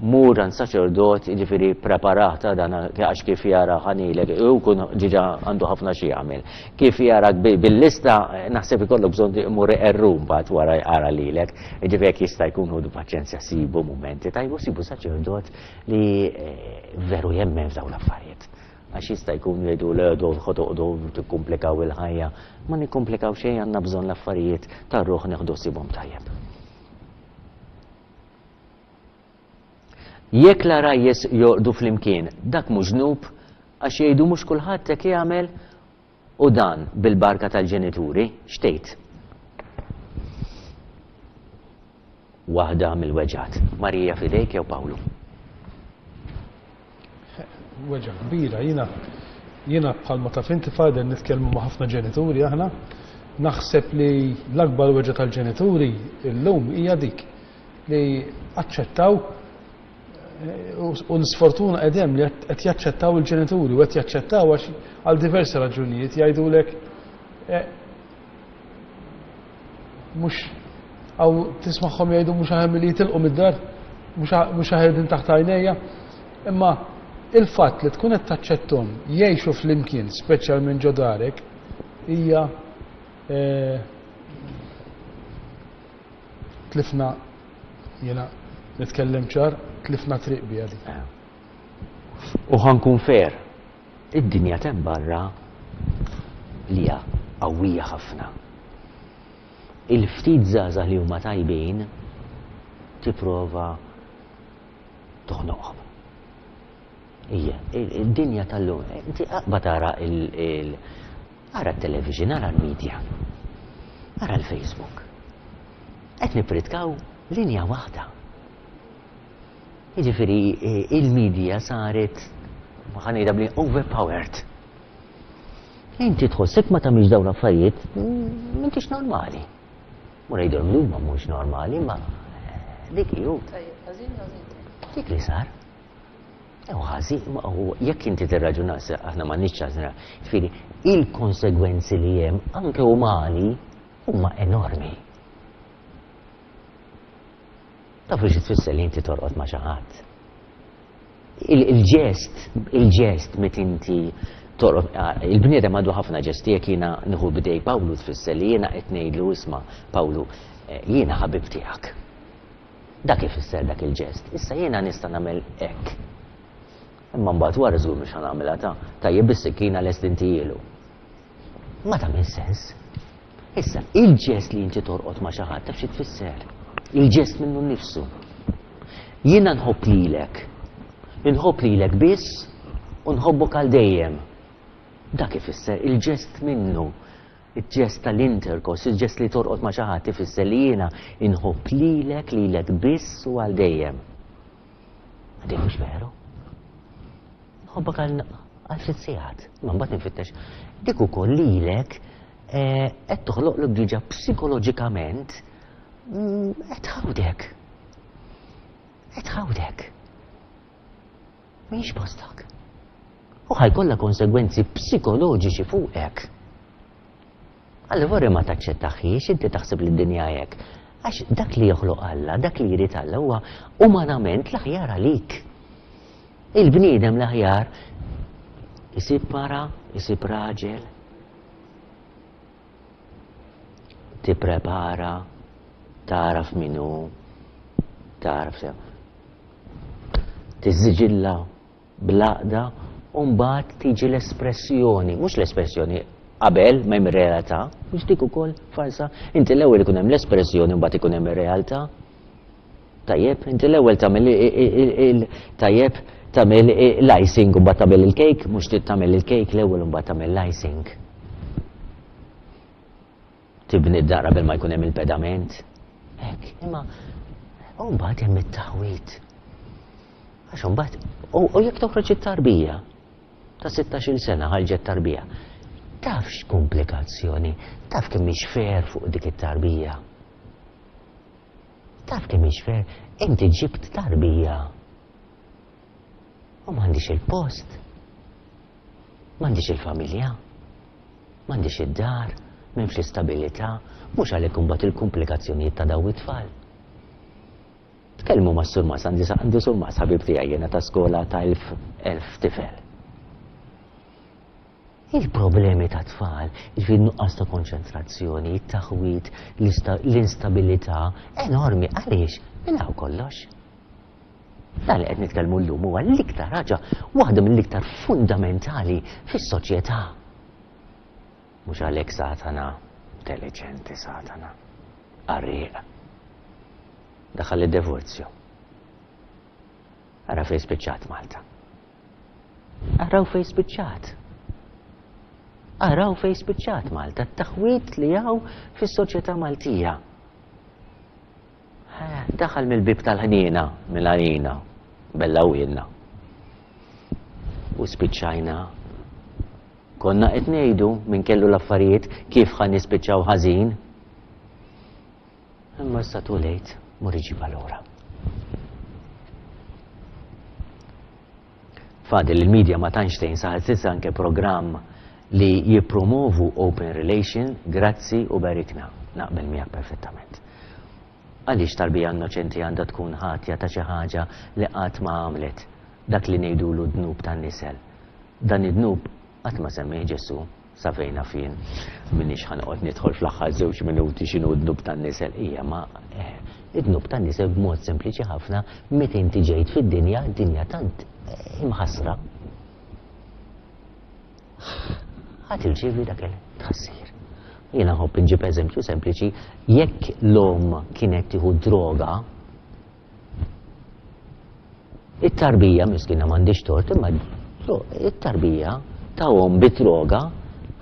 Mur għand saċerdot, jiġifieri preparata dan, għax kif jara ħanilek, u kun ġiġa għandu ħafna xi jagħmel. Kif jarak bil-lista, naħseb ikollok bżonn imur errum mbagħad wara jara lilek. Jiġifieri jekk jista' jkun, ħudu paċenzja, sibu mumenti tajbu, sibu saċerdot li eh, veru jemmen f'dawn l-affarijiet, għax jista' jkun jgħidu le do ħotoqdu tikkumplikaw il-ħajja. Ma nikkomplikaw xejn, għandna bżonn l-affarijiet tar-ruħ neħdu sibhom tajjeb. Jekk l-għarajjes jorqdu flimkien, dak mhux dnub, għax jgħidu mhux kulħadd hekk jagħmel, u dan bil-barka tal-ġenituri, x'tgħid? Waħda mill-weġgħat. Marija, f'idejk, jew Pawlu. Weġgħa kbira, jiena jiena bħalma taf inti, Father, nitkellmu ma' ħafna ġenituri aħna, naħseb li l-akbar weġgħa tal-ġenituri illum hija dik li aċċettaw eh, u l-sfortuna edem li qed jaċċettaw il-ġenituri u qed jaċċettaw għax għal diversi raġunijiet jgħidulek eh, mhux għaw tismagħhom jgħidu mhux aħjar li jitilqu mid-dar, mhux aħjar din taħt għajnejja, imma il-fatt li tkun qed taċċettom jgħixu flimkien, speċjalment ġo darek, hija eh, tlifna, jiena nitkellem ċar, tlifna triq biha di. U ħa nkun fair, id-dinja t'hemm barra li hija qawwija ħafna. Il-ftit żgħażagħ li huma tajbin tipprova toħnoqhom. Ija, id-dinja tal-lum, inti aqba tara il- ara t-television, ara l-media, ara l-Facebook. Qed nipritkaw linja waħda. Jiġifieri il-media saret, ħa ngħidha bli, overpowered. Inti tħossek ma tagħmilx dawn l-affarijiet, m'intix normali. Mur jgħidulhom li huma mhux normali, ma dik ju. Dik li sar. Ew ħażin, u jekk inti tirraġuna, aħna ma nix ċażna, ġifieri il-konsegwenzi li hemm anke umani huma enormi. Tafu xi tfisser li inti torqod ma' xi ħadd? Il-ġest, il-ġest met inti torqod, il-bniedem għandu ħafna ġesti, jekk jiena nieħu b'idej Pawlu tfisser li jiena qed ngħidlu, "Isma' Pawlu, eh, jiena ħabib tiegħek." Dak ifisser dak il-ġest. Issa jiena nista' nagħmel hekk. Imma mbagħad wara żgur mhux ħa nagħmilha ta' tajjeb bis-sikkina lest intijielu. Ma tagħmel sens. Issa, il-ġest li inti torqod ma' xi ħadd taf xi tfisser? Il-ġest minnu nnifsu. Jiena nħobb lilek. Inħobb lilek biss u nħobbok għal dejjem. Dak ifisser il-ġest minnu. Il-ġest tal-intercourse, il-ġest li torqod ma' xi ħadd ifisser li jiena inħobb lilek, lilek biss u għal dejjem. Għadin mhux veru. Nħobbok għal għal ftit sigħat, ma mbagħad nfittex. Dik ukoll lilek eh, qed toħloqlok diġà psikoloġikament mm, qed tħawdek. Qed tħawdek. Mhix postak. U ħa jkollha konsegwenzi psikoloġiċi fuqek. Allura ma taċċettaħiex, inti taħseb li d-dinja hekk. Għax dak li joħloq Alla, dak li jrid Alla huwa umanament l-aħjar għalik. Il-bniedem l-aħjar isib mara, isib raġel, tipprepara, taraf minu, taraf sew. Tiżġilla bl-għaqda u mbagħad tiġi l-espressjoni, mhux l-espressjoni qabel ma hemm realtà, mhux dik ukoll farsa. Inti l-ewwel ikun hemm l-espressjoni, mbagħad ikun hemm ir-realtà. Tajjeb, inti l-ewwel tagħmel il tajjeb tagħmel l-icing u mbagħad tagħmel il-cake, mhux tagħmel il-cake l-ewwel u mbagħad tagħmel l-icing. Tibni d-dar qabel ma jkun hemm il-pedament. Hekk, imma u mbagħad hemm it-taħwit. Għax mbagħad u jekk toħroġ it-tarbija ta' sittax-il sena, ħarġet tarbija. Taf x'komplikazzjoni, taf kemm hix fair fuq dik it-tarbija. Taf kemm hix fair, inti ġibt tarbija. U m'għandix il-post. M'għandix il-familja. M'għandix id-dar. M'hemmx l-istabilità, mhux għalhekk imbagħad il-komplikazzjonijiet ta' dawn it-tfal. Tkellmu ma' surmas, għandi għandi surmas ħabib tiegħi jiena ta' skola ta' elf elf tifel. Il-problemi ta' tfal, jiġifieri nuqqas ta' konċentrazzjoni, it-taħwid, l-instabilità enormi, għaliex? Minn hawn kollox. Dan li qed nitkellmu llum huwa l-iktar ħaġa, waħda mill-iktar fundamentali fis-soċjetà. Mhux għalhekk Satana, intelliġenti Satana, qarrieq. Daħal id-divorzju. Ara fejn spiċċat Malta. Araw fejn spiċċat. Araw fejn spiċċat Malta, t-taħwid li hawn fis-soċjetà Maltija. Daħal mill-bib tal-ħniena, mill-għalina, bella u U spiċċajna. Konna qed ngħidu minn kellu l-affarijiet kif ħa nispiċċaw ħażin. Imma issa too late, mur iġibha lura. Fadil, il-media ma tantx tgħin, saħansitra anke programm li jippromovu open relation, grazzi u berikna. Naqbel miegħek perfettament. Għaliex tarbija innoċenti għandha tkun ħatja ta' xi ħaġa li qatt ma għamlet, dak li ngħidulu dnub tan-nisel. Dan id-dnub qatt ma semmih Ġesù, sa fejn naf jien. M'iniex ħa noqgħod nidħol fl-aħħar żewġ minuti x'inhu d-dnub tan-nisel. Hija ma id-dnub tan-nisel b'mod sempliċi ħafna meta inti ġejt fid-dinja, dinja tant imħassra. Ħa tirċievi dak il-tħassir. Jiena nħobb inġib eżempju sempliċi, jekk l-omm kienet tieħu droga, it-tarbija miskina m'għandix tort, imma it-tarbija ta' omm bi droga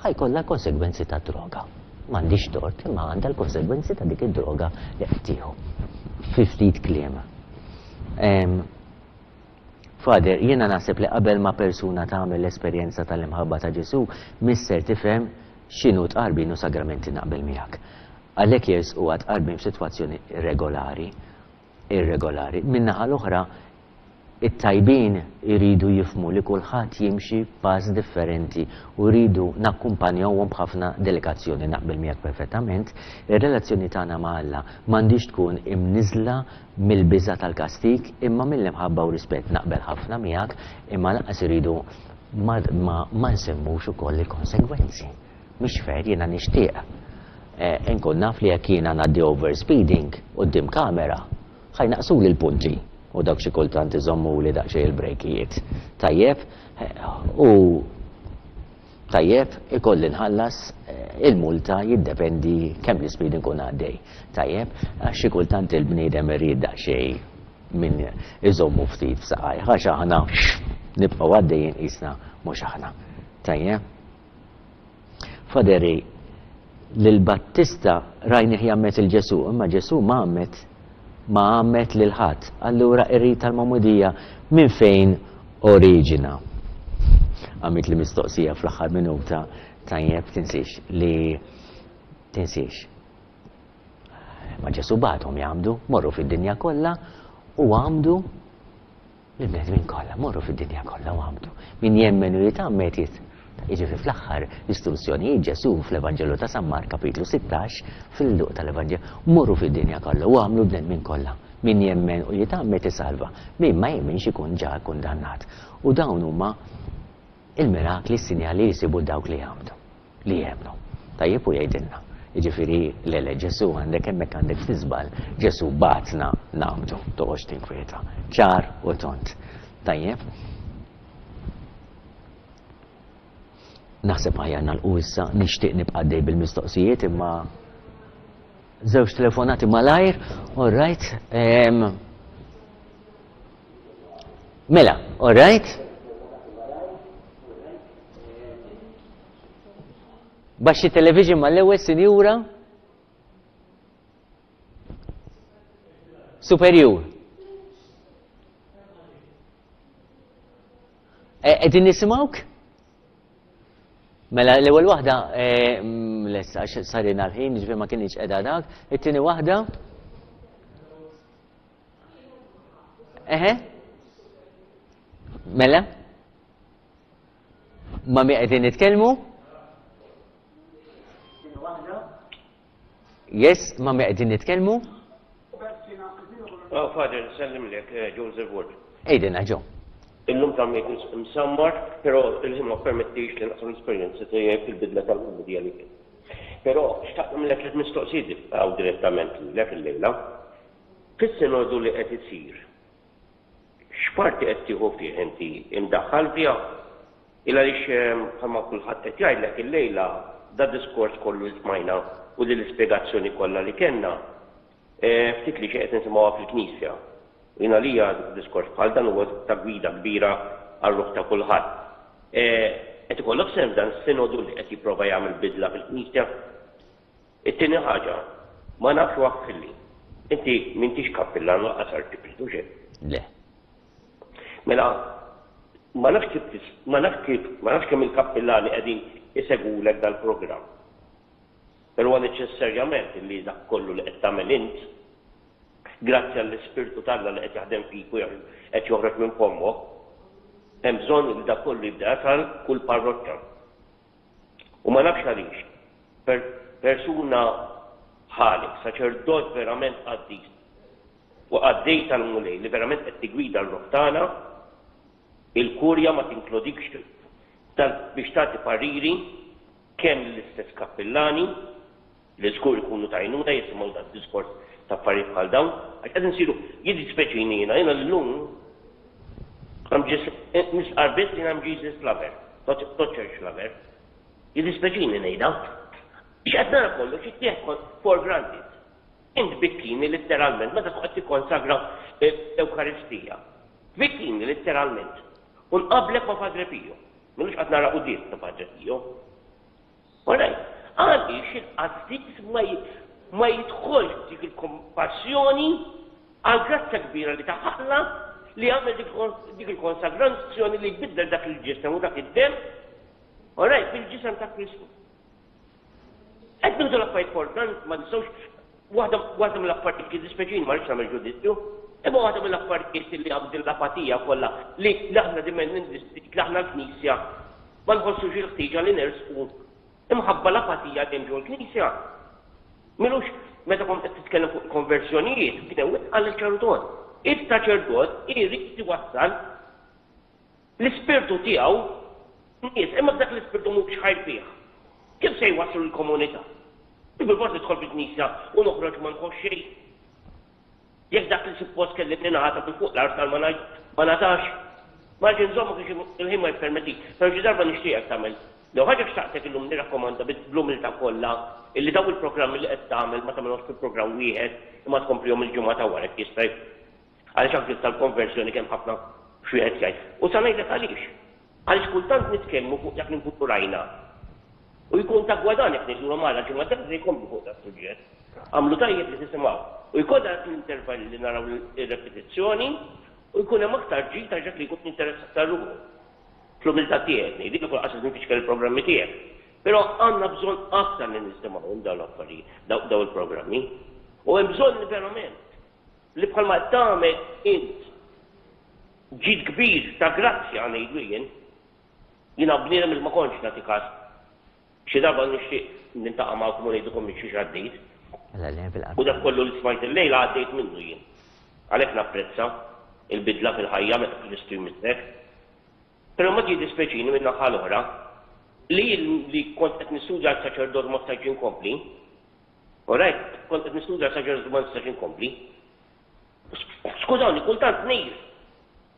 ħajkollha konsegwenzi ta' droga. M'għandix tort, imma għandha l-konsegwenzi ta' dik id-droga li qed tieħu. Fi ftit kliem. Father, jiena naħseb li qabel ma persuna tagħmel l-esperjenza tal-imħabba ta' Ġesù, misser tifhem x'inhu tqarbin u sagramenti, naqbel miegħek. Għalhekk jersqu għat-tqarbin f'sitwazzjoni regolari, irregolari. Min-naħa l-oħra, it-tajbin iridu jifhmu li kulħadd jimxi pass differenti u rridu nakkumpanjawhom b'ħafna delikazzjoni, naqbel miegħek perfettament. Ir-relazzjoni tagħna ma' Alla m'għandix tkun imniżla mill-biża' tal-kastig imma mill-imħabba u rispett, naqbel ħafna miegħek, imma lanqas iridu ma, ma, ma nsemmux ukoll il-konsegwenzi. Mhix fair, jiena nixtieq eh, inkun naf li jekk jiena ngħaddi overspeeding quddiem kamera, ħa jnaqqsuli l-punti u dak xi kultant iżommu li daqsxejn il-brejkijiet. Tajjeb, u tajjeb ikolli nħallas il-multa, jiddependi kemm l-speed nkun għaddej. Tajjeb, għax xi kultant il-bniedem irid daqsxejn min iżommu ftit f'saqaj, għax aħna nibqgħu għaddejjin qisna mhux aħna. Tajjeb. Faderi, lil-Battista rajnih jgħammed il-Ġesù, imma Ġesù ma għammed ma għammed lil ħadd. Allura ir-rit tal-magħmudija minn fejn oriġina? Għamilt li mistoqsija fl-aħħar minuta, tajjeb, tinsiex li tinsiex. Ma Ġesù bagħathom jgħammdu, morru fid-dinja kollha u għammdu l-bnedmin kollha, morru fid-dinja kollha u għammdu. Min jemmen u jitgħammed jit. Jiġifieri fl-aħħar istruzzjonijiet Ġesù fl-Evanġelu ta' San Mark kapitlu sittax fil-luq tal-Evanġelu, morru fid-dinja kollha u għamlu bnedmin kollha. Min jemmen u jitgħammed isalva, min ma jemminx ikun ġa kundannat. U dawn huma il-mirakli, s-sinjali li jsibu dawk li jgħammdu, li jemmnu. Tajjeb u jgħidilna. Jiġifieri le le Ġesù għandek hemmhekk għandek tiżbal, Ġesù bagħatna nagħmdu, toqgħodx tinkwieta. Ċar u tont. Tajjeb. Naħseb aħjar nagħlqu issa, nixtieq nibqa' għaddej bil-mistoqsijiet imma żewġ telefonati malajr, all right. Um, mela, all right. Baxxi television mal-ewwel, sinjura. Superjur. Qegħdin nisimgħuk? Mela l-ewwel waħda lesta għax sarina l-ħin, ġifieri ma kienx qiegħda dak. It-tieni waħda. Eħe? Mela? Ma mi qegħdin nitkellmu? Yes, ma' min qegħdin nitkellmu? Oh, Father, nsellimlek, Joseph Wood. Għidilna, Joe. Illum ta' msammar, pero il-ħin ma permettix li naqsam l-esperjenza tiegħi fil-bidla tal-medja li kien. Però xtaqt nagħmlek tliet mistoqsijiet għaw direttament lilek illejla. Fis-sinodu li qed isir, x'parti qed tieħu fih inti imdaħħal fiha? Il għaliex bħalma kulħadd qed jgħidlek illejla da diskors kollu li smajna u li l-ispjegazzjoni kollha li kellna ftit li xi qed nisimgħuha fil-Knisja. U jien għalija diskors bħal dan huwa ta' gwida kbira għar-ruħ ta' kulħadd. Qed ikollok sehem f'dan is-sinodu li qed jipprova jagħmel bidla fil-Knisja? It-tieni ħaġa, ma nafx waħfilli. Inti m'intix kappillan lanqas arċipriet, hux hekk? Le. Mela, ma nafx kif ma nafx kif ma nafx kemm il-kappillani qegħdin isegwulek dal-programm. Però huwa neċessarjament li dak kollu li qed tagħmel int, grazzi għall-Ispirtu t'Alla li qed jaħdem fik u qed joħroġ minn fommok, hemm bżonn li dak kollu jibda jasal kull parroċċa. U ma nafx għaliex, per persuna bħalek, saċerdot verament qaddis u qaddej tal-Mulej li verament qed tigwida l-ruħ tagħna, il-kurja ma tinkludikx biex tagħti pariri kemm lill-istess kappillani li żgur ikunu t'għajnuna jisimgħu dan diskors ta' affarijiet bħal dawn, għax qed insiru jiddispjaċini jiena jiena llum I'm just nistqarr biss li I'm Jesus lover, not, not church lover. Jiddispjaċini ngħidha. Biex qed nara kollox jittieħed for granted. Int bikkini letteralment meta tkun qed tikkonsagra l-Ewkaristija. Bikkini letteralment. U nqablek ma' Padre Pio. M'ilux qatt nara quddiem ta' Padre Pio. Alright, għaliex il-qassis ma ma jidħolx dik il-kompassjoni għal grazzja kbira li taħalla li għamel dik il-konsagrazzjoni li jbiddel dak il-ġisem u dak id-dem, alright, fil-ġisem ta' Kristu. Qed nieħdu l-affarijiet for granted, ma nistgħux waħda waħda mill-affarijiet kif dispeċini ma rridx nagħmel ġudizzju, imma waħda mill-affarijiet li għam din l-apatija kollha li aħna dimen li aħna l-Knisja ma nħossux il-ħtieġa li nersqu imħabba l-apatija li hemm ġol Knisja. M'ilux meta kont qed titkellem fuq konversjonijiet, kien hemm qal il-ċarudon. Il-saċerdot irid iwassal l-ispirtu tiegħu nies, imma dak l-ispirtu mhux ħaj fih. Kif se jwasslu l-komunità? Bil-forsi nidħol fil-Knisja u noħroġ ma nħoss xejn. Jekk dak li suppost kelli ningħata minn fuq l-artal ma ngħatax, ma rridx inżommu kif il-ħin ma jippermetti. Però xi darba nixtieqek tagħmel. Lew ħaġa xtaqtek illum nirrakkomanda bl-umiltà kollha illi daw il-programmi li qed tagħmel ma tagħmelhomx fil-programm wieħed imma tkomplihom il-ġimgħa ta' wara jekk jista' għaliex anke tal-konversjoni kemm ħafna x'wieħed jgħid. U sa ngħidlek għaliex. Għaliex kultant nitkellmu fuq dak li nkunu rajna. U jkun ta' gwadan jekk ngħidulhom għala ġimgħa d-dieħla se jkomplu fuq dat suġġett. Għamlu tajjeb li tisimgħu. U jkollna dak l-intervalli li naraw ir-repetizzjoni u jkun hemm aktar ġid għax dak li jkun interessat ta' ruħu. Fl-umiltà tiegħek ngħidilek u lanqas nfixkel il-programmi tiegħek. Però għandna bżonn aktar li nisimgħuhom dawn l-affarijiet, dawn il-programmi. U hemm bżonn li verament li bħalma tagħmel int ġid kbir ta' grazzja ngħidlu jien, jiena bniedem li ma kontx nagħti każ. Xi darba nixtieq niltaqa' magħkom u ngħidilkom minn xiex għaddejt. U dak kollu li smajt illejla għaddejt minnu jien. Għalhekk napprezza il-bidla fil-ħajja meta Kristu jmissek. Però ma jiddispjaċini min-naħa l-oħra li li kont qed nistudja għal saċerdot ma stajtx inkompli. Alright, kont qed nistudja għal saċerdot ma nistax inkompli. Skużawni, kultant ngħir.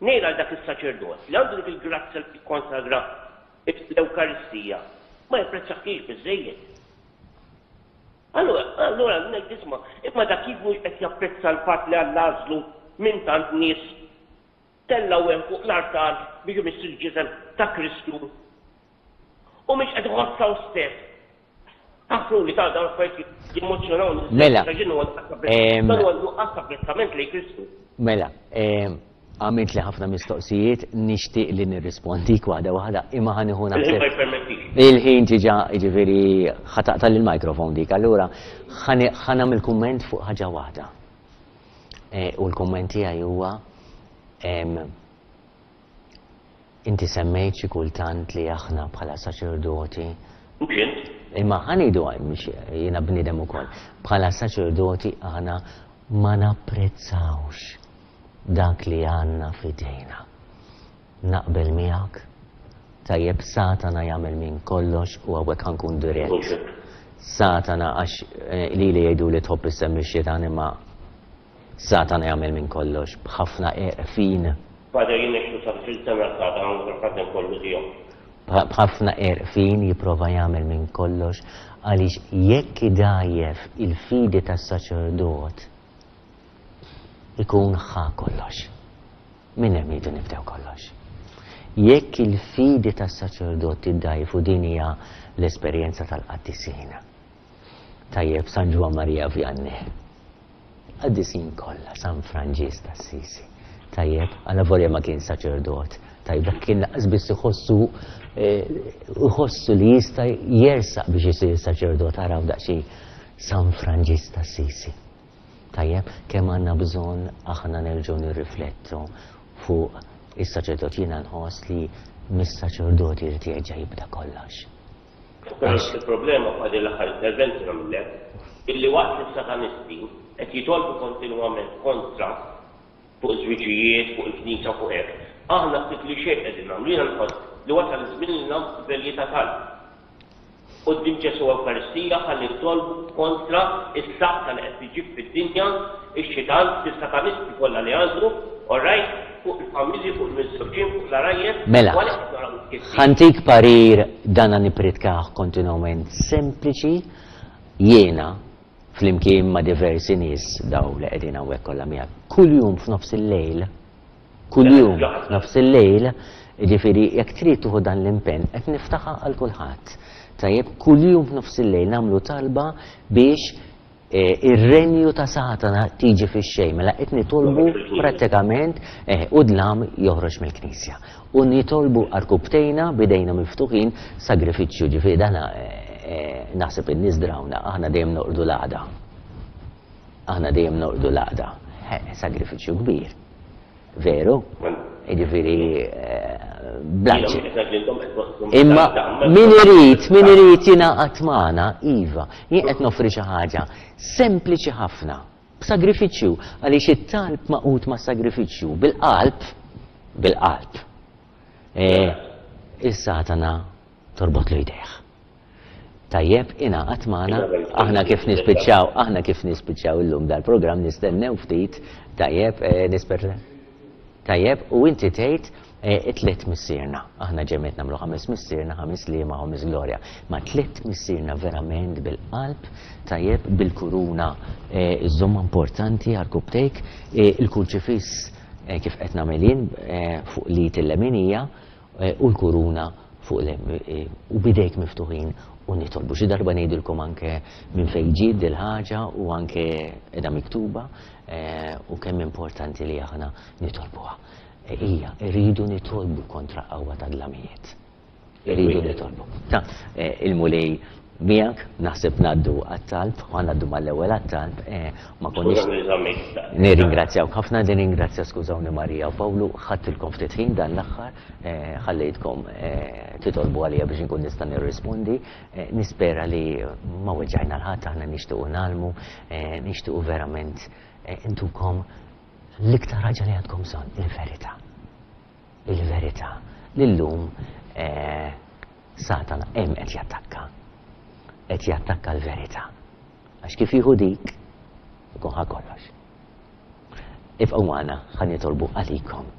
Ngħir għal dak is-saċerdot li għandu dik il-grazzja li tikkonsagra l-Ewkaristija. Ma japprezzahiex biżżejjed. Allura, allura ngħid isma', imma dak kif mhux qed japprezza l-fatt li Alla għażlu minn tant nies tellgħu hemm fuq l-artal biex imiss il-ġisem ta' Kristu u mhix qed iħossha hu stess. Aħfruli ta' dawn l-affarijiet jemmozzjonawni. Mela. Dan huwa nuqqas ta' apprezzament lejn Kristu. Mela, għamilt li ħafna mistoqsijiet, nixtieq li nirrispondik waħda waħda, imma ħa nieħu naħseb. Il-ħin ma jippermettix. Il-ħin ġiġa, jiġifieri ħa taqta' lill-microphone dik, allura ħa nagħmel kumment fuq ħaġa waħda. U l-kumment tiegħi huwa inti semmejt xi kultant li aħna bħala saċerdoti Mhux int. Imma ħa ngħidu mhux jiena bniedem ukoll. Bħala saċerdoti aħna ma napprezzawx dak li għandna f'idejna. Naqbel miegħek, tajjeb, Satana jagħmel minn kollox u hawnhekk ħa nkun dirett. Satana, għax li li jgħidu li tħobb issemmi x-xitan, imma Satana jagħmel minn kollox b'ħafna għerfien. Father, jien ngħixu sa fil sena Satana u l-ħaddem kollu tiegħu. B'ħafna għerfien jipprova jagħmel minn kollox għaliex jekk idgħajjef il-fidi tas-saċerdot ikun ħa kollox. Minn hemm jridu nibdew kollox. Jekk il-fidi tas-saċerdot tiddgħajjef, u din hija l-esperjenza tal-qaddisin. Tajjeb, San Ġwann Maria Vianney. Qaddisin kollha, San Franġisk t'Assisi. Tajjeb, għalavolja ma kien saċerdot. Tajjeb, dak kien laqas biss iħossu iħossu li jista' jersaq biex isir saċerdot, araw daqsxejn San Franġisk t'Assisi. Tajjeb, kemm għandna bżonn aħna nerġgħu nirriflettu fuq is-saċerdot. Jiena nħoss li mis-saċerdot irid jerġa' jibda kollox. Però il-problema f'għadi l-aħħar interventi nagħmellek, illi waqt li s-satanisti qed jitolbu kontinwament kontra fuq żwiġijiet, fuq il-knisja, fuq hekk, aħna ftit li xejn qegħdin nagħmlu. Jiena nħoss li wasal iż-żmien li nagħmlu velji ta' talb quddiem Ġesù Ewkaristija ħalli nitolbu kontra s-saħta li qed tiġib fid-dinja ix-xitan bis-satanisti kollha li għandu, all right, fuq il-familji, fuq il-miżżewġin, fuq l-għarajjes. Mela, u għalhekk qed naraw it-tkissir. Ħa ntik parir, dana nippridkah kontinwament, sempliċi, jiena flimkien ma' diversi nies daw li qegħdin hawnhekk kollha miegħek. Kuljum f'nofs il-lejl, kuljum f'nofs il-lejl, jiġifieri jekk trid tieħu dan l-impenn, qed niftaħha għal kulħadd. Tajjeb, kuljum f'nofs il-lejl nagħmlu talba biex ir-renju ta' Satana tiġi fix-xejn, mela qed nitolbu prattikament u dlam joħroġ mill-Knisja. U nitolbu arkubtejna bidejna miftuħin sagrifiċċju, ġifieri dana naħseb in-nies drawna, aħna dejjem noqogħdu l-għada. Aħna dejjem noqogħdu l-għada. Sagrifiċċju kbir. Veru? Jiġifieri blanċi. Imma min irid, min irid jingħaqad magħna, iva, jien qed noffri xi ħaġa sempliċi ħafna, b'sagrifiċċju, għaliex it-talb maqut ma' sagrifiċċju, bil-qalb, bil-qalb. Is-Satana torbot lu jdejh. Tajjeb, ingħaqad magħna, aħna kif nispiċċaw, aħna kif nispiċċaw illum dal-programm nistennew ftit, tajjeb, nisper. Tajjeb, u inti tgħid it-tliet missierna. Aħna ġemet nagħmlu ħames missierna, ħames liema, ħames glorja. Ma tliet missierna verament bil-qalb, tajjeb, bil-kuruna iżomma importanti għal-kubtejk, il-kurċifiss kif qed nagħmel jien fuq l-id il-leminija u l-kuruna fuq u bidejk miftuħin u nitolbu. Xi darba ngħidilkom anke minn fejn ġiet dil-ħaġa u anke qiegħda miktuba u kemm importanti li aħna nitolbuha. Ija, irridu nitolbu kontra qawwa ta' dlamijiet. Irridu nitolbu. Ta' il-Mulej miegħek, naħseb ngħaddu għat-talb, u ngħaddu mal-ewwel għat-talb, ma konniex. Nirringrazzjawk ħafna, nirringrazzja, skużawni Marija u Pawlu, ħadtilkom ftit ħin dan l-aħħar, ħallejtkom titolbu għalija biex inkun nista' nirrispondi. Nispera li ma weġġajna l-ħadd, aħna nixtiequ nagħlmu, nixtiequ verament intukom l-iktar ħaġa li għandkom bżonn, il-verità. Il-verità. Lillum Satana hemm qed jattakka. Qed jattakka l-verità. Għax kif jieħu dik, ikun ħa kollox. Ibqgħu magħna, ħa nitolbu għalikom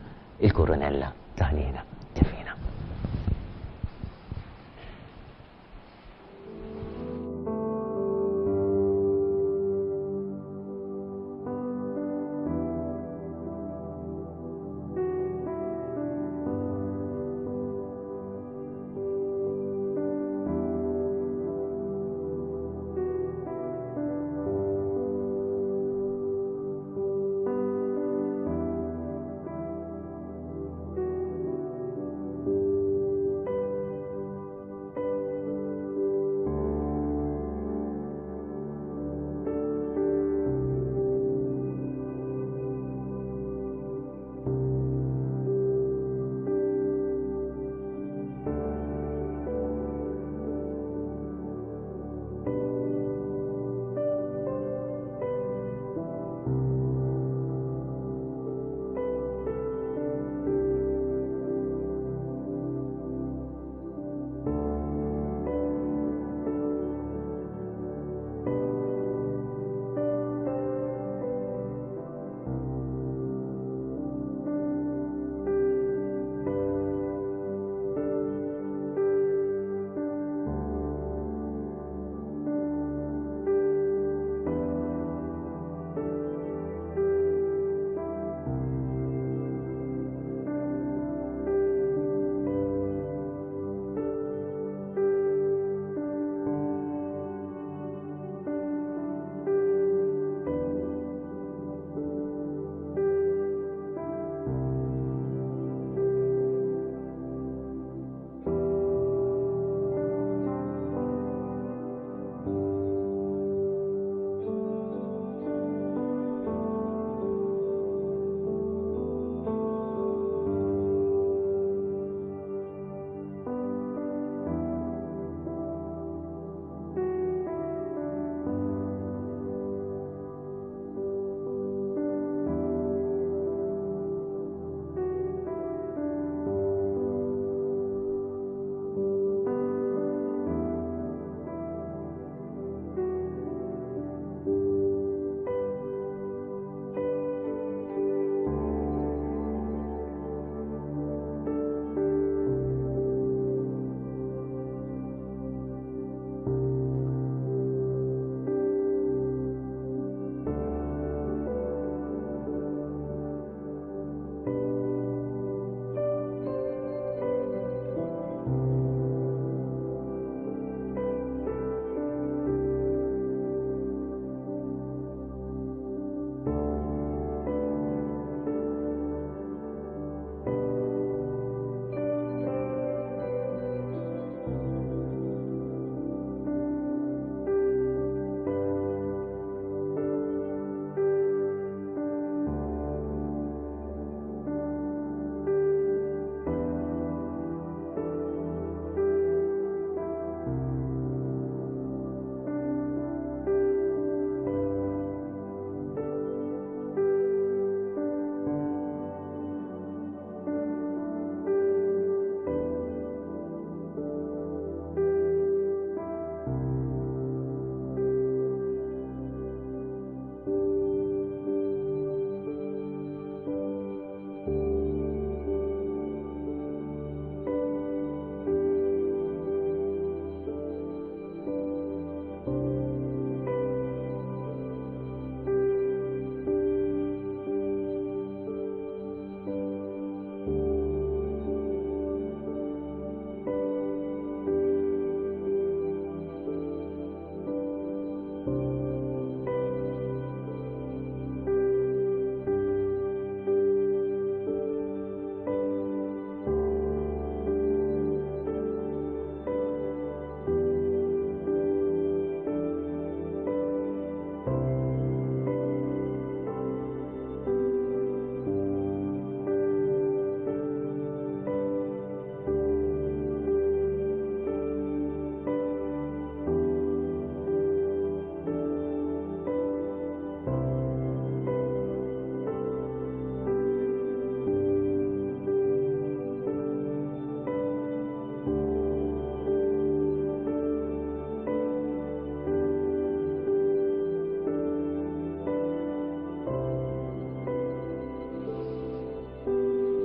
il-kurunella ta' ħniena divina.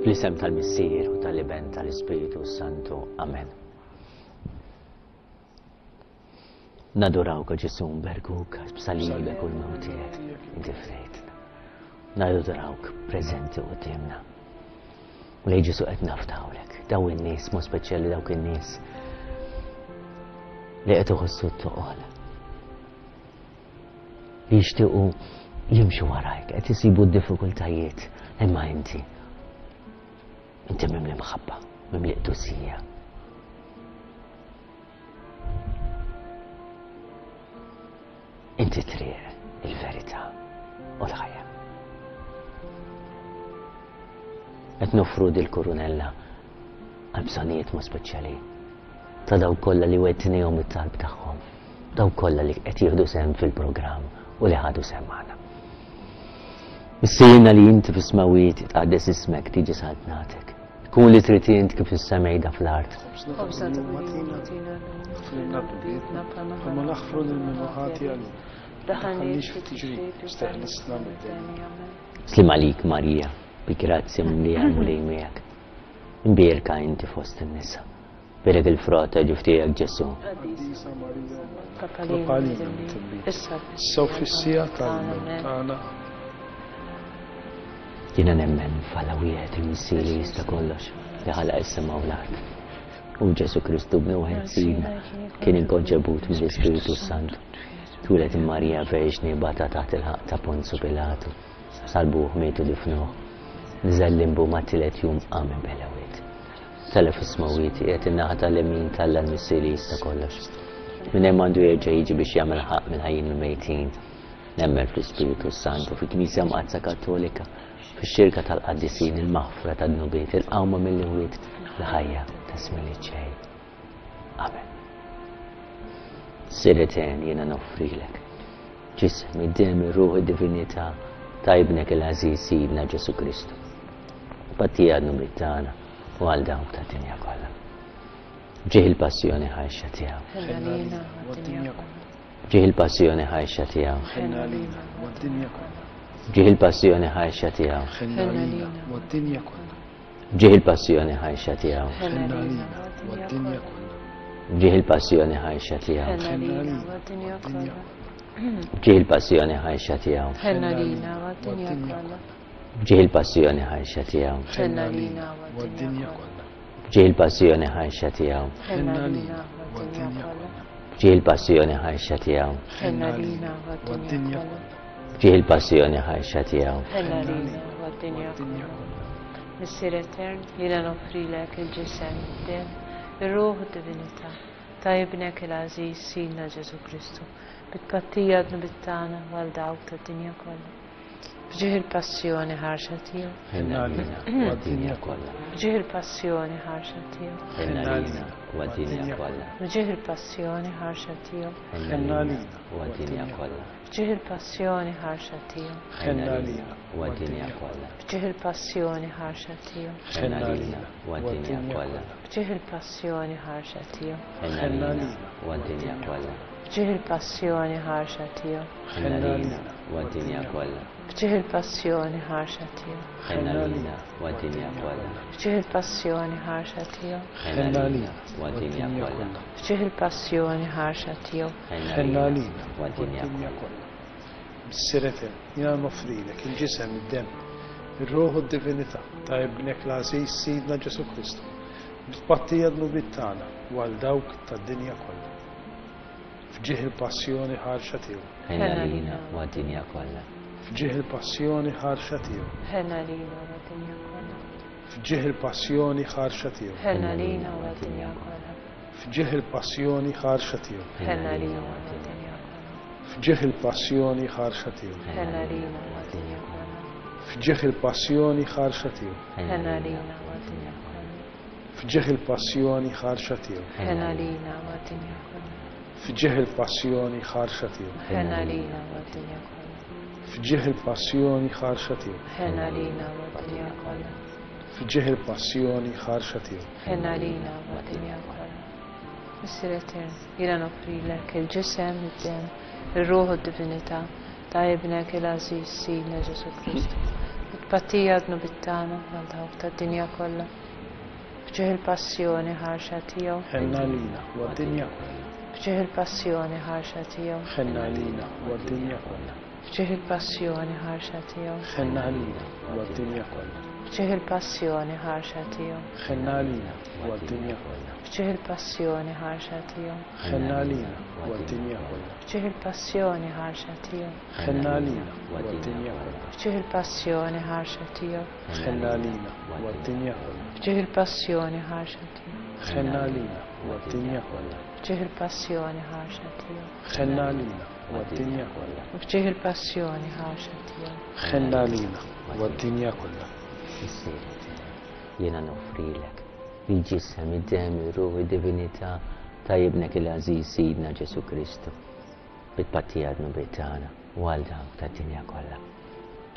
Fl-isem tal-Missier u tal-Iben tal-Ispiritu Santu. Amen. Nadurawk, o Ġesù, nberkuk għax b'salibek u l-mewt tiegħek inti fdejtna. Nadurawk preżenti quddiemna. Mulej Ġesù qed nafdawlek daw in-nies, mod speċjali dawk in-nies li qed iħossu t-toqol. Li jixtiequ jimxu warajk, qed isibu d-diffikultajiet, imma inti inti mimli mħabba, mimli qdusija. Inti triq, il-verità u l-ħajja. Qed noffru dil-kurunella għal bżonnijiet mod speċjali ta' dawk kollha li wetnihom it-talb tagħhom, dawk kollha li qed jieħdu sehem fil-programm u li ħadu sehem magħna. Missierna li inti fis-smawiet, tqaddes ismek, tiġi saltnatek. Kun li trid int kif is-semejda fl-art. Ħobżna ta' kuljum agħtina llum, Aħfrilna dnubietna bħalma naħfru lil min hu ħati għalina. Tħallix f'tiġrib, isteħlisna mid-deni. Slim għalik Marija, bi grazzja mimlija l-Mulej miegħek. Imbierka inti fost in-nisa. Bierek il-frott ta' ġuf tiegħek Ġesù. Qaddisa Marija, Tlob Tlob għalina midinbin. Issa Issa u fis-siegħa tal-mewt tagħna. Jiena nemmen f'Alla wieħed il-Missier li jista' kollox, li ħalaq is-sema u l-art. U Ġesù Kristu bnu wieħed Sidna, kien inkonċebut mill-Ispiritu Santu. Twieled minn Marija Verġni, bata taħt il-ħaqq ta' Ponzu Pilatu. Salbuh, miet u difnuh. Niżel limbu mat-tielet jum qam minn bejn l-imwiet. Tela' fis-smewwiet, qiegħed in-naħa tal-lemin t'Alla l-Missier li jista' kollox. Minn hemm għandu jerġa' jiġi biex jagħmel ħaqq mill-ħajjin u l-mejtin. Nemmen fl-Ispiritu s-Santu, fil-Knisja Mqaddsa Kattolika, fix-xirka tal-qaddisin, il-maħfra tad-dnubiet, il-qawma mill-imwiet, l-ħajja ta' żmien li ġej. Amen. Missier Etern, jiena noffrilek ġisem, id-demm, ir-ruħ, id-divinità ta' Ibnek il-għażiż Sidna Ġesù Kristu. Pattija għad-dnubiet tagħna u għal dawk tad-dinja kollha. Ġieħ il-passjoni ħarxa tiegħu. Ħenna lilna u għad-dinja kollha. Ġieħ il-passjoni ħarxa tiegħu. Ħenna lilna u għad-dinja kollha. Ġieħ il-passjoni ħarxa tiegħu. Ħenna lilna u għad-dinja kollha. Ġieħ il-passjoni ħarxa tiegħu. Ħenna lilna u għad-dinja kollha. Ġieħ il-passjoni ħarxa tiegħu. Ħenna lilna u għad-dinja kollha. Ġieħ il-passjoni ħarxa tiegħu. Ħenna lilna u għad-dinja kollha. Ġieħ il-passjoni ħarxa tiegħu. Ħenna lilna u għad-dinja kollha. Ġieħ il-passjoni ħarxa tiegħu. Ħenna lilna u għad-dinja kollha. Ġieħ il-passjoni ħarxa tiegħu. Ħenna lilna u għad-dinja kollha. Ġieħ il-passjoni ħarxa tiegħu. Ħenna lilna u għad-dinja kollha. Missier Etern, jiena noffrilek il-ġisem, id-demm, ir-ruħ u d-divinità ta' Ibnek il-għażiż Sidna Ġesù Kristu, bit-tpattija dnubiet tagħna u għal dawk tad-dinja kollha. B'ġieħ il-passjoni ħarxa tiegħu. Ħenna għalina u għad-dinja kollha. B'ġieħ il-passjoni ħarxa tiegħu. Ħenna għalina u għad-dinja kollha. B'ġieħ il-passjoni ħarxa tiegħu. Ħenna għalina u għad-dinja kollha. B'ġieħ il-passjoni ħarxa tiegħu. Ħenna għalina u għad-dinja kollha. B'ġieħ il-passjoni ħarxa tiegħu. Ħenna għalina u għad-dinja kollha. B'ġieħ il-passjoni ħarxa tiegħu. Ħenna għalina u għad-dinja kollha. B'ġieħ il-passjoni ħarxa tiegħu. Ħenna għalina u għad-dinja kollha. B'ġieħ il-passjoni ħarxa tiegħu. Ħenna għalina u għad-dinja kollha. B'ġieħ il-passjoni ħarxa tiegħu. Ħenna għalina u għad-dinja kollha. B'ġieħ il-passjoni ħarxa tiegħu. Ħenna għalina u għad-dinja kollha. Missier Etern, jiena noffrilek il-ġisem, id-demm, ir-ruħ u d-divinità ta' Ibnek l-għażiż Sidna Ġesù Kristu, bit-tpattija dnubiet tagħna u għal dawk tad-dinja kollha. F'ġieħ il-passjoni ħarxa tiegħu. Ħenna għalina u għad-dinja kollha. F'ġieħ il-passjoni ħarxa tiegħu. Ħenna għalina u għad-dinja kollha. F'ġieħ il-passjoni ħarxa tiegħu. Ħenna għalina u għad-dinja kollha. F'ġieħ il-passjoni ħarxa tiegħu. Ħenna għalina u għad-dinja kollha. F'ġieħ il-passjoni ħarxa tiegħu. Ħenna għalina u għad-dinja kollha. F'ġieħ il-passjoni ħarxa tiegħu. Ħenna għalina u għad-dinja kollha. F'ġieħ il-passjoni ħarxa tiegħu. Ħenna għalina u għad-dinja kollha. F'ġieħ il-passjoni ħarxa tiegħu. Ħenna għalina u għad-dinja kollha. F'ġieħ il-passjoni ħarxa tiegħu. Ħenna għalina u għad-dinja kollha. F'ġieħ il-passjoni ħarxa tiegħu. Ħenna għalina u għad-dinja kollha. Missier Etern, jiena noffrilek il-ġisem, id-demm, ir-ruħ u d-divinità ta' Ibnek il-għażiż Sidna Ġesù Kristu, Tpattija dnubiet tagħna għal dawk tad-dinja kollha. B'ġieħ il-passjoni ħarxa tiegħu. Ħenna għalina u għad-dinja kollha. B'ġieħ il-passjoni ħarxa tiegħu. Ħenna għalina u għad-dinja kollha. B'ġieħ il-passjoni ħarxa tiegħu. Ħenna għalina u għad-dinja kollha. B'ġieħ il-passjoni ħarxa tiegħu. Ħenna għalina u għad-dinja kollha. B'ġieħ il-passjoni ħarxa tiegħu. Ħenna għalina u għad-dinja kollha. B'ġieħ il-passjoni ħarxa tiegħu. Ħenna għalina u għad-dinja kollha. B'ġieħ il-passjoni ħarxa tiegħu. Ħenna għalina u għad-dinja kollha. B'ġieħ il-passjoni ħarxa tiegħu. Ħenna għalina u għad-dinja kollha. B'ġieħ il-passjoni ħarxa tiegħu. Ħenna għalina u għad-dinja kollha. B'ġieħ il-passjoni ħarxa tiegħu. Ħenna għalina u għad-dinja kollha. Missieri tiegħi, jiena noffrilek il-ġisem, id-demm, ir-ruħ, id-divinità ta' ibnek il-għażiż Sidna Ġesù Kristu bi tpattija dnubiet tagħna u għal dawk tad-dinja kollha.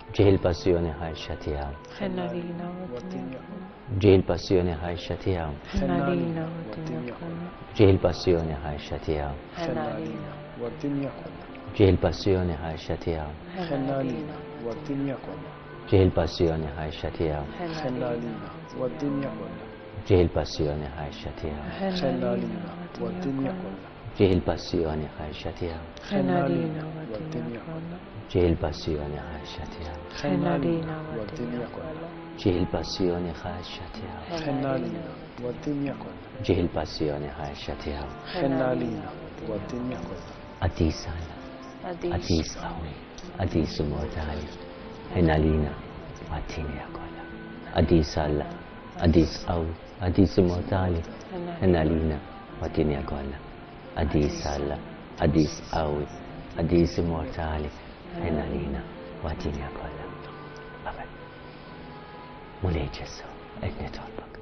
B'ġieħ il-passjoni ħarxa tiegħu. Ħenna għalina u għad-dinja kollha. B'ġieħ il-passjoni ħarxa tiegħu. Ħenna għalina u għad-dinja kollha. B'ġieħ il-passjoni ħarxa tiegħu. Ħenna għalina u għad-dinja kollha. B'ġieħ il-passjoni ħarxa tiegħu. Ħenna għalina u għad-dinja kollha. B'ġieħ il-passjoni ħarxa tiegħu. Ħenna għalina u għad-dinja kollha. B'ġieħ il-passjoni ħarxa tiegħu. Ħenna għalina u għad-dinja kollha. B'ġieħ il-passjoni ħarxa tiegħu. Ħenna għalina u għad-dinja kollha. B'ġieħ il-passjoni ħarxa tiegħu. Ħenna għalina u għad-dinja kollha. B'ġieħ il-passjoni ħarxa tiegħu. Ħenna għalina u għad-dinja kollha. B'ġieħ il-passjoni ħarxa tiegħu. Ħenna għalina u għad-dinja kollha. Qaddis Alla, qaddis qawwi, qaddis immortali, ħenna għalina u għad-dinja kollha. Qaddis Alla, qaddis qawwi, qaddis immortali, ħenna għalina u għad-dinja kollha. Qaddis Alla, qaddis qawwi, qaddis immortali, ħenna għalina u għad-dinja kollha. Amen. Mulej Ġesù, qed nitolbok.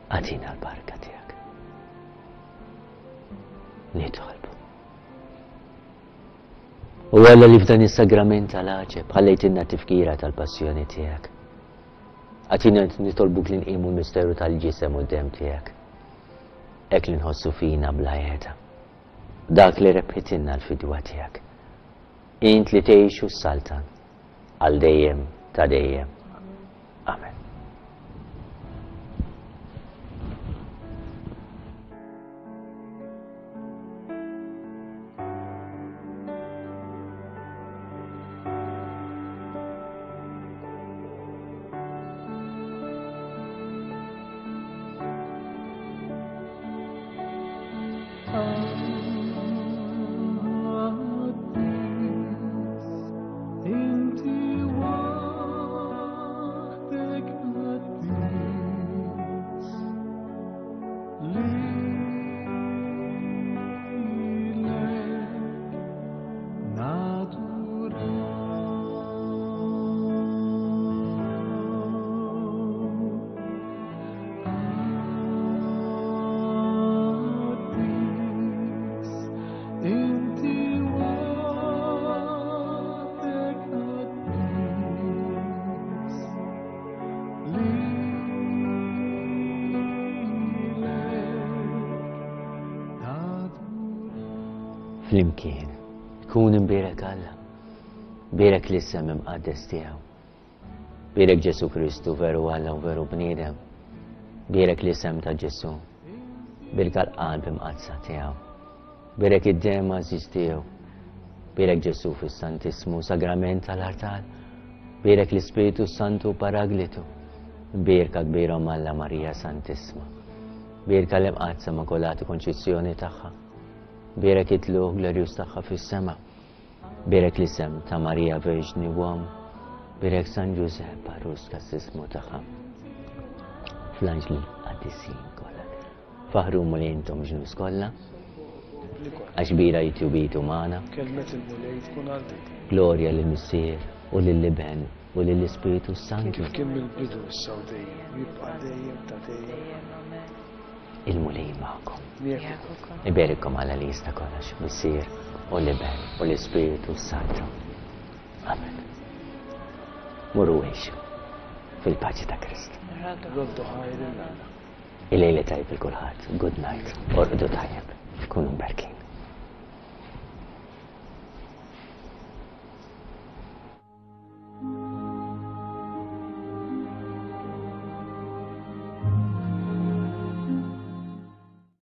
Agħtina l-barka tiegħek. Nitolbu. U Alla li f'dan is-sagrament tal-għaġeb ħallejtilna tifkira tal-passjoni tiegħek. Agħtina nitolbuk li nqimu l-misteru tal-ġisem u d-demm tiegħek. Hekk li nħossu fina bla qiegħda. Dak li rebħitilna l-fidwa tiegħek. Int li tgħix u ssaltan għal dejjem ta' dejjem. Amen. Inti waħdek qaddis, lilek naduraw. Qaddis, inti waħdek qaddis, lilek Flimkien, ikun imbierek Alla, bierek l-isem imqaddes tiegħu. Bierek Ġesù Kristu veru Alla u veru bniedem. Bierek l-isem ta' Ġesù, bierek l-qalb imqaddsa tiegħu. Bierek id-demm għażiż tiegħu. Bierek Ġesù fis-Santissmu Sagrament tal-Artal. Bierek l-Ispiritu Santu Paraglitu. Bierka kbira Omm Alla Marija Santissma. Bierka l-Imqaddsa Immakulata Konċizzjoni tagħha. Bierek it-tlugħ glorjuż tagħha fis-sema. Bierek l-isem ta' Marija Verġni u Omm. Bierek San Ġużepp għarus kassismu tagħha. Fl-anġli qaddisin kollha. Faħru Mulej intom ġnus kollha. Għax kbira tjubitu magħna. Kelmet il-Mulej tkun għal dejjem. Glorja lill-Missier u lill-Iben u lill-Ispiritu Santu. Kif kien mill-bidu issa u dejjem, jibqa' dejjem ta' dejjem. Il-Mulej magħkom. Miegħek ukoll. Iberikkom Alla li jista' kollox, Missier u l-Iben u l-Ispiritu Santu. Amen. Muru għixu fil-paċi ta' Kristu. Roddu ħajr lil Alla. Il-lejl it-tajjeb lil kulħadd. Good night. Orqdu tajjeb. Kunu mberkin.